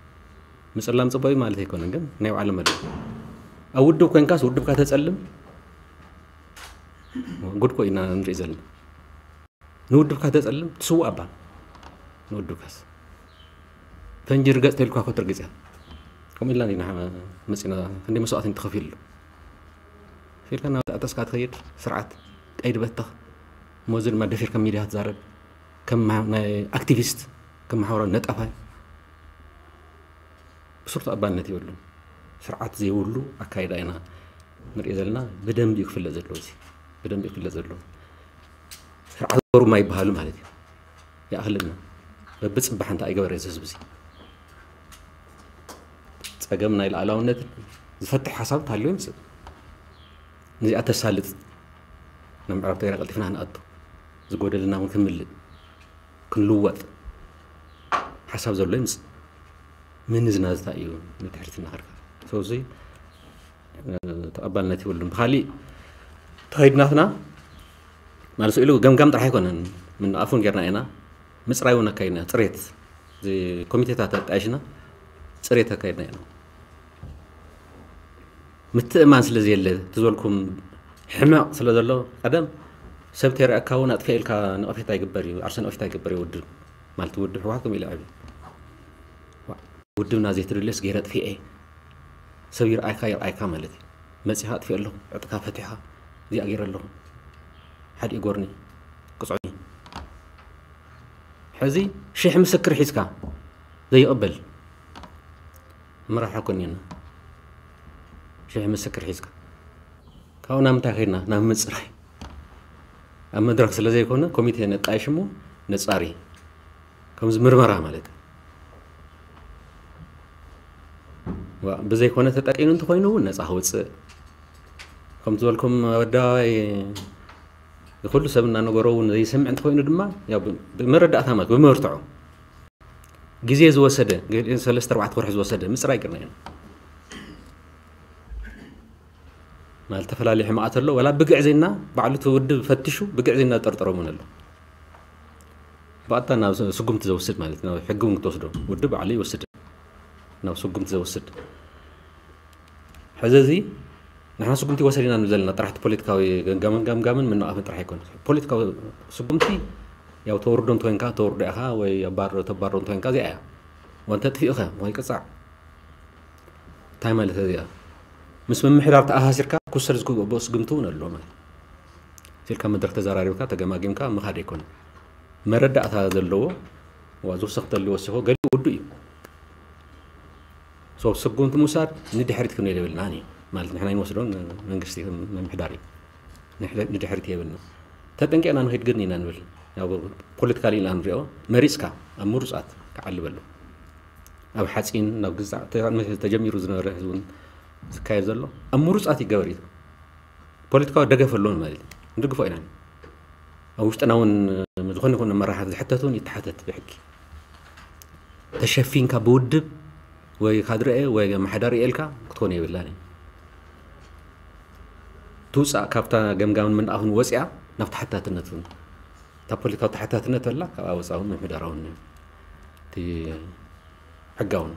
ምፅላም ፅቡቅ እዩ ማለት ኣይኮነን ግን ናይ ባዕሎም መለ ኣብ ውድብ ኮንካስ ውድብካ ተፀልም ጉድኮ ኢና ንርኢ ዘለና ንውድብካ ተፀልም ትስውእ ኣባ ንውድብካስ ፈንጂ ርገፅ ተልኳ ኮትርግፅያ ከምኡ ኢልና ኢና መፂና ክንደይ መስዋእቲ ተኸፊሉ ኢልካ ናብ ተኣተስካ ትኸይድ ስርዓት ቀይዲ በተኽ እሞ እዚ ድማ ደፊርካ ሚድያ ትዛረብ ከም ናይ ኣክቲቪስት ከም ማሕበራዊ ነጣፋይ ብሱር ተቐባልነት የብሉን ስርዓት ዘይብሉ ኣካይዳ ኢና ንሪኦ ዘለና ብደንቢ እዩ ክፍለጥ ዘለዎ እዚ ብደንቢ እዩ ክፍለጥ ዘለዎ ስርዓት ዞሩማ ይበሃሉ ማለት እዩ ይኣኽለና በብፅባሕ እንታይ ኣይገበረ እዚ ህዝቢ እዚ ፀገም ናይ ላዕላውነት ዝፈትሕ ሓሳብ ታልዮ ይምፅእ ነዚኣ ተሳልጥ ናብ ምዕራብ ትግራይ ቀልጢፍና ክንኣቱ ዝጎደልና እውን ክንምልእ ክንልወጥ ሓሳብ ዘሎ ይምፅእ ምንዝናዝታ እዩ ንድሕሪት እናኸድካ ሰውዚ ተቐባልነት ይብሉን ብካሊእ ተኸይድናትና ማለት ኢሉ ገምጋም ጥራሕ ኣይኮነን ምንኣፉን ጌርና ኢና ምፅራይ እውን ኣካይድና ፅሬት ኮሚቴታት ኣጣይሽና ፅሬት ኣካይድና ኢና ምትእማን ስለ ዘየለ ትዝበልኩም ሕመቕ ስለ ዘሎ ቀደም ሰብ ተሪኣካ እውን ኣጥፍኤ ኢልካ ነቐፌታ ይግበር እዩ ዓርሰ ነቐፌታ ይግበር እዩ ውድብ ማለት ውድብ ሕወሓት ከም ኢለ ዕብዩ ውድብና ዘይትደልዮስ ገይረ ኣጥፊኤ ሰብ ይርኣይካ ይርኣይካ ማለት እዩ መፂኻ ኣጥፊኤ ኣለኹ ዕጥካ ፈቲሕኻ እዚኣ ገይረ ኣለኹ ሓዲኡ ጎርኒ ቅፅዑኒ ሕዚ ሽሕ ምስክር ሒዝካ ዘይቕበል መራሒ ኮኒና ሽሕ ምስክር ሒዝካ ካብኡ ናብ ምንታይ ከድና ናብ ምፅራይ ኣብ መድረክ ስለ ዘይኮነ ኮሚቴ ነጣይሽ እሞ ነፃሪ ከምዚ ምርመራ ማለት እዩ ብዘይኮነ ተጠቂኑ እንተኮይኑ እውን ነፃ ክወፅእ ከምቲ ዝበልኩም ኣደባባይ ኩሉ ሰብ እናነገሮ እውን ዘይሰምዕ እንተኮይኑ ድማ ብመረዳእታ ማለት ብመርትዖ ግዜ ዝወሰደ ሰለስተ ኣርባዕተ ወርሒ ዝወሰደ ምፅራይ ቅርና ኢና ማለት ተፈላለዩ ሕማቃት ኣሎ ወላ ብግዕ ዜና ባዕሉ እቲ ውድብ ፈትሹ ብግዕ ዜና ዝጠርጠሮም እውን ኣሎ ብኣታ ናብ ስጉምቲ ዘውስድ ማለት ናብ ሕጊ እውን ክትወስዶ ውድብ ባዕሉ ይወስድ ናብ ስጉምቲ ዘውስድ ሕዚ እዚ ንሕና ስጉምቲ ወሰዲና ንብል ዘለና ጥራሕቲ ፖለቲካዊ ገምጋምን ገምጋምን ምንቓፍን ጥራሕ ኣይኮነ ፖለቲካዊ ስጉምቲ ያው ተወርዶ እንተኮይንካ ተወርዶ ኢኻ ወይ ኣባሮ ተባሮ እንተኮይንካ እዚኣ እያ ወንተ ጥፊኡኸ ወይ ቅጻዕ እንታይ ማለት እዚኣ? ምስ ምምሕዳር ተኣሳሲርካ ክውሰድ ዝግብኦ ስጉምቲ እውን ኣሎ ማለት። ሲልካ መድረክ ተዘራሪብካ ተገማጊምካ ምኻድ ኣይኮነ። መረዳእታ ዘለዎ ዋ ዝውሰኽ ተልዩ ወሲኾ ገሊኡ ውዱ እዩ። ሶ ስጉምቲ ምውሳድ ንድሕሪት ክንብል የብልና ኒ ማለት ንሕና ይንወስዶን መንግስቲ ምምሕዳር እዩ። ንድሕሪት የብልና። ተጠንቂቕና ንኸይድ ግን ኢና ንብል። ያው ፖለቲካሊ ኢና ንሪኦ። መሪፅካ ኣብ ምሩፃት ክዓልበሉ ኣብ ሓፂን ናብ ግዛዕ ተጀሚሩ ዝነበረ ህዝብን ዝካየድ ዘሎ ኣብ ምሩፃት ይገበር እዩ። ፖለቲካዊ ደገፍ ኣለዎም ማለት እዩ። ንድግፎ ኢና። ኣብ ውሽጥና እውን ዝኾነ ይኹን መራሕቲ ዝሕተት እውን ይተሓተት ብሕጊ። ተሸፊንካ ብውድብ ወይ ካድረኤ ወይ መሓዳሪ ኤልካ ክትኮን የብላን እዩ። ትውፃእ ካብታ ገምጋምን ምንኣኹን ወፂኣ ናብ ተሓታትነት እውን እታ ፖለቲካዊ ተሓታትነት ኣላ ካብኣ ወፃ እውን ምሕዳራውን እቲ ሕጋውን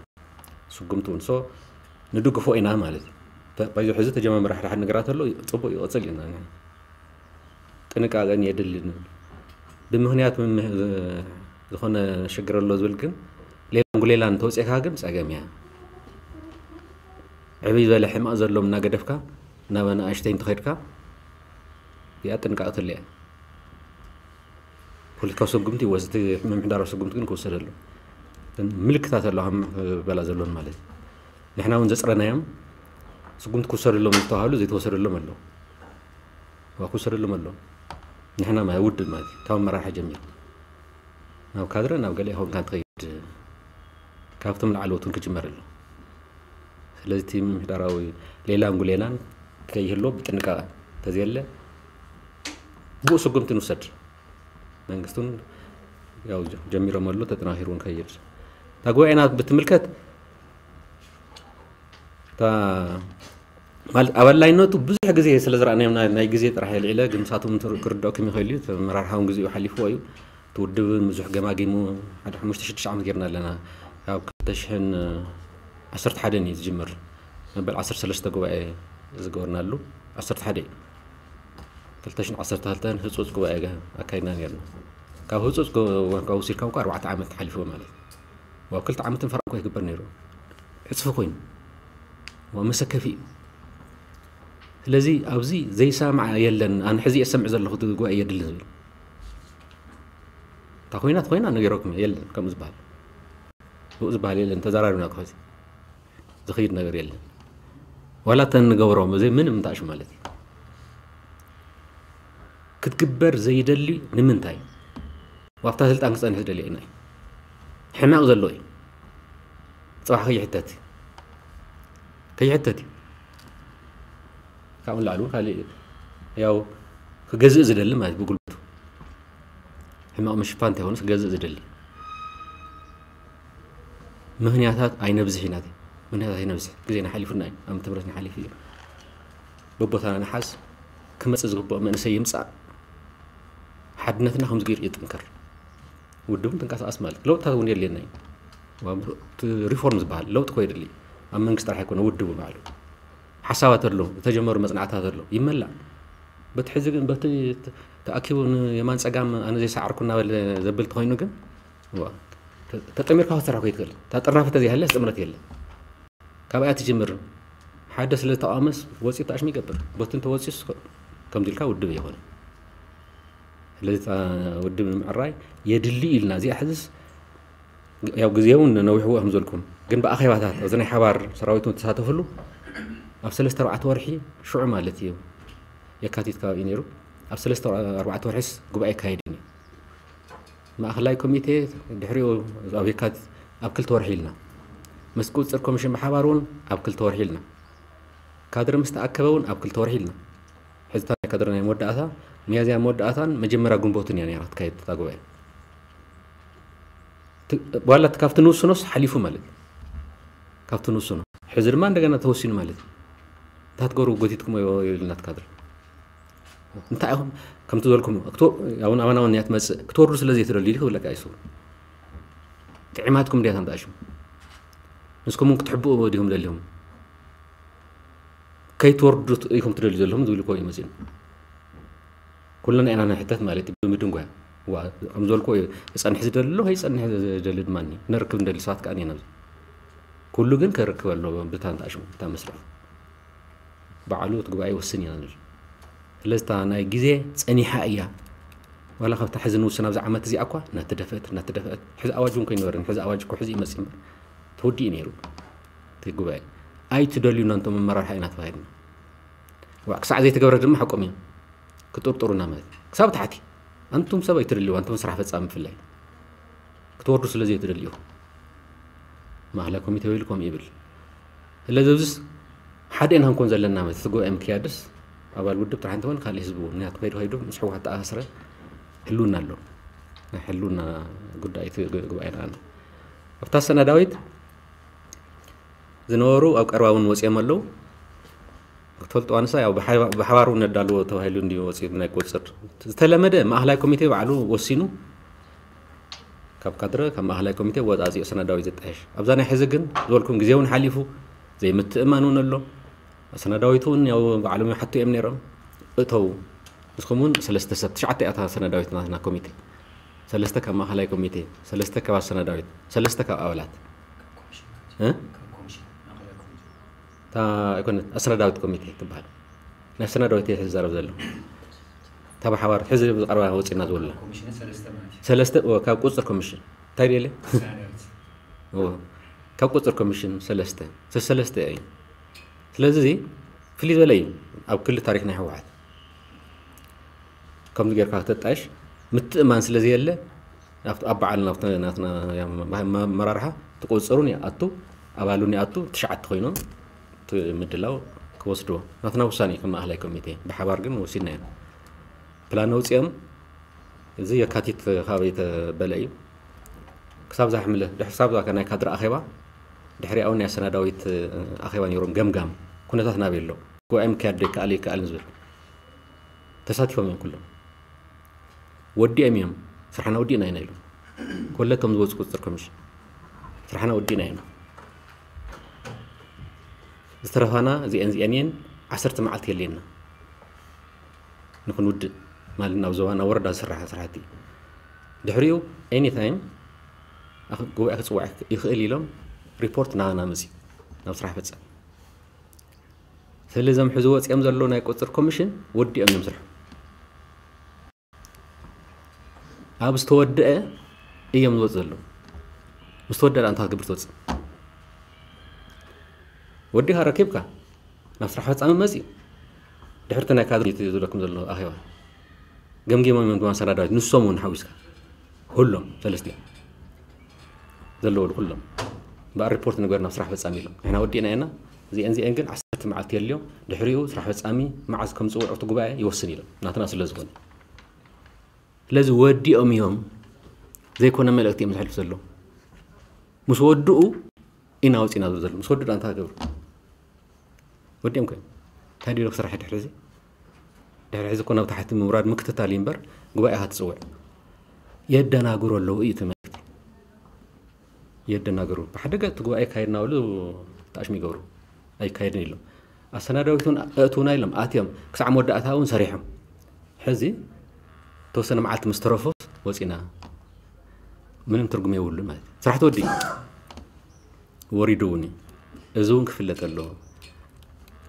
ስጉምቲ እውን ሶ ንድግፎ ኢና ማለት እዩ። በዚ ሕዚ ተጀማምረ ሓደ ሓደ ነገራት ኣሎ ፅቡቅ ይቐፅል ኢና። ጥንቃቐን የድልን። ብምኽንያት ዝኾነ ሽግር ኣሎ ዝብል ግን ሌላን ጉሌላን ተውፅእካ ግን ፀገም እያ። ዕብይ ዝበለ ሕማቕ ዘሎ እናገደፍካ ናብ ኣናእሽተይ እንተኸድካ እዚኣ ጥንቃቕ ትልያ። ፖለቲካዊ ስጉምቲ ይወስድ፣ ምምሕዳራዊ ስጉምቲ ግን ክወሰድ ኣሎ። ምልክታት ኣለዋ በላ ዘሎን ማለት እዩ። ንሕና እውን ዘፅረናዮም ስጉምቲ ክወሰደሎም ዝተባሃሉ ዘይተወሰደሎም ኣለዉ። ክወሰደሎም ኣለዉ። ንሕና ውድብ ማለት ካብ መራሒ ጀሚሩ ናብ ካድረ ናብ ገለ ይኸውን ካን ትኸይድ ካብቶም ላዕለዎት እውን ክጅመር ኣሎ። ስለዚ እቲ ምምሕዳራዊ ሌላን ጉሌላን ከይህሎ ብጥንቃቐ ተዘየለ ብኡ ስጉምቲ ንውሰድ። መንግስቱን ያው ጀሚሮም ኣሎ ተጠናኺሩ ንከይድ እታ ጉባኤና ብትምልከት እታ ማለት ኣበላይነቱ ብዙሕ ግዜ ስለ ዝረኣናዮም ናይ ግዜ ጥራሕ የልዒለ ግን ምሳቶም ክርድኦኩም ይኽእል እዩ። መራርሓውን ግዜኡ ሓሊፍዎ እዩ። እቲ ውድብ ብዙሕ ገማጊሙ ሓደ ሓሙሽተ ሽዱሽተ ዓመት ጌርና ኣለና። ካብ ክልተ ሽሕን ዓሰርተ ሓደን እዩ ዝጅምር መበል ዓሰርተ ሰለስተ ጉባኤ ዝገበርናሉ ዓሰርተ ሓደ እዩ። ክልተ ሽሕን ዓሰርተ ክልተን ህፁፅ ጉባኤ ኣካይድና ኔርና። ካብ ህፁፅ ወሲድካ እኳ ኣርባዕተ ዓመት ሓሊፍዎ ማለት እዩ። ኣብ ክልተ ዓመትን ፈረቓ እኳ ይግበር ነይሩ። ዕፅፊ ኮይኑ መሰከፊ እዩ። ስለዚ ኣብዚ ዘይሰማዕ የለን። ኣነ ሕዚ እየ ዝሰምዕ ዘለኹ እቲ ጉባኤ የድልን ዝብል እታ ኮይናት ኮይና ነገረኩም የለን ከምኡ ዝበሃል ብኡ ዝበሃል የለን። ተዘራሪብና ክኸዚ ዝኸይድ ነገር የለን። ዋላ እተን ንገብሮም እዚ ምንም እንታእሹ ማለት እዩ ክትግበር ዘይደሊ ንምንታይ ኣብታ ስልጣን ክፀንሕ ዝደሊ ናይ ሕማቕ ዘሎ እዩ። ፅባሕ ከይሕተት ከይሕተት እዩ። ካብኡ ንላዕሊ እውን ካልእ ያው ክገዝእ ዝደሊ ማለት ብጉልበቱ ሕማቕ ምሽፋን እንተይኮነስ ክገዝእ ዝደሊ ምኽንያታት ኣይነብዝሕ ኢና። ምኽንያታት ኣይነብዝሕ ግዜና ሓሊፉና እዩ። ኣብ ትምህርትና ሓሊፉ እዩ። በቦታና ንሓዝ ክመፅእ ዝግብኦ መንእሰይ ይምፃእ። ሓድነትና ከምዚ ገይሩ ይጥንከር። ውድብን ትንቀሳቐስ ማለት ለውጥታት እውን የድልየና እዩ። ሪፎርም ዝበሃል ለውጢ ኮ የድሊ ኣብ መንግስቲ ጥራሕ ኣይኮነ ውድቡ ባዕሉ ሓሳባት ኣሎ ዝተጀመሩ መፅናዕታት ኣሎ ይመላእ። በቲ ሕዚ ግን በቲ ተኣኪቡ የማን ፀጋም ኣነ ዘይሰዓርኩ እናበለ ዘብል ተኮይኑ ግን ተጠሚርካ ክትሰርሕ ኮይትክእል እታ ጥርናፈ ተዘይሃለ ጥምረት የለ። ካብኣ ትጅምር ሓደ ስለ ተቃወመስ ወፂኡ ተኣሽሙ ይገብር በቲ እንተወፂኡስ ከምዚ ኢልካ ውድብ የኮነ። ስለዚ ውድብ ንምዕራይ የድሊ ኢልና እዚኣ ሕዝስ ያው ግዜ እውን ነዊሕዎ ከም ዘልኩም ግን ብኣኼባታት ኣብዚ ናይ ሓባር ሰራዊት ተሳተፍሉ ኣብ ሰለስተ ኣርባዕተ ወርሒ ሽዑ ማለት እዩ የካቲት ከባቢ ነይሩ ኣብ ሰለስተ ኣርባዕተ ወርሒስ ጉባኤ ይካየድ እዩ። ማእኸላይ ኮሚቴ ድሕሪኡ ኣብ የካቲት ኣብ ክልተ ወርሒ ኢልና ምስ ቁፅፅር ኮሚሽን ብሓባር እውን ኣብ ክልተ ወርሒ ኢልና ካድረ ምስ ተኣከበ እውን ኣብ ክልተ ወርሒ ኢልና ሕዝታ ናይ ካድረ ናይ መወዳእታ ሚያዝያ መወዳእታን መጀመርያ ግንቦትን እያ ነራ ክትካየድ እታ ጉባኤ ዋላ ካብቲ ንውስኖስ ሓሊፉ ማለት እዩ። ካብቲ ንውስኖ ሕዚ ድማ እንደገና ተወሲኑ ማለት እዩ። እንታይ ትገብሩ ጎቲትኩም ይብልና ትካድር እንታይ ኢኹም ከምቲ ዝበልኩም እውን ኣማናውን እያ ትመፅእ ክትወርዱ ስለ ዘይትደልዩ ክብለካ ይሱ ጥዕማትኩም እንዲያ ታምጣሽም ንስኩም ክትሕብኡ ዲኹም ደልዮም ከይትወርዱ ኢኹም ትደልዩ ዘለኹም ዝብል ኮ ይመፅን ኩልና ኢና ንሕተት ማለት እዩ ብምድንጓያ ዋ፣ ከም ዝበልኩ እዩ። ክጸንሕ ዝደሊ ኣሎ፣ ከይጸንሕ ዝደሊ ድማ እኒ-፣ ነርክብ እንደሊ ሰባት ከኣ እኒአና ኣብዚ። ኩሉ ግን ከርክብ ኣለዎ፣ ብታ ንትኣሽሙ፣ ብታ መስርሕ። ባዕሉ እቲ ጉባኤ ይወስን ኢና ንብል። ስለዚ እታ ናይ ግዜ ጸኒሓ እያ። ዋላ ካብታ ሕዚ ንውስን ኣብዚ ዓመት እዚኣ እኳ እናተደፍአት፣ እናተደፍአት። ሕዚ ኣዋጅ እውን ከይነበረን፣ ሕዚ ኣዋጅ እኮ ሕዚ ይመጽእ እምበር። ተወዲኡ ነይሩ እቲ ጉባኤ። ኣይትደልዩና እንቶም ኣመራርሓ ኢና ተባሂልና። ዋ፣ ክሳዕ ዘይተገብረ ድማ ሓቆም እዮም። ክጥርጥሩና ማለት እዩ። ክሳብ ታሕቲ። ኣንቱም ሰብ ኣይትደልዩ፣ ኣንቱም ስራሕ ፈጻሚ ብፍላይ። ክትወርዱ ስለ ዘይትደልዩ። ማእከላይ ኮሚቴ ወይሉ ከምኡ ይብል። ስለዚ ኣብዚስ ሓደ ኢና ክንኮን ዘለና ማለት እቲ ጉባኤ ምክያድስ ኣባል ውድብ ጥራሕ እንተኾነ ካልእ ህዝቢ እውን። ምክንያቱ ከይዱ ከይዱ ምስ ህወሓት ተኣሳስረ ህልውና ኣሎ። ናይ ህልውና ጉዳይ እቲ ግ-፣ ጉባኤ ንኣና። ኣብታ ሰነዳዊት ዝነበሩ ኣብ ቀረባ እውን ወፂኦም ኣለዉ። ክትፈልጡ ኣንሳ ያው ብሓባ-፣ ብሓባር እውን ነዳልዎ ተባሂሉ እንዲዩ ወፂኡ ናይ ቁፅር። ዝተለመደ ማእኸላይ ኮሚቴ ባዕሉ ወሲኑ ካብ ካድረ፣ ካብ ማእኸላይ ኮሚቴ ወፃፂኡ ሰነዳዊት ዘጣየሽ። ኣብዛ ናይ ሕዚ ግን ዝበልኩም ግዜ እውን ሓሊፉ፣ ዘይምትእማን እውን ኣሎ። ሰነዳዊት እውን ያው ባዕሎም ይሓቱ እዮም ነይሮም። እተው፣ ንስኹም እውን ሰለስተ ሰብ፣ ትሽዓተ እያ እታ ሰነዳዊት ናትና ኮሚቴ። ሰለስተ ካብ ማእኸላይ ኮሚቴ፣ ሰለስተ ካብ ኣሰነዳዊት፣ ሰለስተ ካብ ኣባላት። እ? እታ ኣይኮነት፣ ኣሰነዳዊት ኮሚቴ ትበሃል። ናይ ኣሰነዳዊት እየ ዝዛረብ ዘለኹ። እታ ብሓባር ሕዚ ብቐረባ ወፂና ዝበልና። ኮሚሽን ሰለስተ ማለት እዩ። ሰለስተ፣ ኦ፣ ካብ ቁፅር ኮሚሽን። እንታይ ደለ? ኣሰነዳዊት። ኦ፣ ካብ ቁፅር ኮሚሽን ሰለስተ። ሰ-፣ ሰለስተ እዩ። ስለዚ እዚ ፍልይ ዝበለ እዩ ኣብ ክሊ ታሪክ ናይ ህወሓት። ከምዚ ጌርካ ከተጣይሽ ምትእማን ስለ ዘየለ፣ ኣብቲ፣ ኣብ በዓል ናብቲ ናትና መ-፣ መ-፣ መራርሓ ትቆጽሩን ይኣቱ፣ ኣባሉን ይኣቱ፣ ትሽዓተ ኮይኖም እቲ ምድላው ክወስድዎ። ናትና ውሳኔ እዩ ከም ማእኸላይ ኮሚቴ። ብሓባር ግን ወሲድና ኢና። ፕላን ኣውጺኦም፣ እዚ የካቲት ካበይ ተበለ እዩ። ክሳብ ዛሕምለ፣ ድሕሪ ክሳብ ዛ ናይ ካድረ ኣኼባ፣ ድሕሪኣ እውን ናይ ኣሰናዳዊት ኣኼባ ነይሮም፣ ገምጋም ኩነታት ናበይ ኣሎ፣ ጉባኤ ምክያድ ዶ ይከኣል ይከኣል ንዝብል ተሳቲፎም እዮም ኩሎም። ወዲኦም እዮም፣ ስራሕና ወዲእና ኢና ኢሎም። ኮለ እቶም ዝወፁ ቁፅፅር ኮሚሽን ስራሕና ወዲእና ኢና። ዝተረፋና እዚአን እዚአን እየን፣ ዓሰርተ መዓልቲ የድልየና ንክንውድእ ማለት ናብ ዞባ ናብ ወረዳ ዝስራሕ ስራሕቲ። ድሕሪኡ ኤኒ ታይም ኣኽ-፣ ጉባኤ ክፅዋዕ ይኽእል ኢሎም ሪፖርት ናባና መፅዩ ናብ ስራሕ ፈፃሚ። ስለዚ እዞም ሕዚ ወፂኦም ዘለዉ ናይ ቁፅፅር ኮሚሽን ወዲኦም እዮም ስርሖም። ኣብ ዝተወደአ እዮም ዝወፅ ዘለዉ። ምስ ተወደአ እንታይ ክትገብር ትወፅእ? ወዲኻ ረኪብካ ናብ ስራሕ ፈፃሚ መፅዩ። ድሕርቲ ናይ ካድር ዝብለኩም ዘሎ ኣኼባ ገምጊሞም እዮም ድማ ሰናዳዊት፣ ንሶም እውን ሓዊስካ ኩሎም ሰለስቲኦም ዘለዉ ኩሎም በኣር ሪፖርት ንግበር ናብ ስራሕ ፈፃሚ ኢሎም። ንሕና ወዲእና ኢና። እዚአን እዚአን ግን ዓሰርተ መዓልቲ የድልዮም። ድሕሪኡ ስራሕ ፈፃሚ መዓዝ ከም ዝፅውዕ እቲ ጉባኤ ይወስን ኢሎም፣ ናትና ስለ ዝኾነ። ስለዚ ወዲኦም እዮም፣ ዘይኮነ መልእክቲ እዮም ዘሕልፉ ዘለዉ። ምስ ወድኡ ኢና ወፂና ዝብል ዘለዉ። ምስ ወድኡ እንታይ ክገብሩ? ወዲኦም ከ እንታይ ድዩ ክስራሕ ድሕሪ እዚ? ድሕሪ ሕዚ እኮ ናብ ታሕቲ ምውራድ ምክትታል እዩ እምበር ጉባኤ ክትፅውዕ የደናግሩ ኣለዉ እዩ እቲ መልእክቲ። የደናግሩ። ብሓደ ገፅ እቲ ጉባኤ ይካየድ እናበሉ ተኣሽሙ ይገብሩ። ኣይካየድን ኢሎም። ኣሰናዳዊት እውን ኣእትውና ኢሎም ኣትዮም። ክሳዕ መወዳእታ እውን ሰሪሖም። ሕዚ ተወሰነ መዓልቲ ምስ ተረፎስ ወፂና። ምንም ትርጉም የብሉን ማለት እዩ። ስራሕ ተወዲኡ። ወሪዱ እውን እዩ። እዚ እውን ክፍለጥ ኣለዎ።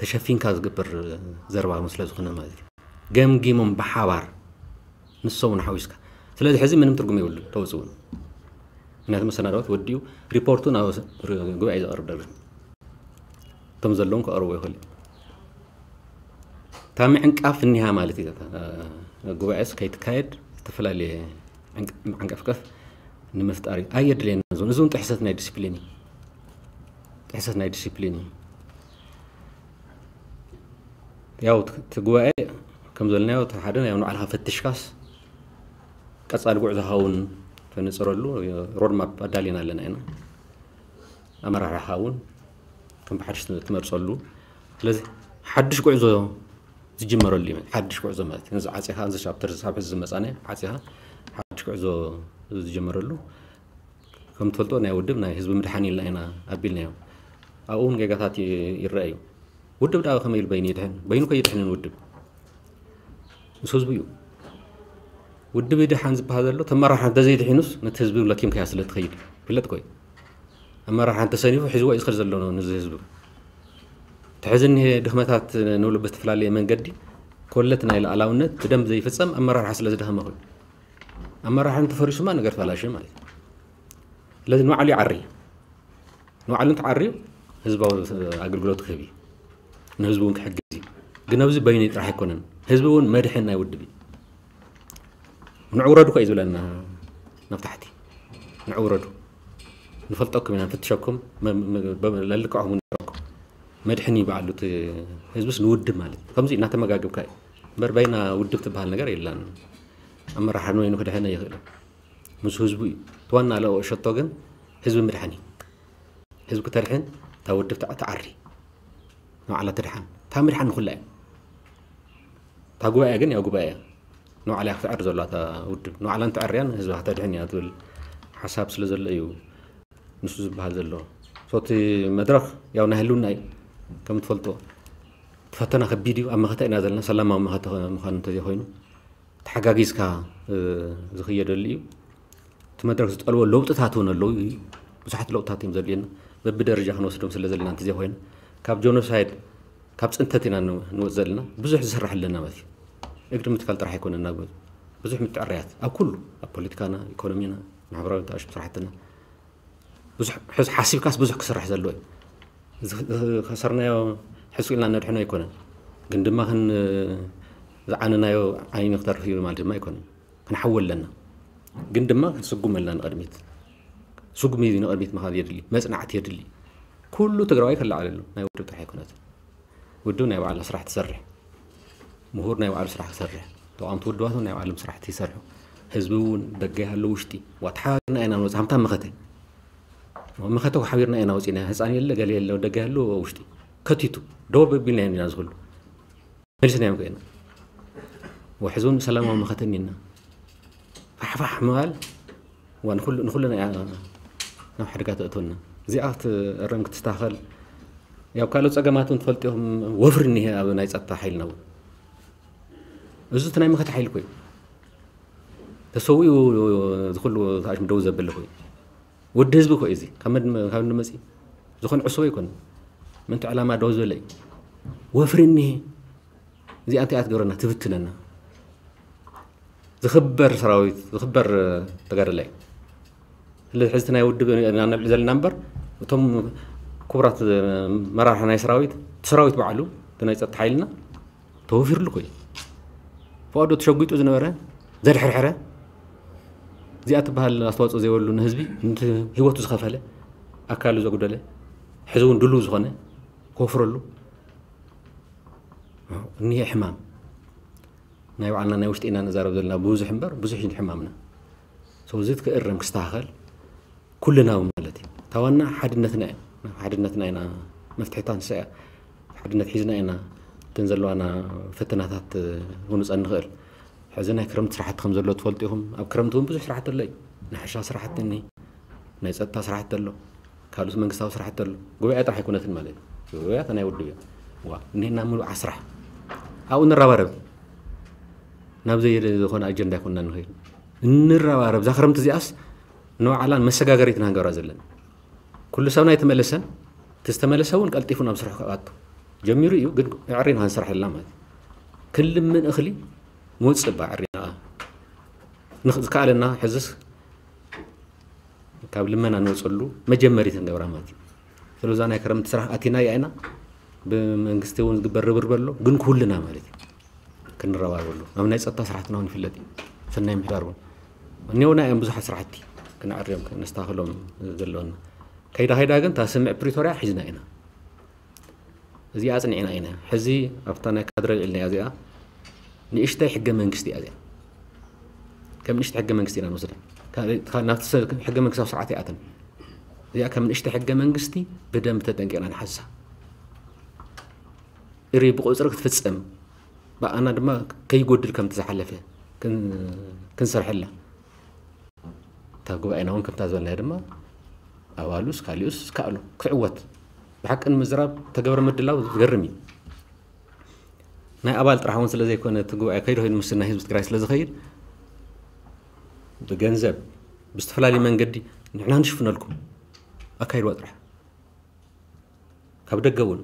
ተሸፊንካ ዝግበር ዘረባ ስለ ዝኾነ ማለት እዩ። ገምጊሞም ብሓባር ንሶም እውን ሓዊስካ። ስለዚ ሕዚ ምንም ትርጉም የብሉን፣ ተውፅኡ። ምክንያቱ መሰናዳዎት ወዲኡ ሪፖርቱ ናብ ስ-፣ ር-፣ ጉባኤ ዘቕርብ ደሎ። እቶም ዘለውን ክቐርቡ ይኽእሉ እዮም። እታ ምዕንቃፍ እኒሃ ማለት እዩ። እታ፣ እ፣ ጉባኤስ ከይትካየድ ዝተፈላለየ ዕንቅ-፣ ማዕንቀፍቀፍ ንምፍጣር እዩ። ኣየድልየና። እዚ እውን፣ እዚ እውን ጥሕሰት ናይ ዲስፕሊን እዩ። ጥሕሰት ናይ ዲስፕሊን እዩ። ያው እቲ፣ እቲ ጉባኤ ከም ዘልናዮ እቲ ሓደ ያው ንባዕልኻ ፈትሽካስ ቀጻሊ ጉዕዞኻ እውን ተነጽረሉ ሮድማፕ ኣዳሊና ኣለና ኢና። ኣመራርሓኻ እውን ከም ብሓድሽ ትመርጸሉ። ስለዚ ሓድሽ ጉዕዞ ዝጅመረሉ እዩ። ሓድሽ ጉዕዞ ማለት እዩ። ነዚ ዓጺኻ፣ እዚ ቻፕተር፣ እዚ ሳብ ሕዚ ዝመጻና ዓጺኻ ሓድሽ ጉዕዞ ዝጀመረሉ። ከም ትፈልጦ ናይ ውድብ ናይ ህዝቢ ምድሓን ኢልና ኢና ኣቢልናዮ። ኣብኡ እውን ጌጋታት ይ-፣ ይረኣዩ። ውድብ ደኣ ከመይ ኢሉ በይኑ ይድሕን? በይኑ ከይድሕንን ውድብ ምስ ህዝቡ እዩ። ውድብ ይድሓን ዝበሃል ዘሎ ተመራርሓ እንተዘይድሒኑስ ነቲ ህዝቢ ለኪምካያ ስለ ትኸይድ ይፍለጥ ኮይ። ኣመራርሓ እንተሰኒፉ ሒዝዎ እዩ ዝኸድ ዘሎ ነዚ ህዝቢ። እቲ ሕዚ እኒሄ ድኽመታት ንብሎ ብዝተፈላለየ መንገዲ ኮለት ናይ ሉዓላውነት ብደንብ ዘይፍጸም ኣመራርሓ ስለ ዝደኸመ ኮይኑ ኣመራርሓ እንተፈሪሱማ ነገር ተባላሸ ማለት እዩ። ስለዚ ንባዕሉ ይዓሪ። ንባዕሉ እንተዓርዩ ህዝባዊ ኣገልግሎት ክህብ እዩ። ንህዝቢ እውን ክሕግዝ እዩ። ግን ኣብዚ በይኑ ጥራሕ ኣይኮነን። ህዝቢ እውን መድሕን ናይ ውድብ እዩ። ንዑ ውረዱ ኮ እዩ ዝብለና ናብ ታሕቲ። ንዑ ውረዱ። ንፈልጠኩም ኢና፣ ንፍትሸኩም፣ መ- መ- በ- ለልክዕኹም ንረኩም። መድሕን እዩ በዓሉ እቲ ህዝብስ ንውድብ ማለት እዩ። ከምዚ እናተመጋገብካ እዩ። እምበር በይና ውድብ ትበሃል ነገር የላን። ኣመራርሓ ንበይኑ ክድሕን ኣይኽእልን። ምስ ህዝቡ እዩ። እቲ ዋና ለኦ ሸቶ ግን ህዝቢ ምድሓን እዩ። ህዝቢ ክተድሕን እታ ውድብ ትዓ- ትዓሪ። ንባዕላ ትድሓን። እታ ምድሓን ንኹላ እያ። እታ ጉባኤ ግን ያው ጉባኤ እያ። ንባዕላ እያ ክትዕሪ ዘለዋ እታ ውድብ። ንባዕላ እንተዕርያን ህዝባ ከተድሕን እያ ትብል ሓሳብ ስለ ዘሎ እዩ ንሱ ዝበሃል ዘሎ። ሶቲ መድረኽ ያው ናይ ህልውና እዩ። ከም ትፈልጦ እቲ ፈተና ከቢድ እዩ። ኣብ መኸተ ኢና ዘለና። ሰላማዊ መኸተ ምዃኑ እንተዘይኮይኑ ተሓጋጊዝካ እ፣ ዝኽየደሉ እዩ። እቲ መድረኽ ዝጠልቦ ለውጥታት እውን ኣለዉ እዩ። ብዙሓት ለውጥታት እዮም ዘድልየና። በብደረጃ ክንወስዶም ስለ ዘለና እንተዘይኮይኑ ካብ ጆኖሳይድ ካብ ፅንተት ኢና ን- ንወፅ ዘለና። ብዙሕ ዝስራሕ ኣለና ማለት እዩ። እግሪ ምትካል ጥራሕ ኣይኮነን ናብ ብዙሕ ምትዕርያት ኣብ ኩሉ ኣብ ፖለቲካና፣ ኢኮኖሚና፣ ማሕበራዊ ተኣሽም ስራሕትና ብዙሕ ሕዝ ሓሲብካስ ብዙሕ ክስራሕ ዘለዎ እዩ። ዝ- ዝ- ከሰርናዮ ሕሱ ኢልና ነድሕኖ ኣይኮነን። ግን ድማ ክን ዝዓነናዮ ዓይኒ ክተርፍ እዩ ማለት ድማ ኣይኮነን። ክንሓዊ ኣለና። ግን ድማ ክንስጉም ኣለና ንቕድሚት። ስጉም እዩ ንቕድሚት ምኻድ የድሊ፣ መፅናዕቲ የድሊ። ኩሉ ትግራዋይ ክለዓለሉ ናይ ውድብ ጥራሕ ኣይኮነትን። ውድብ ናይ ባዕላ ስራሕ ትሰርሕ፣ ምሁር ናይ ባዕሉ ስራሕ ክሰርሕ፣ ተቃወምቲ ውድባት እውን ናይ ባዕሎም ስራሕቲ ይሰርሑ። ህዝቢ እውን ደገ ይሃሉ ውሽጢ ዋ ተሓባቢርና ኢና ንወፅእ። ሃምታ መኸተ መኸተ ሓቢርና ኢና ወፂና። ህፃን የለ ገለ የለ ደገ ይሃሉ ውሽጢ ከቲቱ ደወብ ኣቢልና ኢና ዝኽሉ መሊስናዮም ከይና። ወሕዚ እውን ሰላማዊ መኸተ እኒና ፋሕፋሕ ምባል ዋ ንኹሉ ንኹልና እያ ናብ ሓደጋ ተእትወና። እዚኣ ክትእረም ክትስተኻኸል ያው ካልኦት ፀገማት እውን ትፈልጡ ኢኹም። ወፍሪ እኒሀ ኣብ ናይ ፀጥታ ሓይልና እውን እዚ እቲ ናይ መኸተ ሓይሊ ኮዩ ተሰዊኡ ዝኩሉ ተኣሽም ደው ዘበለ ኮዩ ወዲ ህዝቢ ኮዩ እዚ ካብ መድ- ካብ ንመፂ ዝኾነ ዕሱብ ኣይኮነ ምንቲ ዕላማ ደው ዝበለ እዩ። ወፍሪ እኒሀ እዚኣ እንታይ እያ ትገብረና ትብትነና። ዝኽበር ሰራዊት ዝኽበር ተጋደላይ ስለዚ ሕዝቲ ናይ ውድብ ኢና ነብሊ ዘለና እምበር እቶም ክቡራት መራርሒ ናይ ሰራዊት እቲ ሰራዊት ባዕሉ እቲ ናይ ፀጥታ ሓይልና ተወፊርሉ ኮዩ ፈቐዶ ተሸጒጡ ዝነበረ ዘድሕርሕረ እዚኣ ትበሃል ኣስተዋፅኦ ዘይበሉ ንህዝቢ ንቲ ህይወቱ ዝኸፈለ ኣካሉ ዘጉደለ ሕዚ እውን ድልው ዝኾነ ክወፍረሉ እኒሄ ሕማም ናይ ባዕልና ናይ ውሽጢ ኢና ንዛረብ ዘለና ብዙሕ እምበር ብዙሕ እዩ ሕማምና ሰው እዚ ክእረም ክስተኻኸል ኩልናዊ ማለት እዩ። እታ ዋና ሓድነትና እያ። ሓድነትና ኢና መፍትሒታ ንሳ እያ። ሓድነት ሒዝና ኢና እተን ዘለዋና ፈተናታት ክንውፀን ንኽእል። ሕዚ ናይ ክረምቲ ስራሕቲ ከም ዘሎ ትፈልጡ ኢኹም። ኣብ ክረምቲ እውን ብዙሕ ስራሕቲ ኣሎ እዩ። ናይ ሕርሻ ስራሕቲ እኒ ናይ ፀጥታ ስራሕቲ ኣሎ። ካልኦት መንግስታዊ ስራሕቲ ኣሎ። ጉባኤ ጥራሕ ኣይኮነትን ማለት እዩ። ጉባኤ እታ ናይ ውድብ እያ። ዋ እኒሄና ምሉእ ዓስራሕ ኣብኡ ንረባረብ። ናብ ዘይኮነ ኣጀንዳ ኣይኮንና ንኸይድ። እንረባረብ እዛ ክረምቲ እዚኣስ ንባዕላን መሰጋገሪት ኢና ንገብራ ዘለና። ኩሉ ሰብና ኣይተመለሰን። እቲ ዝተመለሰ እውን ቀልጢፉ ናብ ስርሑ ክኣቱ ጀሚሩ እዩ። ግን ዕሪ ኢና ክንሰርሐላ ማለት እዩ። ክንልምን እኽሊ ንወፅእ እባ ዕሪና ንኽ- ዝከኣለና ሕዝስ ካብ ልመና ንወፀሉ መጀመሪት ንገብራ ማለት እዩ። ስለዛ ናይ ክረምቲ ስራሕ ኣቲና እያ ኢና ብመንግስቲ እውን ዝግበር ርብርብ ኣሎ ግን ኩልና ማለት እዩ። ክንረባረበሉ ኣብ ናይ ፀጥታ ስራሕትና እውን ይፍለጥ እዩ። ሰናይ ምሕዳር እውን እኒኦና እዮም ብዙሓት ስራሕቲ ክነዕርዮም ክነስተኻኽሎም ዘለወና ከይዳ ከይዳ ግን እታ ስምዕ ፕሪቶርያ ሒዝና ኢና እዚኣ ኣፅኒዕና ኢና ሕዚ ኣብታ ናይ ካድረ ልዕልና እዚኣ ንእሽተይ ሕገ መንግስቲ እያ እዚኣ ከም ንእሽተ ሕገ መንግስቲ ኢና ንወስዳ ናብቲ ሕገ መንግስታዊ ስርዓት ይኣትን እዚኣ ከም ንእሽተ ሕገ መንግስቲ ብደንብ ተጠንቂቕና ንሓሳ እሪ ብቁፅሪ ክትፍፀም ብኣና ድማ ከይጎድል ከምቲ ዝሓለፈ ክንሰርሐላ እታ ጉባኤና እውን ከምታ ዝበልናዮ ድማ ኣባሉስ ካሊኡስ ዝከኣሎ ክዕወት ብሓቂ ንምዝራብ ተገብረ ምድላው ዝገርም እዩ ናይ ኣባል ጥራሕ እውን ስለዘይኮነ እቲ ጉባኤ ከይዱ ከይዱ ምስ ናይ ህዝቢ ትግራይ ስለዝኸይድ ብገንዘብ ብዝተፈላለየ መንገዲ ንሕና ንሽፍነልኩም ኣካይድዋ ጥራሕ። ካብ ደገ እውን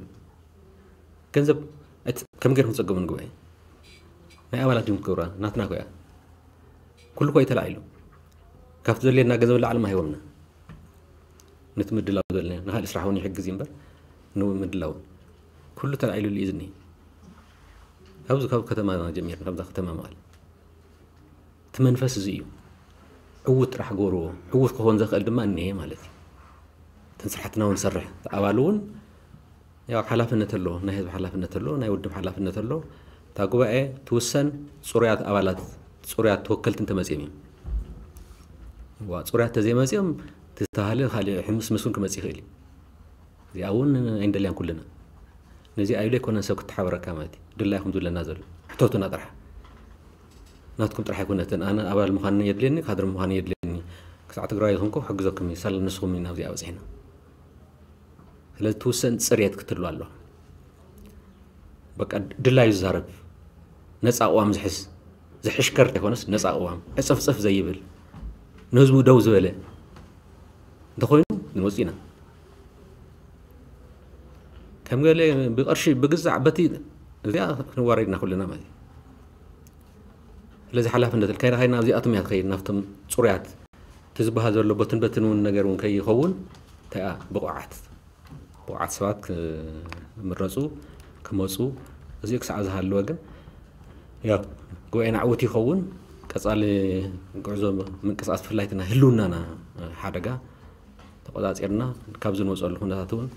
ገንዘብ ኣይት- ከም ገይርኩም ትጸገሙን ጉባኤ ናይ ኣባላት ድም ክብራ ናትና ኮያ ኩሉ ኮይ ተላዒሉ ካብቲ ዘድልየና ገንዘብ ላዕሊ ማሂቦምና ነቲ ምድላው ዘለና ንኻልእ ስራሕ እውን ይሕግዝ እዩ እምበር ንምድላው ኩሉ ተላዒሉ እዩ ዝኒ ካብዚ ካብ ከተማ ጀሚርና ካብዛ ከተማ መቐለ እቲ መንፈስ እዚ እዩ። ዕዉት ጥራሕ ገበርዎ። ዕዉት ክኾን ዘኽእል ድማ እኒሀ ማለት እዩ። እተን ስራሕትና እውን ሰርሕ ኣባል እውን ያው ሓላፍነት ኣሎ፣ ናይ ህዝቢ ሓላፍነት ኣሎ፣ ናይ ውድብ ሓላፍነት ኣሎ። እታ ጉባኤ ትውሰን ፅሩያት ኣባላት ፅሩያት ተወከልቲ እንተመፅኦም እዮም። ዋ ፅሩያት ተዘይመፅኦም ዝተባሃለ ካልእ ሕምስምስ እውን ክመፅእ ይኽእል እዩ። እዚኣ እውን ኣይንደልያን ኩልና። ነዚ ኣይሉ ኣይኮነን ሰብ ክትሓበረካ ማለት እዩ። ድላይኹም ዝብለና ዘሎ ሕተቱና ጥራሕ ናትኩም ጥራሕ ኣይኮነትን። ኣነ ኣባል ምዃን የድልየኒ፣ ካድር ምዃን የድልየኒ። ክሳዕ ትግራይ ይኹንኩ ክሕግዘኩም እዩ። ሳላ ንስኹም ኢና ኣብዚኣ በፂሕና። ስለዚ ትውሰን ፅሬት ክትህሉ ኣለዋ። በቃ ድላዩ ዝዛረብ ነፃ ቅዋም ዝሕዝ ዝሕሽከር ኣይኮነስ ነፃ ቅዋም ዕፅፍፅፍ ዘይብል ንህዝቡ ደው ዝበለ እንተኾይኑ ንወፂና ከም ገለ ብቅርሺ ብግዛዕ በቲ እዚኣ ክንዋረድና ኩልና ማለት እዩ። ስለዚ ሓላፍነት ከይና ከይና ኣብዚኣቶም እያ ትኸይድ ናብቶም ፅሩያት እቲ ዝበሃል ዘሎ በትን በትን እውን ነገር እውን ከይኸውን እንታይ ብቑዓት ብቑዓት ሰባት ክምረፁ ክመፁ እዚኡ ክሳዕ ዝሃለወ ግን ያው ጉባኤና ዕውት ይኸውን ቀፃሊ ጉዕዞ ምንቅስቃስ ብፍላይ እቲ ናይ ህልውናና ሓደጋ ተቆፃፂርና ካብ ዝንወፀሉ ኩነታት እውን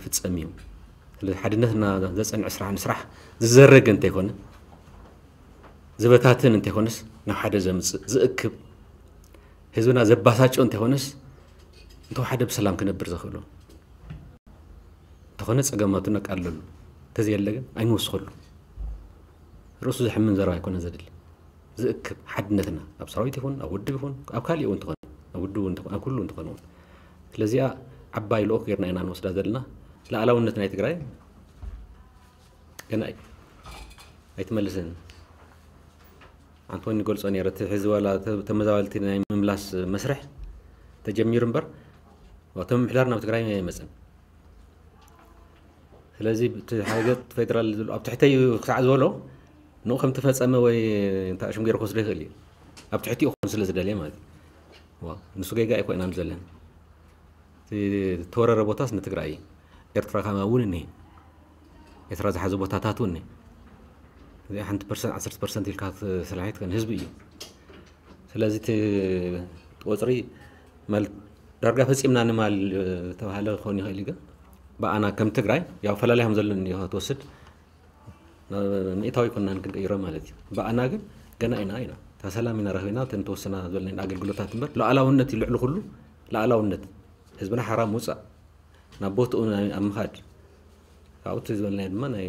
ክፍፀም እዩ። ስለዚ ሓድነትና ዘፀንዕ ስራሕ ንስራሕ ዝዘረገ እንተይኮነ ዝበታትን እንተይኮነስ ናብ ሓደ ዘምፅእ ዝእክብ ህዝብና ዘባሳጭ እንተይኮነስ እንተወሓደ ብሰላም ክነብር ዘኽእሎ እንተኾነ ፀገማቱ ነቃልለሉ እንተዘየለ ግን ኣይንወስኸሉ። ርእሱ ዘሕምን ዘረባ ኣይኮነ ዘድሊ ዝእክብ ሓድነትና ኣብ ሰራዊት ይኹን ኣብ ውድብ ይኹን ኣብ ካሊእ እውን ትኾነ ኣብ ውድብ እውን ትኾነ ኣብ ኩሉ እንትኾነ እውን ስለዚኣ ዓባይ ልኡኽ ጌርና ኢና ንወስዳ ዘለና። ላዕላውነት ናይ ትግራይ ገና እዩ ኣይትመልስን። ኣንቶኒ ገልጾ ነይረ እቲ ሕዚ ዋላ ተመዛበልቲ ናይ ምምላስ መስርሕ ተጀሚሩ እምበር እቶም ምሕዳር ናብ ትግራይ ኣይመፅን። ስለዚ እቲ ሓይገት ፌደራል ዝብሉ ኣብ ትሕተይ ክሳዕ ዝበሎ ንኡ ከም ተፈጸመ ወይ እንታይ ሽም ገይሩ ክወስዶ ይኽእል እዩ። ኣብ ትሕቲኡ ክኾን ስለ ዝደልየ ማለት እዩ። ንሱ ጌጋ ኣይኮይናን ዘለን። ተወረረ ቦታስ ንትግራይ እዩ። ኤርትራ ካማ እውን እኒሄ። ኤርትራ ዝሓዘ ቦታታት እውን እኒሄ። እዚኣ ሓንቲ ፐርሰንት ዓሰርተ ፐርሰንት ኢልካ ስላሒት ከን ህዝቢ እዩ። ስለዚ እቲ ቁፅሪ ማለት ዳርጋ ፈፂምና ንማል ተባሃለ ክኸውን ይኽእል እዩ ግን ብኣና ከም ትግራይ ያው ፈላላይ ከም ዘሎ እኒኦ ክትወስድ ሚእታዊ ኮናን ክንቀይሮ ማለት እዩ። ብኣና ግን ገና ኢና ኢና እታ ሰላም ኢና ረኺብና እተን ተወሰና ዝበልና ኣገልግሎታት እምበር ሉዓላውነት እዩ ልዕሊ ኩሉ ሉዓላውነት ህዝብና ሓራ ምውፃእ ናብ ቦትኡ ኣብ ምኻድ ካብኡ እቲ ዝበልናዮ ድማ ናይ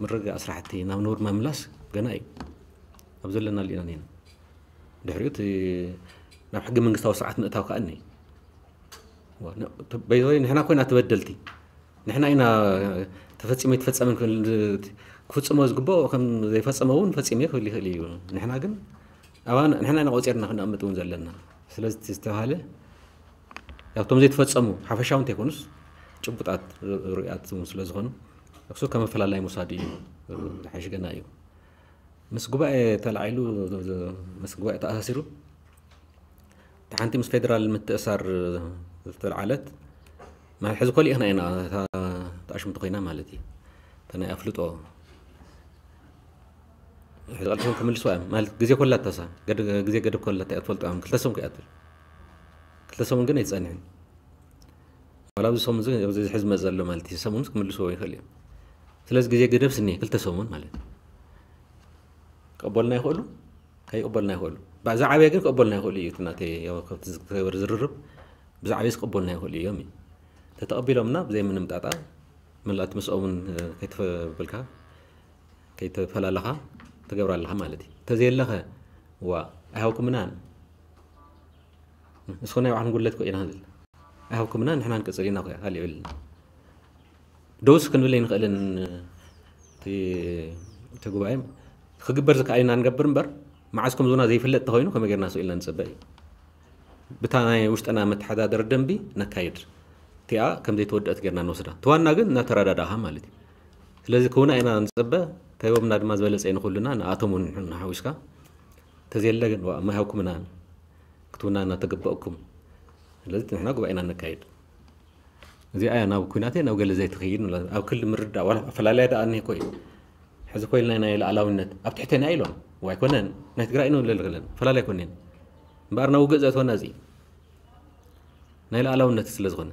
ምርግጋእ ስራሕቲ ናብ ንቡር ምምላስ ገና እዩ ኣብ ዘለና ሊና ኒና ድሕሪኡ እቲ ናብ ሕገ መንግስታዊ ስርዓት ምእታው ከዓ እኒ በይዘወይ ንሕና ኮይና ተበደልቲ ንሕና ኢና ተፈፂሙ ይትፈፀምን ክፍፅሞ ዝግበኦ ከም ዘይፈፀመ እውን ፈፂሙ ክብል ይኽእል እዩ ንሕና ግን ንሕና ኢና ቆፂርና ክነቕምጥ እውን ዘለና ስለዚ ዝተባሃለ ያብቶም ዘይተፈፀሙ ሓፈሻዊ እንተይኮኑስ ጭቡጣት ርኡያት እውን ስለ ዝኾኑ እሱ ከም ኣፈላላይ ምውሳድ እዩ ዝሓይሽ ገና እዩ ምስ ጉባኤ ተላዒሉ ምስ ጉባኤ ተኣሳሲሩ እቲ ሓንቲ ምስ ፌደራል ምትእሳር ዝተልዓለት ማለት ሕዚ ኮሊእኽና ኢና ተኣሽምቲ ኮይና ማለት እዩ ናይ ኣፍልጦ ሕዚ ቀልጢፎም ክምልስዋ እዮም ማለት ግዜ ኮላታሳ ግዜ ገደብ ኮላታ እያ ትፈልጦ እዮም ክልተ ሰሙን ክኣትል ክልተ ሰሙን ግን ኣይትፀንሕን ዋላ ኣብዚ ሰሙን ኣብዚ ሕዚ መፅ ዘሎ ማለት እዩ ሰሙን ክምልስዎ ይኽእል እዮም ስለዚ ግዜ ገደብ ስኒ ክልተ ሰሙን ማለት እዩ ክቕበሉና ይኽእሉ ከይቕበሉና ይኽእሉ ዝዓበየ ግን ክቕበሉና ይኽእሉ እዩ እቲ ናተይ ዝርርብ ብዛዕበ ክቕበሉና ይኽእሉ እዮም እዩ ተተቐቢሎምና ብዘይ ምንም ጣጣ መላእቲ ምስኦምን ከይተበልካ ከይተፈላለኻ ትገብር ኣለኻ ማለት እዩ። እንተዘየለኸ ዋ ኣይሃብኩምናን ንስኹም ናይ ባዕልኩም ጉድለት እኮ ኢና ዝብል ኣይሃብኩምናን ንሕና ንቅፅል ኢና እኮ ካልእ የብልና። ደውስ ክንብል ኣይንኽእልን እቲ ጉባኤ ክግበር ዝከኣል ኢና ንገብር እምበር መዓዝ ከም ዞና ዘይፍለጥ ተኮይኑ ከመይ ጌርና ስኢልና ንጸበ እዩ። ብታ ናይ ውሽጥና መተሓዳደሪ ደንቢ ነካይድ። እቲኣ ከም ዘይተወደአት ጌርና ንወስዳ። ተዋና ግን እናተረዳዳእኻ ማለት እዩ። ስለዚ ክውና ኢና ንጸበ፣ ከይቦምና ድማ ዝበለጸ እዩ ንኹልና፣ ንኣቶም እውን ንሓዊስካ። ተዘየለ ግን ዋ፣ ማይ ሃብኩምና ክትውና እናተገበእኩም። ስለዚ ንሕና ጉባኤና ነካይድ። እዚኣ እያ ናብ ኩናት እያ፣ ናብ ገለ ዘይትኸይድ ንብላ። ኣብ ክሊ ምርዳእ፣ ዋላ ኣፈላላይ ደኣ እኒሄ እኮ እዩ። ሕዚ እኮ ኢልና ናይ ሉዓላዊነት ኣብ ትሕቴና ኢሎም። ዋይ ኮነን፣ ናይ ትግራይ ንብለል ክለን፣ ኣፈላላይ ኮነን። እምበኣር ናብ ውግእ ዘእትወና እዚ እዩ። ናይ ሉዓላውነት ስለ ዝኾነ።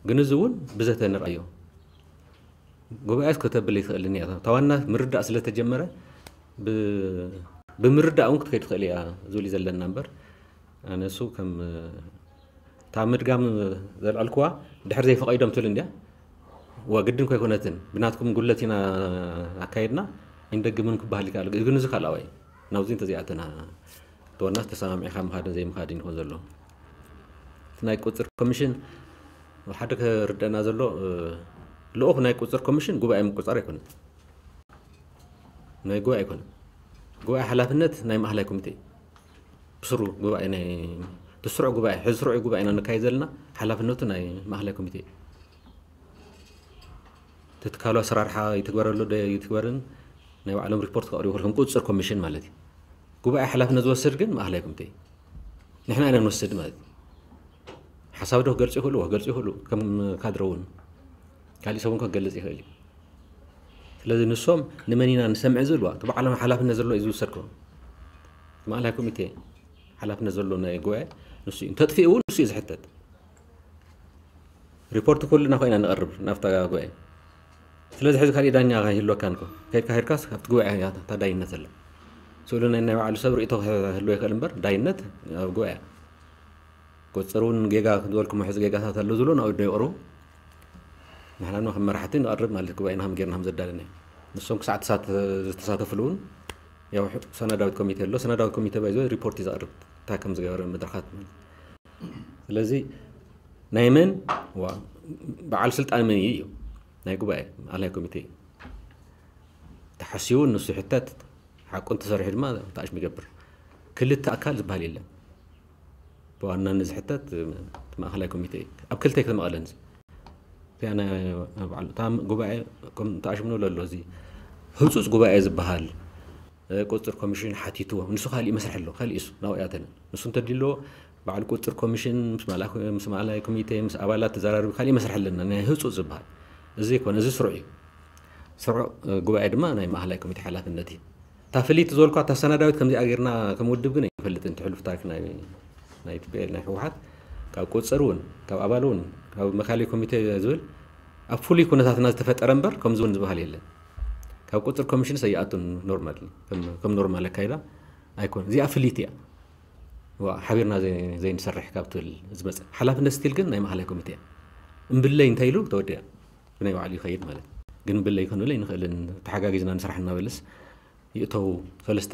ግን እዚ እውን ብዘተ ንርኣዮ። ጉባኤስ ከተብል ይትኽእልን እያ። እታ ዋና ምርዳእ ስለ ተጀመረ፣ ብ-፣ ብምርዳእ እውን ክትከይድ ትኽእል እያ ዝብል እዩ ዘለና እምበር፣ ኣነ እሱ ከም፣ እታ ምድጋም ዘልዐልክዋ ድሕር ዘይፈቐዶም ትብል እንድያ። ዋ፣ ግድን ኮይኮነትን፣ ብናትኩም ጉለት ኢና ኣካየድና፣ ኣይንደግምን ክበሃል ይከኣል። ግን እዚ ካልኣዋይ፣ ናብዚ እንተዘይኣተና፣ ተወናስ ተሰማሚዕካ ምኻድን ዘይምኻድን ይኾን ዘሎ። እቲ ናይ ቁፅር ኮሚሽን፣ ሓደ ክርደና ዘሎ፣ እ፣ ልኡኽ ናይ ቁፅር ኮሚሽን ጉባኤ ምቁፃር ኣይኮነን። ናይ ጉባኤ ኣይኮነን። ጉባኤ ሓላፍነት ናይ ማእኸላይ ኮሚቴ። ብስሩ ጉባኤ ናይ፣ እቲ ስሩዕ ጉባኤ፣ ሕዚ ስሩዕ ጉባኤ ኢና ነካይድ ዘለና፣ ሓላፍነቱ ናይ ማእኸላይ ኮሚቴ። እቲ ትካሉ ኣሰራርሓ ይትግበረሉ ዶ ይትግበርን ናይ ባዕሎም ሪፖርት ከቕርቡ ከም ቁፅፅር ኮሚሽን ማለት እዩ። ጉባኤ ሓላፍነት ዝወስድ ግን ማእኸላይ ኮሚቴ እዩ። ንሕና ኢና ንወስድ ማለት እዩ። ሓሳብ ዶ ክገልፁ ይኽእሉ፣ ክገልፁ ይኽእሉ፣ ከም ካድረ እውን። ካሊእ ሰብ እውን ክገልፅ ይኽእል እዩ። ስለዚ ንሶም ንመን ኢና ንሰምዕ ዝብልዋ፣ እቲ ባዕሎም ሓላፍነት ዘለዎ እዩ ዝውሰድ ከ። ማእኸላይ ኮሚቴ ሓላፍነት ዘለዎ ናይ ጉባኤ ንሱ እዩ። እንተጥፊኡ እውን ንሱ እዩ ዝሕተት። ሪፖርት ኩልና ኮይና ንቐርብ ናብታ ጉባኤ። ስለዚ ሕዚ ካሊእ ዳኛ ይህልወካን እኮ። ከይድካ ሄድካስ ኣብቲ ጉባኤ እያ እታ ዳይነት ዘላ። ስእሉ ናይ፣ ናይ ባዕሉ ሰብ ርእይቶ ክህልዎ ይኽእል እምበር ዳይነት ኣብ ጉባኤ። ቁፅር እውን ጌጋ ዝበልኩሞ ሕዚ ጌጋታት ኣሎ ዝብሎ ናብኡ ዶ ይቕርቡ? ንሕና ድማ ከም መራሕቲ ንቐርብ ማለት ጉባኤና ከም ጌርና ከም ዘዳለናዮ። ንሶም ክሳዕ ተሳተ-፣ ዝተሳተፍሉ እውን ያው ሰነዳዊት ኮሚቴ ኣሎ። ሰነዳዊት ኮሚቴ ባይዞ ሪፖርት እዩ ዘቕርብ። እንታይ ከም ዝገበረ መድረኻት ማለት። ስለዚ ናይ መን ዋ-፣ በዓል ስልጣን መን እዩ? እዩ ናይ ጉባኤ ኣላይ ኮሚቴ እዩ። ተሓሲቡ ንሱ ይሕተት፣ ሓቁ እንተሰሪሑ ድማ ተኣሽሙ ይገብር። ክልተ ኣካል ዝበሃል የለን። ብዋናነት ዝሕተት እቲ ማእኸላይ ኮሚቴ እዩ። ኣብ ክልተ እዩ ክመቐለን እዚ። እቲኣ ናይ ባዕሉ፣ እታ ጉባኤ ከም ተኣሽሙ ንብሎ ኣሎ፣ እዚ ህጹጽ ጉባኤ ዝበሃል፣ እ፣ ቁጽጽር ኮሚሽን ሓቲትዎ። ንሱ ካሊእ መስርሕ ኣሎ፣ ካሊእ እሱ፣ ናብኡ ያተነ። ንሱ እንተድልዎ፣ ባዕሉ ቁጽጽር ኮሚሽን ምስ ማእላ-፣ ምስ ማእላይ ኮሚቴ፣ ምስ ኣባላት ተዘራሪቡ፣ ካሊእ መስርሕ ኣለና፣ ናይ ህጹጽ ዝበሃል። እዚ ይኮነ፣ እዚ ስሩዕ እዩ። ስሩዕ፣ እ፣ ጉባኤ ድማ ናይ ማእኸላይ ኮሚቴ ሓላፍነት እዩ። እታ ፍልይቲ ዝበልኳ፣ እታ ሰነዳዊት ከምዚኣ ጌርና ከም ውድብ ግን ኣይንፈልጥን። እቲ ሕሉፍ ታሪኽ ናይ፣ ናይ ቲ ፒ ኤል፣ ናይ ህወሓት፣ ካብ ቁጽጽር እውን፣ ካብ ኣባል እውን፣ ካብ መካሊ ኮሚቴ ዝብል፣ ኣብ ፍሉይ ኩነታትና ዝተፈጠረ እምበር፣ ከምዚ እውን ዝበሃል የለን። ካብ ቁጽጽር ኮሚሽንስ ኣይኣቱን ኖርማል፣ ከም፣ ከም ኖርማል ኣካይዳ ኣይኮነን። እዚኣ ፍልይቲ እያ። ዋ፣ ሓቢርና ዘይ-፣ ዘይንሰርሕ ካብ ትብል ዝመጽእ ሓላፍነት ስቲል ግን ናይ ማእኸላይ ኮሚቴ እያ። እምብለይ እንታይ ኢሉ ተወዲኣ፣ ብናይ ባዕሉ ይኸይድ ማለት። ግን እምብለይ ክንብል ኣይንኽእልን፣ ተሓጋጊዝና ንስራሕ እናበለስ ይእተው፣ ሰለስተ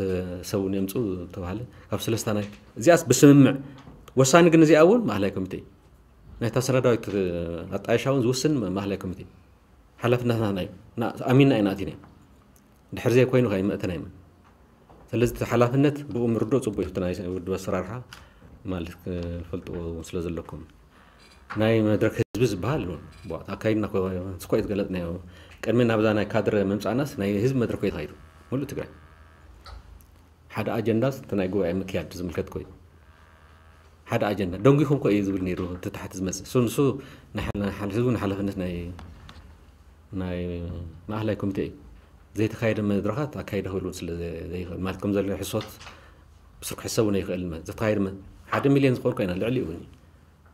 ሰብ እውን የምፅኡ ተባሃለ። ካብ ሰለስተ ናይ፣ እዚኣስ ብስምምዕ፣ ወሳኒ ግን እዚኣ እውን ማእኸላይ ኮሚቴ እዩ። ናይታ ሰነዳዊት ኣጣየሻ እውን ዝውስን ማእኸላይ ኮሚቴ። ሓላፍነትና ናይ፣ ና-፣ ኣሚንና ኢና ኣቲና። ድሕር ዘይኮይኑ ከይመእተና ይመን። ስለዚ እቲ ሓላፍነት ብኡ ምርድኦ ፅቡቅ እዩ። እቲ ናይ ውድብ ኣሰራርሓ ማለት ክፈልጥዎ ስለ ዘለኩም። ናይ መድረክ ህዝቢ ዝበሃል ኣሎ። ቧ-፣ ኣካይድና ኮ-፣ ስኮ እዩ ዝገለጽናዮ። ቅድሚ ናብዛ ናይ ካድረ ምምጻእናስ ናይ ህዝቢ መድረክ እዩ ተኻይዱ። ሙሉእ ትግራይ። ሓደ ኣጀንዳስ እቲ ናይ ጉባኤ ምክያድ ዝምልከት ኮይኑ። ሓደ ኣጀንዳ። ደንጒኹም ኮ እዩ ዝብል ነይሩ፣ እቲ ታሕቲ ዝመጽእ። እሱ፣ ንሱ ንሓ-፣ ንሓ-፣ ህዝቡ ንሓላፍነት ናይ፣ ናይ ማእኸላይ ኮሚቴ እዩ። ዘይተኻየደ መድረኻት ኣካይደ ክብሉ ስለ ዘ-፣ ዘይኽእል። ማለት ከም ዘሎ ሕሶት ብስሩ ክሕሰብ እውን ኣይኽእልን። ማለት ዝተኻየደ መ-፣ ሓደ ሚልዮን ዝኾን ኮይና ልዕሊ እውን እዩ።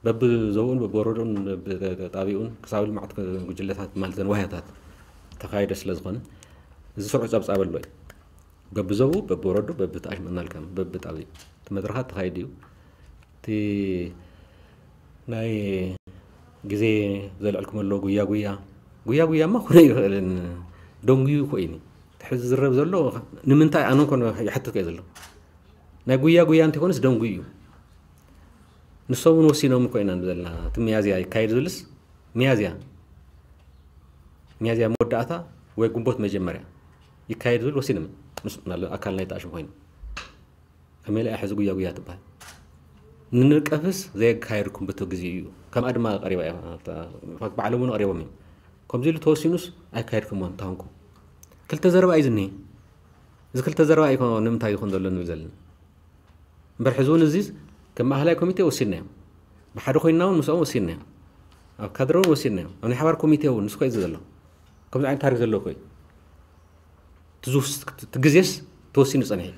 በብዞብኡን በብወረዶን በብጣቢኡን ክሳብ ልምዓት ጉጅለታት ማለት ዘን ዋህያታት ተኻይደ ስለ ዝኾነ፣ እዚ ስሩዕ ጸብጻብ ኣሎ እዩ። በብዞብኡ፣ በብወረዱ፣ በብተኣሽመናልካ፣ በብጣቢኡ። እቲ መድረኻት ተኻይዱ እዩ። እቲ ናይ ግዜ ዘልዕልኩም ኣሎ ጉያ ጉያ። ጉያ ጉያማ ክኾነ ይኽእልን ደንጉዩ ኮይኑ። እቲ ሕዚ ዝረብ ዘሎ ንምንታይ ኣነ እንኮን ይሓትት እየ ዘሎ። ናይ ጉያ ጉያ እንተይኮነስ ደንጉዩ እዩ። ንሶም እውን ወሲኖም እኮ ኢና ንብል ዘለና። እቲ ሚያዝያ ይካየድ ዝብልስ፣ ሚያዝያ፣ ሚያዝያ መወዳእታ ወይ ግንቦት መጀመርያ ይካየድ ዝብል ወሲኖም። ምስ፣ ምናልባት ኣካል ናይ ተኣሽሙ ኮይኑ። ከመይ ኢላ ሕዚ ጉያ ጉያ ትበሃል? ንንቀፍስ ዘየካየድኩም በቲ ግዜ እዩ። ከምኣ ድማ ቀሪባ እያ። ባዕሎም እውን ቀሪቦም እዮም። ከምዚ ኢሉ ተወሲኑስ ኣይካየድኩም እንተኾንኩም። ክልተ ዘረባ እዩ ዝኒሀ። እዚ ክልተ ዘረባ እዩ ንምንታይ ይኾን ዘሎ ንብል ዘለና። እምበር ሕዚ እውን እዚስ ከም ማእኸላይ ኮሚቴ ወሲድናዮም። ብሓደ ኮይንና እውን ምስኦም ወሲድናዮም። ኣብ ካድረ እውን ወሲድናዮም። ኣብ ናይ ሓባር ኮሚቴ እውን ንሱ ኮይ ዘሎ። ከምዚ ዓይነት ታሪክ ዘለዎ ኮይ። እቲ ግዜስ ተወሲኑ ጸኒሑ።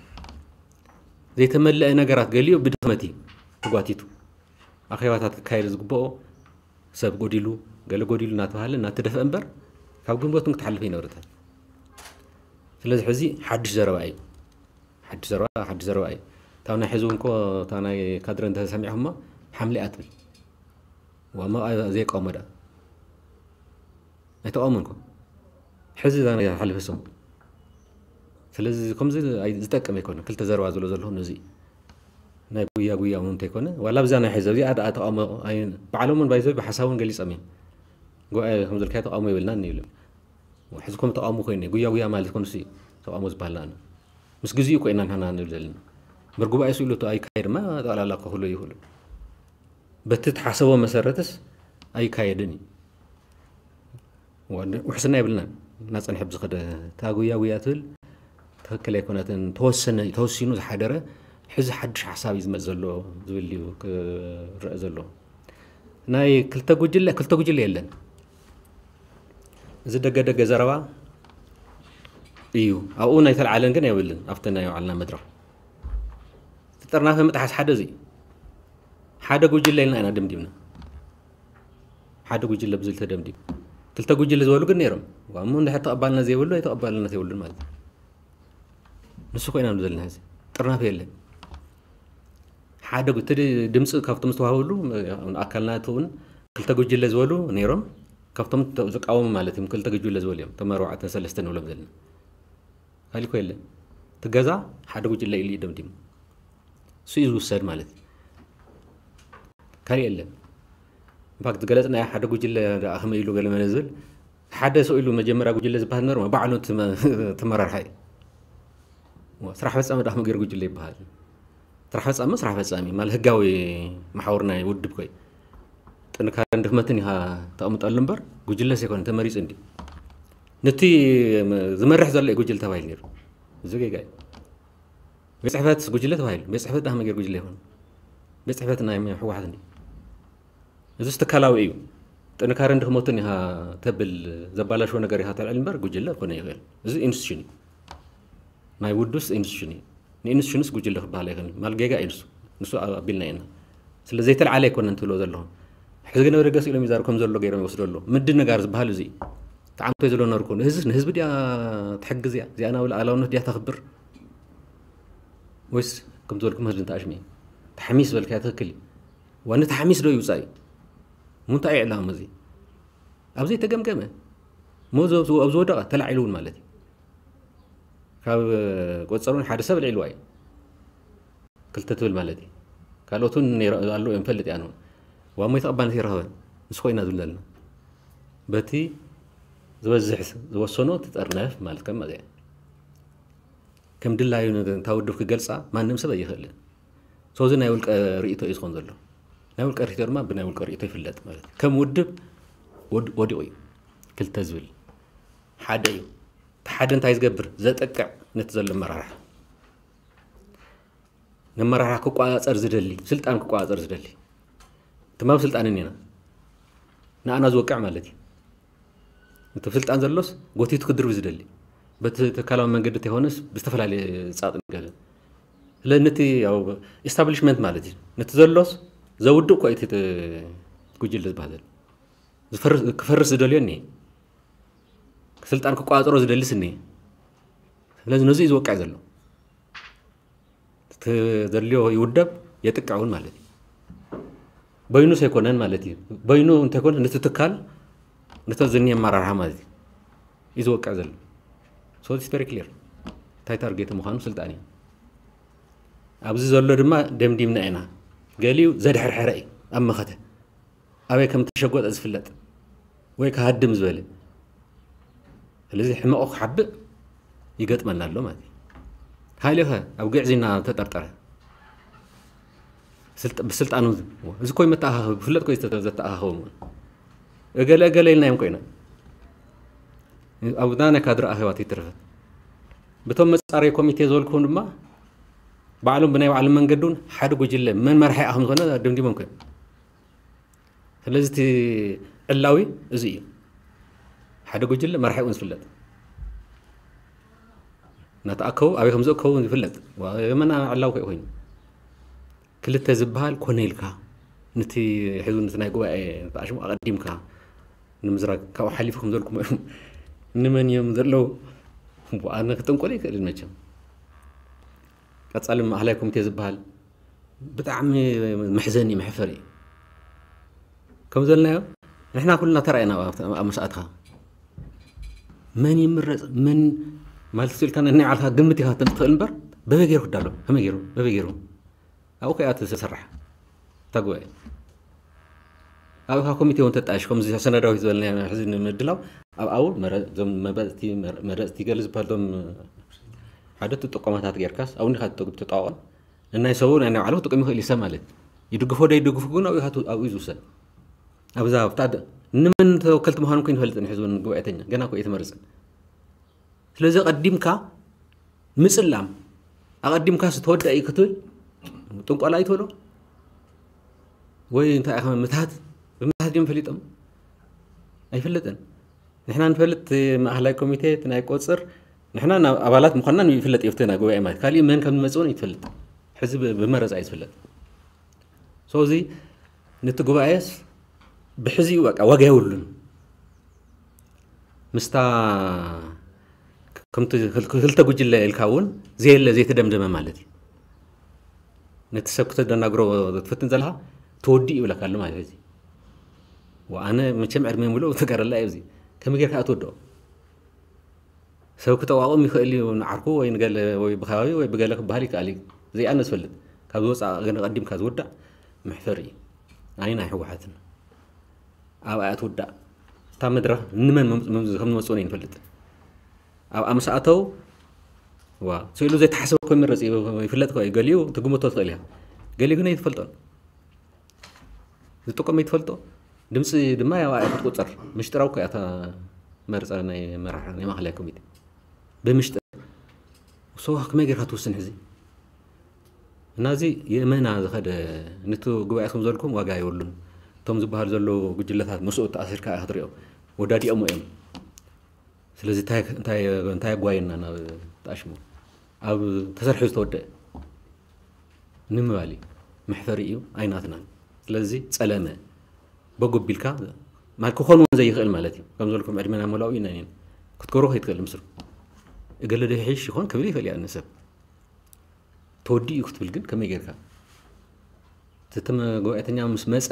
ዘይተመለአ ነገራት ገሊኡ ብድኽመት እዩ ተጓቲቱ። ኣኼባታት ክካየድ ዝግብኦ ሰብ ጎዲሉ፣ ገለ ጎዲሉ እናተባሃለ እናተደፍአ እምበር ካብ ግንቦት እውን ክትሓልፍ ኣይነበረትን። ስለዚ ሕዚ ሓድሽ ዘረባ እዩ። ሓድሽ ዘረባ፣ ሓድሽ ዘረባ እዩ። እታ ናይ ሕዚ እውን እኮ እታ ናይ ካድረ እንተሰሚዕኹማ ሓምሊ እያ ትብል። ዋማ ዘይቃወሞ ደኣ ኣይተቃወሞን እኮ። ሕዚ እዛ ናይ ሓለፈ ሰሙን። ስለዚ ከምዚ ኣይ-፣ ዝጠቅም ኣይኮነን። ክልተ ዘረባ ዝብሎ ዘለኹ ነዚ ናይ ጉያ ጉያ እውን እንተይኮነ፣ ዋላ ኣብዛ ናይ ሕዚ ኣብዚኣ ደኣ ተቃውሞ ኣይ-፣ ባዕሎም እውን ባይዘ ብሓሳብ እውን ገሊጾም እዮም። ጉባኤ ከም ዘልካዮ ተቃውሞ የብልናን ይብሉ። ሕዚ ከም ተቃውሞ ኮይኑ ጉያ ጉያ ማለት ኮንሲ ተቃውሞ ዝበሃል ኣነ። ምስ ግዜኡ እኮ ኢና ንሕና ንብል ዘለና። እምበር ጉባኤ ስኢሉ እቶ ኣይካየድማ ጠቕላላ ክኽሉ ይኽእሉ። በቲ ተሓሰቦ መሰረትስ ኣይካየድን እዩ። ወ-፣ ውሕስና የብልናን። እናጸንሐ ብዝኸደ እታ ጉያ ጉያ ትብል ትኽክል ኣይኮነትን። ተወሰነ፣ ተወሲኑ ዝሓደረ ሕዚ ሓድሽ ሓሳብ እዩ ዝመጽእ ዘሎ ዝብል እዩ ክረአ ዘሎ። ናይ ክልተ ጉጅለ፣ ክልተ ጉጅለ የለን። እዚ ደገ ደገ ዘረባ እዩ። ኣብኡ ናይ ተልዓለን ግን የብልን። ኣብቲ ናይ ባዕልና መድረኽ። እቲ ጥርናፈ ምጥሓስ ሓደ እዚ እዩ። ሓደ ጉጅለ ኢልና ኢና ደምዲምና። ሓደ ጉጅለ ብዝብል ተደምዲሙ። ክልተ ጉጅለ ዝበሉ ግን ነይሮም። ዋሞ እንድሕር ተቐባልነት ዘይብሉ፣ ኣይተቐባልነት የብሉን ማለት እዩ። ንሱ ኮይና ዘለና ሕዚ። ጥርናፈ የለን። ሓደ ጉ-፣ እቲ ድምፂ ካብቶም ዝተዋህብሉ፣ ኣካልና እትውን ክልተ ጉጅለ ዝበሉ ነይሮም። ካብቶም ተ-፣ ዝቃወሙ ማለት እዮም፣ ክልተ ጉጅለ ዝበሉ እዮም። እቶም ኣርባዕተ ሰለስተ ንብሎም ዘለና። ካሊእ እኮ የለን። እቲ ገዛ ሓደ ጉጅለ ኢሉ እዩ ደምዲሙ። እሱ እዩ ዝውሰድ ማለት እዩ። ካሊእ የለን። ኢንፋክት ዝገለጽናዮ ሓደ ጉጅለ ደኣ ከመይ ኢሉ ገለ መለ ዝብል፣ ሓደ ሰው ኢሉ መጀመርያ ጉጅለ ዝበሃል ነሩ፣ ባዕሉ እቲ መ-፣ እቲ መራርሓ እዩ። ስራሕ ፈጻሚ ደኣ ከመይ ገይሩ ጉጅለ ይበሃል? ስራሕ ፈጻሚ፣ ስራሕ ፈጻሚ ማለት ህጋዊ መሓውር ናይ ውድብ ኮይ። ጥንካረን ድኽመትን ኢኻ ተቐምጠሉ እምበር፣ ጉጅለስ ኣይኮነን፣ ተመሪጹ እንዲ። ነቲ ዝመርሕ ዘሎ እዩ ጉጅለ ተባሂሉ ነይሩ። እዚ ጌጋ እዩ። ቤት ጽሕፈት ጉጅለ ተባሂሉ። ቤት ጽሕፈት ደኣ ከመይ ገይሩ ጉጅለ ይኾን? ቤት ጽሕፈት ናይ ህወሓት እንዲ። እዚስ ትካላዊ እዩ። ጥንካረን ድኽመቱን ኢኻ ተብል፣ ዘባላሽዎ ነገር ኢኻ ተልዕል እምበር ጉጅለ ክኾነ ይኽእል። እዚ ኢንስቲትዩሽን እዩ። ናይ ውዱስ ኢንስቲትዩሽን እዩ። ንኢንስቲትዩሽንስ ጉጅለ ክበሃል ኣይኽእልን። ማል ጌጋ እዩ ንሱ። ንሱ ኣቢልና ኢና። ስለ ዘይተልዓለ ኣይኮነን ትብሎ ዘለኹም። ሕዚ ግን ወደ ገስ ኢሎም ይዛረቡ ከም ዘሎ ገይሮም ይወስዶ ኣለዉ። ምድንጋር ዝበሃል እዚ እዩ። ተዓምቶ ዘሎ ነርኩ። ንህዝብ፣ ንህዝቢ ድያ ትሕግዝ እያ? እዚኣ ናብ ልኣላውነት ድያ ተኽብር? ወይስ ከም ዝበልኩም ህዝቢ እንተኣሽሚ? ተሓሚስ ዝበልካዮ ትኽክል እዩ። ዋኒ ተሓሚስ ዶ ይውጻእ እዩ? ምንታይ እዩ ዕላማ እዚ? ኣብ ዘይተገምገመ፣ ሞ ኣብ ዝወደቐ ተላዒሉ እውን ማለት እዩ። ካብ ቆጸሩን ሓደ ሰብ ልዒልዋ እዩ። ክልተ ትብል ማለት እዩ። ካልኦት እውን ነይረ-፣ ኣለዉ እዮም፣ ፈልጥ እያ ንውን። ዋሞ ተቐባልነት ይረኸበ። ንሱ ኮይና ዝብል ዘለና። በቲ ዝበዝሕ ዝወሰኖ ትጠርነፍ ማለት ከም ማለት እያ። ከም ድላዩ ን-፣ እታ ውድብ ክገልጻ ማንም ሰብ ኣይኽእልን። So እዚ ናይ ውልቀ ርእይቶ እዩ ዝኾን ዘሎ። ናይ ውልቀ ርእይቶ ድማ ብናይ ውልቀ ርእይቶ ይፍለጥ ማለት እዩ። ከም ውድብ ወድ-፣ ወዲቑ እዩ። ክልተ ዝብል ሓደ እዩ። እቲ ሓደ እንታይ ዝገብር? ዘጠቅዕ ነቲ ዘሎ ኣመራርሓ። ነመራርሓ ክቋጻጸር ዝደሊ፣ ስልጣን ክቋጻጸር ዝደሊ። ትማም ስልጣን እኒና። ንኣና ዝወቅዕ ማለት እዩ። እቲ ስልጣን ዘሎስ ጎቲቱ ክድርብ ዝደሊ። በቲ ትካላዊ መንገዲ እንተይኮነስ ብዝተፈላለየ ጻጥ ነገር። ስለ ነቲ ያው ኢስታብሊሽመንት ማለት እዩ። ነቲ ዘሎስ ዘውድእ እኮ እዩ እቲ ጉጅለ ዝበሃል ዘሎ። ዝፈርስ፣ ክፈርስ ዝደልዮ እኒሄ። ስልጣን ክቋጸሮ ዝደልስ እኒሄ። ስለዚ ነዚ እዩ ዝወቅዕ ዘሎ። እቲ ዘድልዮ ይውደብ፣ የጥቅዕ እውን ማለት እዩ። በይኑስ ኣይኮነን ማለት እዩ። በይኑ እንተይኮነ ነቲ ትካል፣ ነቲ ዝኒ ኣመራርሓ ማለት እዩ። እዩ ዝወቅዕ ዘሎ። So it's very clear። እንታይ ታርጌት ምዃኑ ስልጣን እዩ። ኣብዚ ዘሎ ድማ ደምዲምና ኢና። ገሊኡ ዘድሕርሐረ እዩ፣ ኣብ መኸተ። ኣበይ ከም እተሸጎጠ ዝፍለጥ ወይ ክሃድም ዝበለ። ስለዚ ሕመቑ ክሓብእ ይገጥመና ኣሎ ማለት እዩ። ሃይለኸ ኣብ ግዕዝና ተጠርጠረ። ብስልጣኑ እዚ ኮይ መተኣኻኸቢ ክፍለጥ ኮይ ዘተኣኻኸቡ እገለ እገለ ኢልናዮም ኮይና ኣብና ናይ ካድር ኣኸባት ይትረፈት ብቶም መጻረይ ኮሚቴ ዝበልኩም ድማ ባዕሎም ብናይ ባዕሎም መንገዱን ሓደ ጉጅለ መን መርሒ ኣኸም ዝኾነ ደምዲሞም ኮይኖም ስለዚ እቲ ዕላዊ እዚ እዩ ሓደ ጉጅለ መርሒ እውን ዝፍለጥ እናተኣከቡ ኣበይ ከም ዝእከቡ ይፍለጥ መና ዕላዊ ኮይኑ ክልተ ዝበሃል ኮነ ኢልካ ነቲ ሕዙ ነቲ ናይ ጉባኤ ተኣሽሙ ኣቐዲምካ ንምዝራግ ካብኡ ሓሊፉ ከም ዘልኩም እዮም ንመን እዮም ዘለዉ ኣነ ክጥንቆለ ይክእል መቸም ቀፃሊ ማእኸላይ ኮሚቴ ዝበሃል ብጣዕሚ መሕዘኒ መሕፈር እዩ ከም ዘልናዮ ንሕና ኩልና ተራእና ኣብ መስኣትካ መን ይምረፅ መን ማለት ስልካ ናይ ዓልካ ግምት ኢካ ትኽእል እምበር በበይ ገይሩ ክዳሎ ከመይ ገይሩ በበይ ገይሩ ኣብኡ ከኣ ትሰርሕ እታ ጉባኤ ኣብኡ ከኣ ኮሚቴ እውን ተጣይሽ ከምዚ ሰነዳዊት ዝበልና ሕዚ ንምድላው ኣብ ኣው መረፅቲ ገለ ዝበሃልቶም ሓደ ትጥቆማታት ጌርካስ ኣብኡ እንዲካ ትጠቋቆም ንናይ ሰቡ ናይ ባዕሉ ክጥቀም ይኽእል ይሰብ ማለት ይድግፎ ዶ ይድግፉ ግን ኣብኡ ኣብኡ ዝውሰን ኣብዛ ኣብታ ንመን ተወከልቲ ምዃኑ እኮ ይንፈልጥን ሕዝብን ጉባኤተኛ ገና እኮ እየትመርፅን ስለዚ ቀዲምካ ምፅላም ኣቐዲምካ ዝተወደአ እዩ ክትብል ጥንቆላ ይትበሎ ወይ እንታይ ኢኻ ምታት ብምታት እዮም ፈሊጦም ኣይፍለጥን ንሕና ንፈልጥ ማእኸላይ ኮሚቴ ናይ ቆፅር ንሕና ኣባላት ምዃንና ይፍለጥ ይፍትና ጉባኤ ማለት ካሊእ መን ከም ዝመፅእ እውን ይትፈልጥ ሕዚ ብመረፃ እዩ ዝፍለጥ ሰዚ ነቲ ጉባኤስ ብሕዚኡ በቃ ዋጋ የብሉን ምስታ ከምቲ ክልተ ጉጅለ ኢልካ እውን ዘየለ ዘይተደምደመ ማለት እዩ ነቲ ሰብ ክተደናግሮ ትፍትን ዘለካ ተወዲእ ይብለካ ኣሎ ማለት እዚ ኣነ መቸም ዕድመ ምሉእ ተገረላ እዩ እዚ ከመይ ጌርካ ትወድኦ ሰብ ክተቋቁም ይኽእል እዩ ንዓርኩ ወይ ንገለ ወይ ብከባቢ ወይ ብገለ ክበሃል ይከኣል እዩ ዘይኣነ ዝፈልጥ ካብ ዝወፃእ ግን ቀዲምካ ዝውዳእ መሕፈር እዩ ኣይ ናይ ህወሓትን ኣብ ኣያ ትውዳእ እታ መድረኽ ንመን ከም ዝመፅኡን ይንፈልጥ ኣብ ኣምስኣተው ዋ ስኢሉ ዘይተሓሰበ ኮ ይመረፅ ይፍለጥ ኮ ገሊኡ ትግምቶ ትኽእል እያ ገሊኡ ግን ኣይትፈልጦን ዝጥቀም ይትፈልጦ ድምፂ ድማ ያው ኣያ ክትቁፀር ምሽጥራዊ ኮ እያ መርፃ ናይ መራሒ ናይ ማእኸላይ ኮሚቴ ብምሽጥር ሰው ከመይ ጌርካ ትውስን ሕዚ እና እዚ የመና ዝኸደ ንቲ ጉባኤ ከም ዘልኩም ዋጋ የብሉን እቶም ዝበሃሉ ዘለዉ ጉጅለታት ምስኡ ተኣሲርካ ክትሪኦ ወዳዲኦም እዮም ስለዚ እንታይ ኣጓየና ናብ ተኣሽሙ ኣብ ተሰርሑ ዝተወደአ ንምባል እዩ መሕፈሪ እዩ ኣይናትናን ስለዚ ፀለመ በጎ ቢልካ ክኾን እውን ዘይኽእል ማለት እዩ ከም ዘልኩም ዕድመና መላኡ ኢና ክትገብሮ ከይትኽእል ምስሉ እገለ ዶ ይሕሽ ይኾን ክብል ይኽእል እያ ንሰብ ተወዲኡ ክትብል ግን ከመይ ጌርካ እቲ መጓባእተኛ ምስ መፀ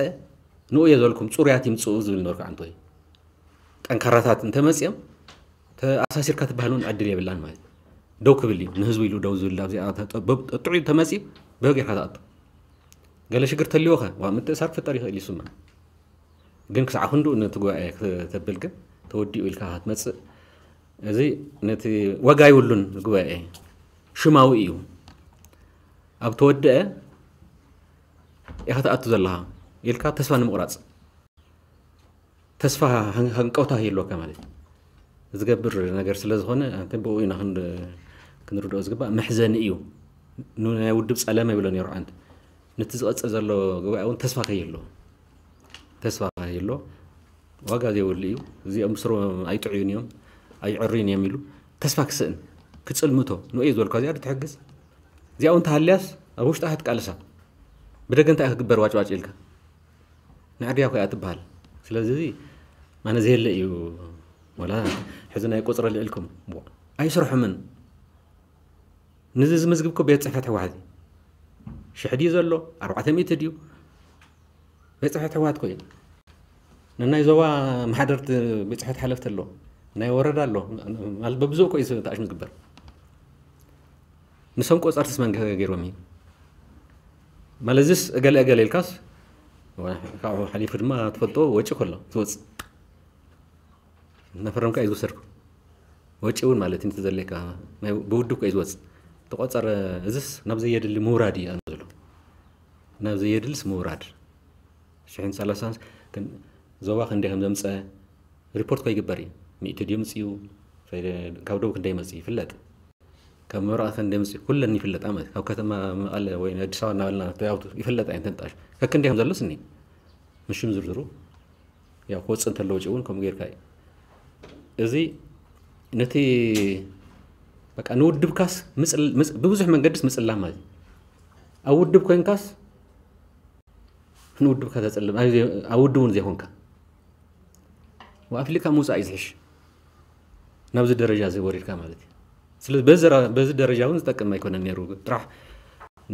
ንኡ እየ ዝበልኩም ፅሩያት ይምፅኡ ዝብል ነበርኩ ዓንቶ ጠንካራታት እንተመፅኦም ተኣሳሲርካ ትበሃል እውን ዕድል የብላን ማለት ደው ክብል እዩ ንህዝቡ ኢሉ ደው ዝብል ኣብዚኣ ጥዑይ ተመፂ በው ጌርካ ትኣቱ ገለ ሽግር ተልዎ ኸ ዋ ምትእሳር ክፍጠር ይኽእል ይስማ ግን ክሳዕ ክንድኡ ነቲ ጉባኤ ክተብል ግን ተወዲኡ ኢልካ ክትመፅእ እዚ ነቲ ዋጋ ይብሉን ጉባኤ ሽማዊ እዩ ኣብ ተወደአ ኢኻ ትኣቱ ዘለኻ ኢልካ ተስፋ ንምቑራፅ ተስፋ ሃንቀውታ ይህልወካ ማለት እዩ ዝገብር ነገር ስለ ዝኾነ ብኡ ኢና ክንርድኦ ዝግባእ መሕዘኒ እዩ ናይ ውድብ ፀለመ ይብሎ ነሩ ዓንት ነቲ ዝቐፅል ዘሎ ጉባኤ እውን ተስፋ ከይህልዎ ተስፋ ከይህልዎ ዋጋ ዘይብሉ እዩ እዚኦም ስሮም ኣይጥዕዩን እዮም ኣይዕርዩን እዮም ኢሉ ተስፋ ክስእን ክፅልምቶ ንኡ ዝበልኳ እዚኣ ትሕግዝ እዚኣ እውን ተሃልያስ ኣብ ውሽጣ ክትቃልሳ ብደገ እንታይ ክግበር ዋጭዋጭ ኢልካ ንዕድያ ኮይኣ ትበሃል ስለዚ ማነ ዘየለ እዩ ወላ ሕዚ ናይ ቁፅሪ ልዕልኩም ኣይስርሑምን ንዚ ዝምዝግብ ኮ ቤት ፅሕፈት ህወሓት እዩ ሽሕ ድዩ ዘሎ ኣርባዕተ ሚእቲ ድዩ ቤት ፅሕፈት ህወሓት ኮ እዩ ንናይ ዞባ ማሕደርቲ ቤት ፅሕፈት ሓለፍቲ ኣሎ ናይ ወረዳ ኣሎ ማለት በብዝኡ ኮ እዩ ተኣሽሙ ዝግበር ንሶም ቆፀርትስ መን ገይሮም እዩ ማለት እዚስ እገለ እገለ ኢልካስ ካብኡ ሓሊፉ ድማ ትፈልጦ ወጪ ከሎ ትወፅእ እናፈረምካ እዩ ዝወሰድኩ ወጪ እውን ማለት እዩ ዘለካ ብውድብ እዩ ዝወፅእ ተቆፀረ እዚስ ናብ ዘየድሊ ምውራድ እዩ ዘሎ ናብ ዘየድልስ ምውራድ። ሽሕን ሰላሳን ዞባ ክንደይ ከም ዘምፀ ሪፖርት ከይግበር እዩ። ሚእቲ ድዩ ምፅኡ፣ ካብ ደቡብ ክንደይ መፅኡ ይፍለጥ፣ ካብ ምብራቕ ክንደይ መፅኡ ኩለን ይፍለጣ ማለት ካብ ከተማ መቐለ ወይ ኣዲስ ኣበባ እናበልና ይፍለጣ እየን ተንጣሽ ከክንደይ ከም ዘሎስ እኒ ምሽም ዝርዝሩ ያው ክወፅእ እንተሎ ውጭ እውን ከምኡ ጌርካ እዩ። እዚ ነቲ በቃ ንውድብካስ ብብዙሕ መንገድስ ምፅላም ማለት እዩ። ኣብ ውድብ ኮይንካስ ንውድብካ ተፅልም ኣብ ውድብ እውን ዘይኮንካ ኣፍሊካ ምውፃእ እዩ ዝሕሽ። ናብዚ ደረጃ እዚ ወሪድካ ማለት እዩ። ስለዚ በዚ ደረጃ እውን ዝጠቅም ኣይኮነን ነይሩ። ጥራሕ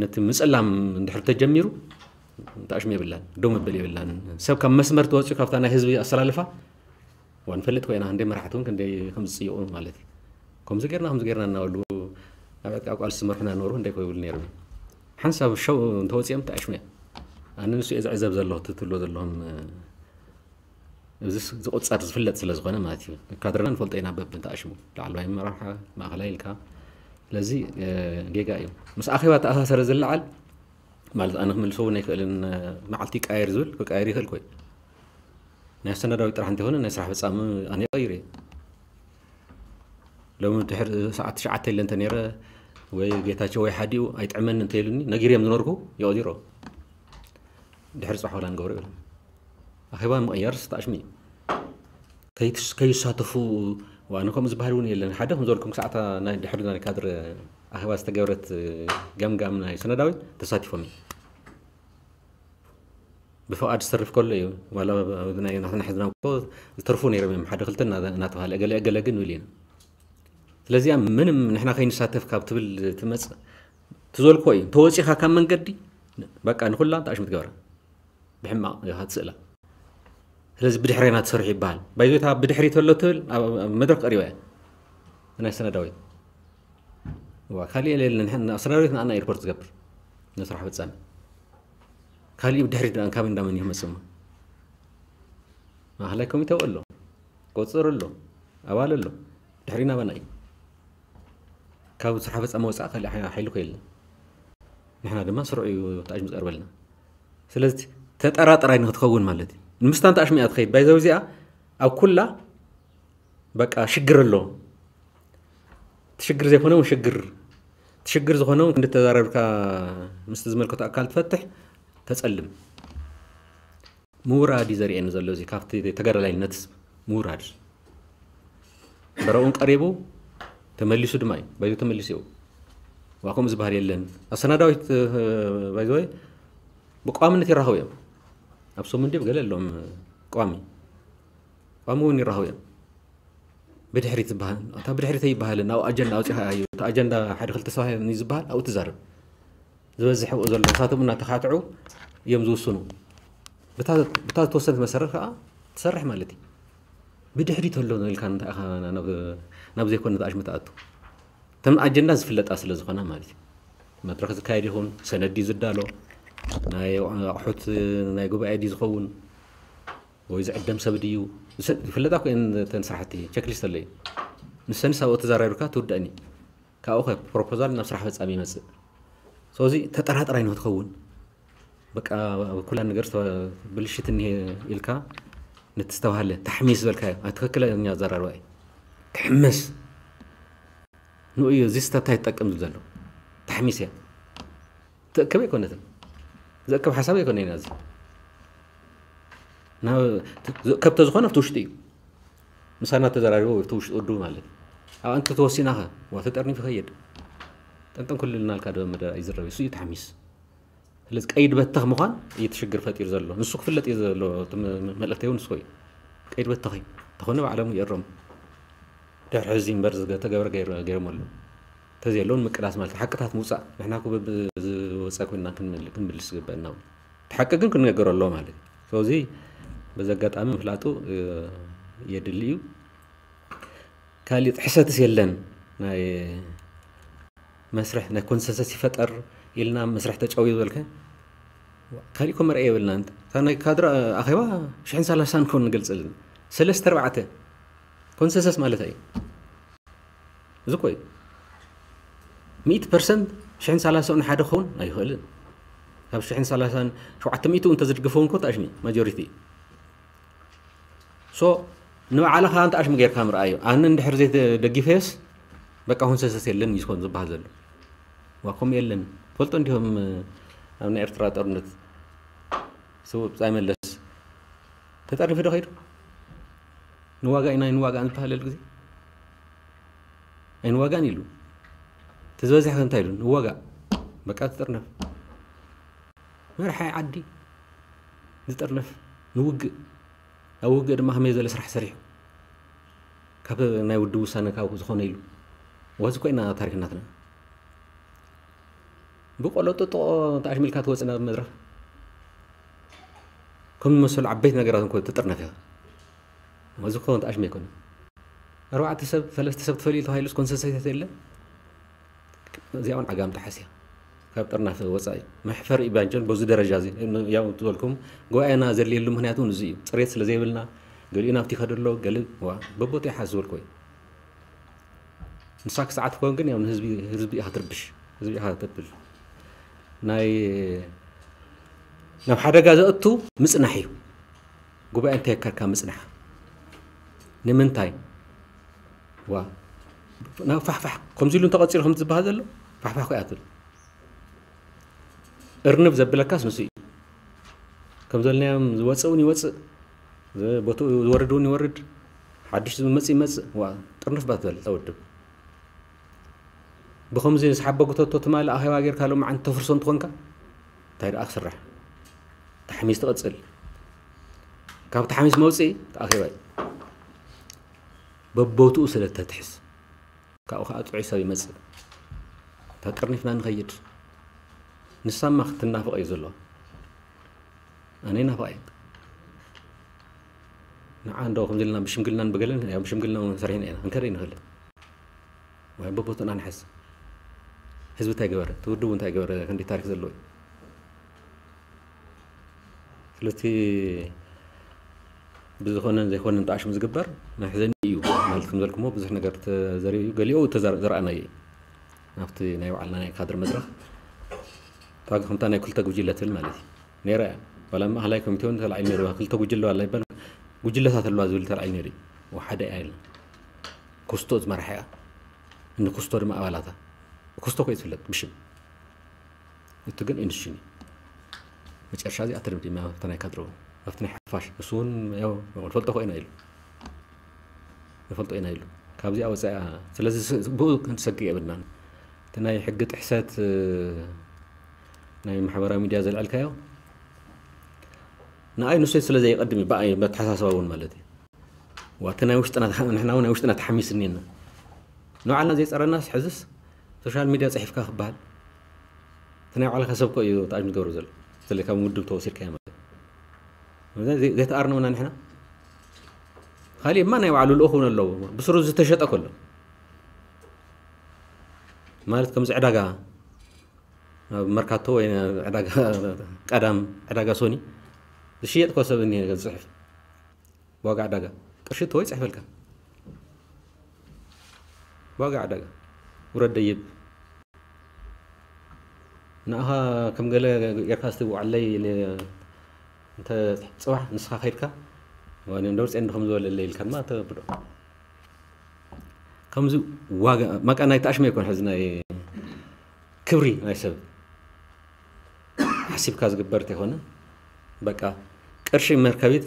ነቲ ምፅላም እንድሕር ተጀሚሩ ተኣሽሙ የብላን፣ ደው መበል የብላን። ሰብ ካብ መስመር ተወፂኡ ካብታ ናይ ህዝቢ ኣሰላልፋ ዋ ንፈልጥ ኮይና ክንደይ መራሕቲ እውን ክንደይ ከም ዝፅይቑ ማለት እዩ። ከምዚ ጌርና ከምዚ ጌርና እናበሉ ኣብ ዕጥቃ ቃልሲ ዝመርሑና ነበሩ ክንደይ ኮይብሉ ነይሩ። ሓንሳብ ሸው እንተወፂኦም ተኣሽሙ እያ። ኣነ ንሱ እየ ዝዕዘብ ዘለኹ ትትብሎ ዘለኹም እዚ ዝቁፀር ዝፍለጥ ስለ ዝኾነ ማለት እዩ። ካድረና ንፈልጦ ኢና በብን ተኣሽሙ ላዕለዋይ መራርሓ ማእኸላይ ኢልካ ስለዚ ጌጋ እዩ። ምስ ኣኼባ ተኣሳሰረ ዝለዓል ማለት ኣነ ክምልሶ እውን ኣይክእልን። መዓልቲ ይቀያየር ዝብል ክቀያየር ይኽእል ኮይ ናይ ኣሰናዳዊት ጥራሕ እንተይኮነ ናይ ስራሕ ፈፃሚ ኣነ ይቀይር እየ። ሎሚ ድሕሪ ሰዓት ትሽዓተ ኢለ እንተ ነይረ ወይ ጌታቸው ወይ ሓዲኡ ኣይጥዕመኒ እንተይሉኒ ነጊር እዮም ዝነርኩ ይቐዚሮ ድሕሪ ፅባሕ ወላ ንገብሮ ይብሉ። ኣኼባ ምቕያር ዝተኣሽሙ እዩ። ከይሳተፉ ዋነ ከምኡ ዝበሃል እውን የለን። ሓደ ከም ዝበልኩም ክሳዕታ ናይ ድሕሪ ናይ ካድረ ኣኼባ ዝተገብረት ገምጋም ናይ ሰነዳዊት ተሳቲፎም እዩ። ብፍቓድ ዝተርፍ ከሎ እዩ ዋላ ናትና ሕዝና ዝተርፉ ነይሮም እዮም ሓደ ክልተ እናተባሃለ እገለ እገለ ግን ኢሉ ኢና። ስለዚኣ ምንም ንሕና ከይንሳተፍ ካብ ትብል ትመፅእ ትዘልኮ እዩ። ተወፂኻ ካብ መንገዲ በቃ ንኩላ ተኣሽሙ ትገብራ ብሕማቕ ኢኻ ትስእላ። ስለዚ ብድሕሬና ትሰርሑ ይበሃል። ባይዞታ ብድሕሪ ተሎ ትብል ኣብ መድረክ ቀሪባ እያ ናይ ሰነዳዊት ዋ ካሊእ የለን። ሰነዳዊት ንኣና ኤርፖርት ዝገብር ንስራሕ ፈፃሚ ካሊእ ብድሕሪ ድኣ ካብ እንዳመን ይመፅማ ማእኸላይ ኮሚቴ ኣሎ፣ ቆፅር ኣሎ፣ ኣባል ኣሎ። ድሕሪና ባና እዩ። ካብ ስራሕ ፈፃሚ ወፃእ ካሊእ ሓይሊ ኮ የለን። ንሕና ድማ ስርዑ እዩ ተኣሽሙ ዝቀርበልና። ስለዚ ተጠራጠራይ ንክትኸውን ማለት እዩ። ንምስታን ተኣሽሙ እያ ትኸይድ። ባይዘው እዚኣ ኣብ ኩላ በቃ ሽግር ኣሎ። ትሽግር ዘይኮነ እውን ሽግር ትሽግር ዝኾነ እውን ክንዲ ተዛረብካ ምስቲ ዝመልከቶ ኣካል ትፈትሕ ተፀልም ምውራድ እዩ ዘርእየኒ ዘሎ እዚ ካብቲ ተጋዳላይነት ምውራድ በረኡን ቀሪቡ ተመሊሱ ድማ እዩ ባይዞ ተመሊሱ እዩ ዋ ከምኡ ዝበሃል የለን ኣሰናዳዊት ባይዘወይ ብቋምነት ይራኸቡ እዮም ኣብ ሰሙን ድብ ገለ ኣለዎም ቋሚ ቋሚ እውን ይራኸቡ እዮም ብድሕሪት ዝበሃል እታ ብድሕሪት ኣይበሃልን ኣብኡ ኣጀንዳ ኣውፂኻ እዩ እቲ ኣጀንዳ ሓደ ክልተ ሰባት ዝበሃል ኣብኡ ትዛረብ ዝበዝሕ ኣብኡ ዘሎ እሳቶም እናተኻትዑ እዮም ዝውስኑ ብታ ዝተወሰነት መሰረት ከዓ ትሰርሕ ማለት እዩ ብድሕሪት ኣሎ ኢልካ እንታይ ኢኻ ናብ ዘይኮነ ተኣሽሙ ትኣቱ እተን ኣጀንዳ ዝፍለጣ ስለ ዝኾና ማለት እዩ መድረክ ዝካየድ ይኹን ሰነድ እዩ ዝዳሎ ናይ ኣቑሑት ናይ ጉባኤ ድዩ ዝኸውን ወይ ዝዕደም ሰብ ድዩ ዝፍለጣ ኮይን ተን ስራሕቲ ቸክሊስት ኣለዩ ንሰንስ ኣብኡ ተዘራሪብካ ትውደእኒ ካብኡ ከ ፕሮፖዛል ናብ ስራሕ ፈፃሚ ይመፅእ ስለዚ ተጠራጥራይ ንክትኸውን በቃ ኩላ ነገር ብልሽት እኒሄ ኢልካ ነቲ ዝተባሃለ ታሕሚስ ዝበልካዮ ትክክለኛ ኣዘራርባ እዩ ክሕመስ ንኡ እዩ እዚ ስህተት እንታይ ትጠቅም ዝብል ዘሎ ታሕሚስ እያ ትእክብ ኣይኮነትን ዘእክብ ሓሳብ ኣይኮነ ኢና እዚ ዝእከብ ተዝኾነ ኣብቲ ውሽጢ እዩ ምሳና ተዘራሪቦ ኣብቲ ውሽጢ ውድቡ ማለት እዩ ኣብ ኣንቲ ተወሲናኸ ዋ ተጠርኒፉ ይኸይድ ጠንጠን ኩልልናልካ ዶ መደራ ይዝረብ እሱ እዩ ታሕሚስ ስለዚ ቀይድ በተኽ ምዃን እዩ እቲ ሽግር ፈጢሩ ዘሎ ንሱ ክፍለጥ እዩ ዘሎ መልእክተይ እውን ንስኮ እዩ ቀይድ በተኺ ተኾነ ባዕሎም ይእረሙ ድሕሪ ሕዚ እምበር ዝተገበረ ገይሮም ኣለዉ ተዘየለውን ምቅላስ ማለት ሓቅታት ምውፃእ ንሕና ኩ ዝወፀ ኮይና ክንምልስ ዝግበአና እቲ ሓቂ ግን ክንነገር ኣለዎ ማለት እዩ እዚ በዚ ኣጋጣሚ ምፍላጡ የድሊ እዩ ካሊእ ጥሕሰትስ የለን ናይ መስርሕ ናይ ኮንሰንሰስ ይፈጠር ኢልና መስርሕ ተጫውዩ ዝበልከ ካሊእ ኮ መርኣይ የብልና እታ ናይ ካድራ ኣኼባ ሽሕን ሰላሳን ኮን ንገልፅልን ሰለስተ ኣርባዕተ ኮንሰንሰስ ማለት እዩ እዚ ኮይ ሚእቲ ፐርሰንት ሽሕን ሰላሳን ሓደ ክኸውን ኣይኽእልን ካብ ሽሕን ሰላሳን ሸውዓተ ሚእቱ እንተዝድግፈው እንኮ ተኣሽሚ ማጆሪቲ። ሶ ንባዕልኻ እንተ ኣሽሚ ጌርካ ምርኣዮ። ኣነ እንድሕር ዘይደጊፈዮስ በቃ ኮንሰንሰስ የለን እዩ ዝኾን ዝበሃል ዘሎ። ዋ ከምኡ የለን። ፈልጦ እንዲሆም ኣብ ናይ ኤርትራ ጦርነት ስውእ ብጻይ መለስ ተጠርኒፉ ዶ ከይዱ? ንዋጋ ኢና ኣይንዋጋእን ዝበሃለሉ ግዜ ኣይንዋጋእን ኢሉ። እቲ ዝበዝሕ እንታይ ኢሉ? ንዋጋእ። በቃ ትጥርነፍ። መርሓይ ዓዲ ዝጥርነፍ ንውግእ። ኣብ ውግእ ድማ ከመይ ዝበለ ስራሕ ሰሪሑ ካብ ናይ ውድብ ውሳነ ካብ ዝኾነ ኢሉ። ወዚ ኮይና ታሪክ ናትና ብቆሎ ጥጥቆ ተኣሽሚልካ ትወፅእ ናብ መድረኽ ከም ዝመሰሉ ዓበይቲ ነገራት እንኮ ትጥርነፍ ኢኻ። እዚ ክኸውን ተኣሽመ ኣይኮነ። ኣርባዕተ ሰብ ሰለስተ ሰብ ትፈልዩ ተባሂሉ ኮንሰንሰስ የለ። እዚኣ እውን ዓጋም ተሓስያ ካብ ጥርናፈ ወፃኢ መሕፈር እዩ ባንቸን በዚ ደረጃ እዚ። ያው ዝበልኩም ጉባኤና ዘድልየሉ ምክንያት እውን እዚ እዩ። ፅሬት ስለ ዘይብልና ገሊኡ ናብቲ ይኸደ ኣሎ። ገሊ ዋ በቦት ይሓዝ ዝበልኩ እዩ። ንሳ ክሰዓት ኮን ግን ያው ንህዝቢ ህዝቢ ኢኻ ትርብሽ፣ ህዝቢ ኢኻ ተብል። ናይ ናብ ሓደጋ ዘእቱ ምጽናሕ እዩ። ጉባኤ እንታይ የካርካ ምጽናሕ ንምንታይ? ዋ ናብ ፋሕፋሕ ከምዚ ኢሉ እንተቐፂሉ ከም ዝበሃል ዘሎ ፋሕፋሕ ኮይ ኣትብል። እርንብ ዘብለካስ ንሱ እዩ። ከም ዘለናዮም ዝወፅእ እውን ይወፅእ፣ ቦትኡ ዝወርድ እውን ይወርድ፣ ሓድሽ ዝመፅእ ይመፅእ። ዋ ጥርንፍ ባት በል ተወድብ። ብኸምዚ ዝሓበ ጉተቶ ትማሊ ኣኼባ ጌርካ ሎማዓንቲ ተፍርሶ እንትኾንካ እንታይ ደኣ ክስራሕ? ተሓሚስ ትቐጽል። ካብ ተሓሚስ መውፅኢ ኣኼባ እዩ። በቦትኡ ስለ ተትሕዝ ካብኡ ከዓ ጥዑይ ሰብ ይመፅእ። ተጠርኒፍና ንኸይድ። ንሳማ ክትናፍቕ እዩ ዘለዋ። ኣነ ይናፍቕ እየ። ንዓ እንዶ ከምዚ ኢልና ብሽምግልናን ብገለን ያው ብሽምግልና እውን ሰሪሕና ኢና። እንከደ ንኽእል። ወይ በቦትኡ ንሓዝ። ህዝቢ እንታይ ገበረ? እቲ ውድብ እንታይ ገበረ? ክንደይ ታሪክ ዘለዎ እዩ። ስለቲ ብዝኾነን ዘይኮነን ተኣሽሙ ዝግበር መሕዘኒ እዩ። ማለት ከም ዘልኩሞ ብዙሕ ነገር ተዘሪኡ እዩ። ገሊኡ ተዘር-፣ ዘርኣናዮ እዩ። ኣብቲ ናይ ባዕልና ናይ ካድር መድረኽ እታ ከምታ ናይ ክልተ ጉጅለ ትብል ማለት እዩ። ነይራ እያ። ዋላ ማእኸላይ ኮሚቴ እውን ተላዒሉ ነይሩ። ክልተ ጉጅለ ዋላ ይበል፣ ጉጅለታት ኣለዋ ዝብል ተላዒሉ ነይሩ እዩ። ወሓደ እያ ኢልና። ክስቶ ዝመርሓ እያ። እንዲ ክስቶ ድማ ኣባላታ። ክስቶ ኮይ ትፍለጥ ብሽም። እቲ ግን ኢንስቲትዩሽን እዩ። መጨረሻ እዚኣ ተደምዲማ ኣብቲ ናይ ካድረ እውን። ኣብቲ ናይ ሓፋሽ። ንሱ እውን ያው ንፈልጦ ኮይና ኢሉ። ንፈልጦ ኢና ኢሉ። ካብዚኣ ወፃኢ እያ። ስለዚ ስ-፣ ብኡ ክንሰግእ የብልናን። እቲ ናይ ሕጊ ጥሕሰት፣ እ፣ ናይ ማሕበራዊ ሚድያ ዘልዐልካዮ፣ ንኣይ ንሱ ስለ ዘይቀድም እዩ፣ ብኣይ መተሓሳስባ እውን ማለት እዩ። ዋ፣ እቲ ናይ ውሽጥና ተሓ-፣ ንሕና እውን ናይ ውሽጥና ተሓሚስ እኒና። ንባዕልና ዘይፀረናስ ሕዝስ ሶሻል ሚድያ ፅሒፍካ ክበሃል። እቲ ናይ ባዕልኻ ሰብ እኮ እዩ ተኣጅ ዝገብሩ ዘሎ። ስለዚ ካብ ውድብ ተወሲድካ ማለት እዩ። ዘይ-፣ ዘይተኣርነውና ንሕና። ካሊእ እማ ናይ ባዕሉ ልኡኽ እውን ኣለዎ። ብስሩ ዝተሸጠ ከሎ። ማለት ከምዚ ዕዳጋ፣ ኣብ መርካቶ ወይ ዕዳጋ ቀዳም፣ ዕዳጋ ሶኒ ዝሽየጥ እኮ ሰብ እኒሄ ዝፅሕፍ። ዋጋ ዕዳጋ። ቅርሺ እቶ ይፅሕፈልካ። ዋጋ ዕዳጋ። ውረድ ደይብ። ንኣኻ ከም ገለ ጌርካ እስቲ ውዓለይ ኢለ እንተ ጽባሕ ንስኻ ከይድካ፣ ዋኔ እንደው ጽዮን ከም ዝበለለይ ኢልካ ድማ ተብሎ። ከምዚ ዋጋ፣ ማቃ ናይ ተኣሽመ ይኮን፣ ሕዚ ናይ ክብሪ ናይ ሰብ ሓሲብካ ዝግበር እንተይኮነ፣ በቃ ቅርሺ መርከቢት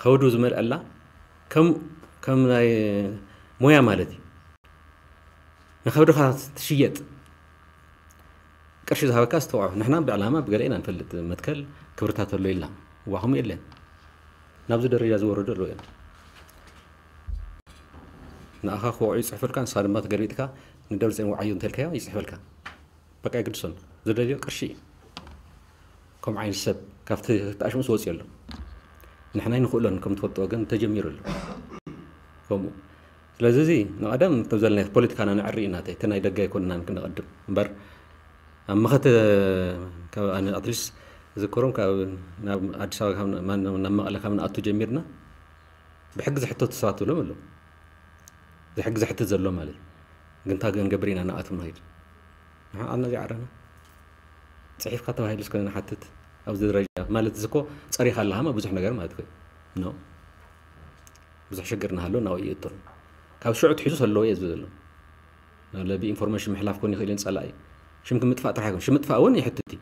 ከውዱ ዝመልአላ ከም፣ ከም ናይ ሞያ ማለት እዩ። ንኸብድኻ ትሽየጥ። ቅርሺ ዝሃበካ ዝተውዖ። ንሕና ብዕላማ ብገለ ኢና ንፈልጥ። መትከል ክብርታት ኣሎ ኢልና። እዋ፣ ከምኡ የለን። ናብዚ ደረጃ ዝወረዱ ኣለዉ እዮም። ንኣኻ ክወዑ ይጽሕፈልካ፣ ንስኻ ድማ ተገልቢጥካ ንደብረጽዮን ወዓዮ እንተልካዮ ይጽሕፈልካ። በቃ የግድሶን። ዝደልዮ ቅርሺ እዩ። ከምኡ ዓይነት ሰብ ካብቲ ተኣሽሙስ ወፂኡ ኣሎ። ንሕና ኣይንኽእሎን፣ ከም ትፈልጥዎ ግን ተጀሚሩ ኣሎ። ከምኡ። ስለዚ እዚ ንቐደም ከም ዘለና ፖለቲካና ነዕሪ ኢና፣ እቲ ናይ ደገ ኣይኮንናን ክንቐድም እምበር፣ ኣብ መኸተ ካብ ኣነ ኣትሊስት ዝከሮም ካብ ናብ ኣዲስ ኣበባ ካብ ና-፣ ማን-፣ ናብ መቐለ ካብ ንኣቱ ጀሚርና ብሕጊ ዝሕተቱ ሰባት ትብሎም ኣለዉ። እዚ ሕጊ ዝሕተት ዘሎ ማለት እዩ። ግን እንታይ ክንገብር ኢና ንኣቶም ንኸይድ? ንሕና ዓድና ዘይዓረና። እቲ ጽሒፍካ ተባሂሉ እስከ ንሓትት ኣብዚ ደረጃ ማለት እዚ እኮ ጸሪኻ ኣለኻ ብዙሕ ነገር ማለት እኮ ኖ ብዙሕ ሽግር እናሃሎ ናብኡ ይእቶ ካብ ሽዑ ትሒዙ ሰለዎ እየ ዝብል ዘሎ ብኢንፎርሜሽን ምሕላፍ ኮን ይኽእል ጸላኢ ሽምኪ ምጥፋእ ጥራሕ ይኮን ሽምጥፋእ እውን ይሕትት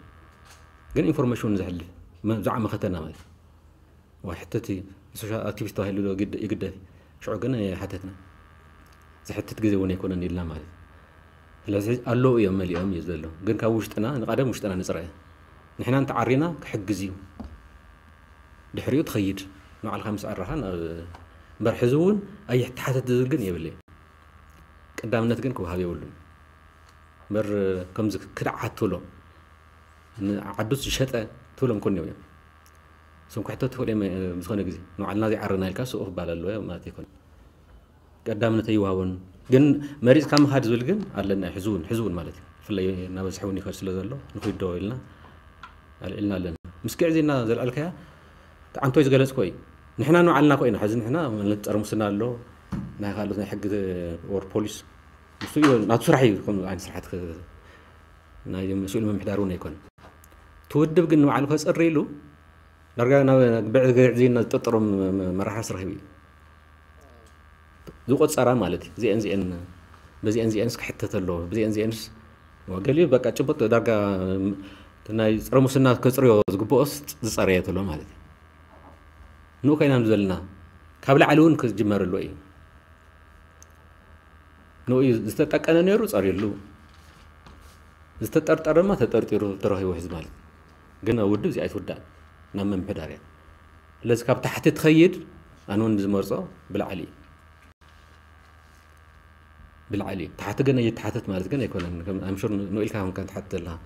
ግን ኢንፎርሜሽን ዘሕልፍ ብዛዕባ መኸተና ማለት ወይ ሕተት ሶሻል ኣክቲቪስት ተባሂሉ ይግደፍ ሽዑ ግን ሓተትና ዝሕትት ግዜ እውን ኣይኮነን ኢልና ማለት ስለዚ ኣለዉ እዮም መሊኦም እዩ ዘሎ ግን ካብ ውሽጥና ንቀደም ውሽጥና ንፅረ ንሕና እንተዓሪና ክሕግዝ እዩ ድሕሪኡ ትኸይድ ንባዕልካ ምስ ዓረኻ እምበር ሕዚ እውን ኣይተሓተት ዝብል ግን የብለይ ቀዳምነት ግን ክወሃብ የብሉን እምበር ከምዚ ክድዓት ትብሎ ንዓዱ ዝሸጠ ትብሎም ኮን እዮም እዞም ክሕተቱ ይኽእሉ እዮም ዝኾነ ግዜ ንባዕልና ዘይዓረና ኢልካ ስኡ ክባል ኣለዎ ማለት ኣይኮነ ቀዳምነት ኣይወሃቦን ግን መሪፅካ ምኻድ ዝብል ግን ኣለና ሕዝውን ሕዝውን ማለት እዩ ብፍላይ እናበዝሐ እውን ይኸድ ስለ ዘሎ ንኹዶ ኢልና ኣልዕልና ኣለና ምስ ግዕዜና ዘልዓልካያ ተዓንቶይ ዝገለፅኮ እዩ ንሕና ንባዕልና ኮ ኢና ሕዚ ንሕና ማለት ፀረ ሙስና ኣሎ ናይ ካልኦት ናይ ሕጊ ወር ፖሊስ ንሱ እዩ ናቱ ስራሕ እዩ ከም ዓይነት ስራሕቲ ናይ መስኡል ምምሕዳር እውን ኣይኮነ እቲ ውድብ ግን ንባዕሉ ከፅሪ ኢሉ ዳርጋ ናብ ብዕግዕዝና ዝጥርጥሮም መራሕስ ረኺቡ እዩ ዝቆፀራ ማለት እዩ ዚአን ዚአን በዚአን ዚአንስ ክሕተት ኣለዎ ብዚአን ዚአንስ ገሊኡ በቃ ጭቡጥ ዳርጋ ናይ ፀረ ሙስና ከፅርዮ ዝግብኦስ ዝፀረየ ተሎ ማለት እዩ ንኡ ኮይና ዘለና ካብ ላዕሊ እውን ክጅመር ኣለዎ እዩ ንኡ ዝተጠቀነ ነይሩ ፀርየሉ ዝተጠርጠረማ ተጠርጢሩ ተረኺቡ ሕዚ ማለት ግን ውድብ እዚኣ ኣይትውዳእ ናብ ምምሕዳር እያ ስለዚ ካብ ታሕቲ ትኸይድ ኣነ እውን ዝመርፆ ብላዕሊ እዩ ብላዕሊ እዩ ታሕቲ ግን እየተሓተት ማለት ግን ኣይኮነን ኣምሹር ንኢልካ ኮንካ ትሓትት ዘለካ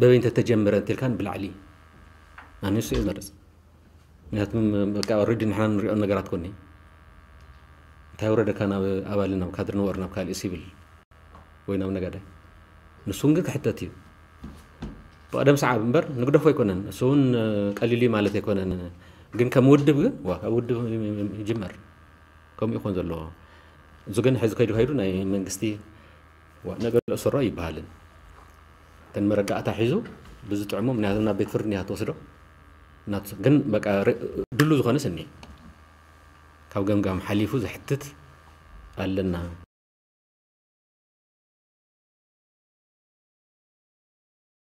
በበይ እንተተጀመረ እንተልካን ብላዕሊ ኣነ ንሱ እየ ዝመርፅ ምክንያቱም በቃ ኦልሬዲ ንሕና ንሪኦ ነገራት ኮኒ እንታይ ወረደካ ናብ ኣባል ናብ ካድሪ ንወር ናብ ካልእ ሲቪል ወይ ናብ ነጋዳይ ንሱ እውን ግን ክሕተት እዩ ብቀደም ሰዓብ እምበር ንግደፎ ኣይኮነን እሱ እውን ቀሊል እዩ ማለት ኣይኮነን ግን ከም ውድብ ግን ዋ ካብ ውድብ ይጅመር ከምኡ ይኾን ዘለዎ እዚ ግን ሕዚ ከይዱ ከይዱ ናይ መንግስቲ ነገ እሰሮ ይበሃልን እተን መረዳእታ ሒዙ ብዝጥዕሞ ምክንያቱ ናብ ቤት ፍርድ እኒሃ ትወስዶ ግን በቃ ድሉ ዝኾነስ እኒ ካብ ገምጋም ሓሊፉ ዘሕትት ኣለና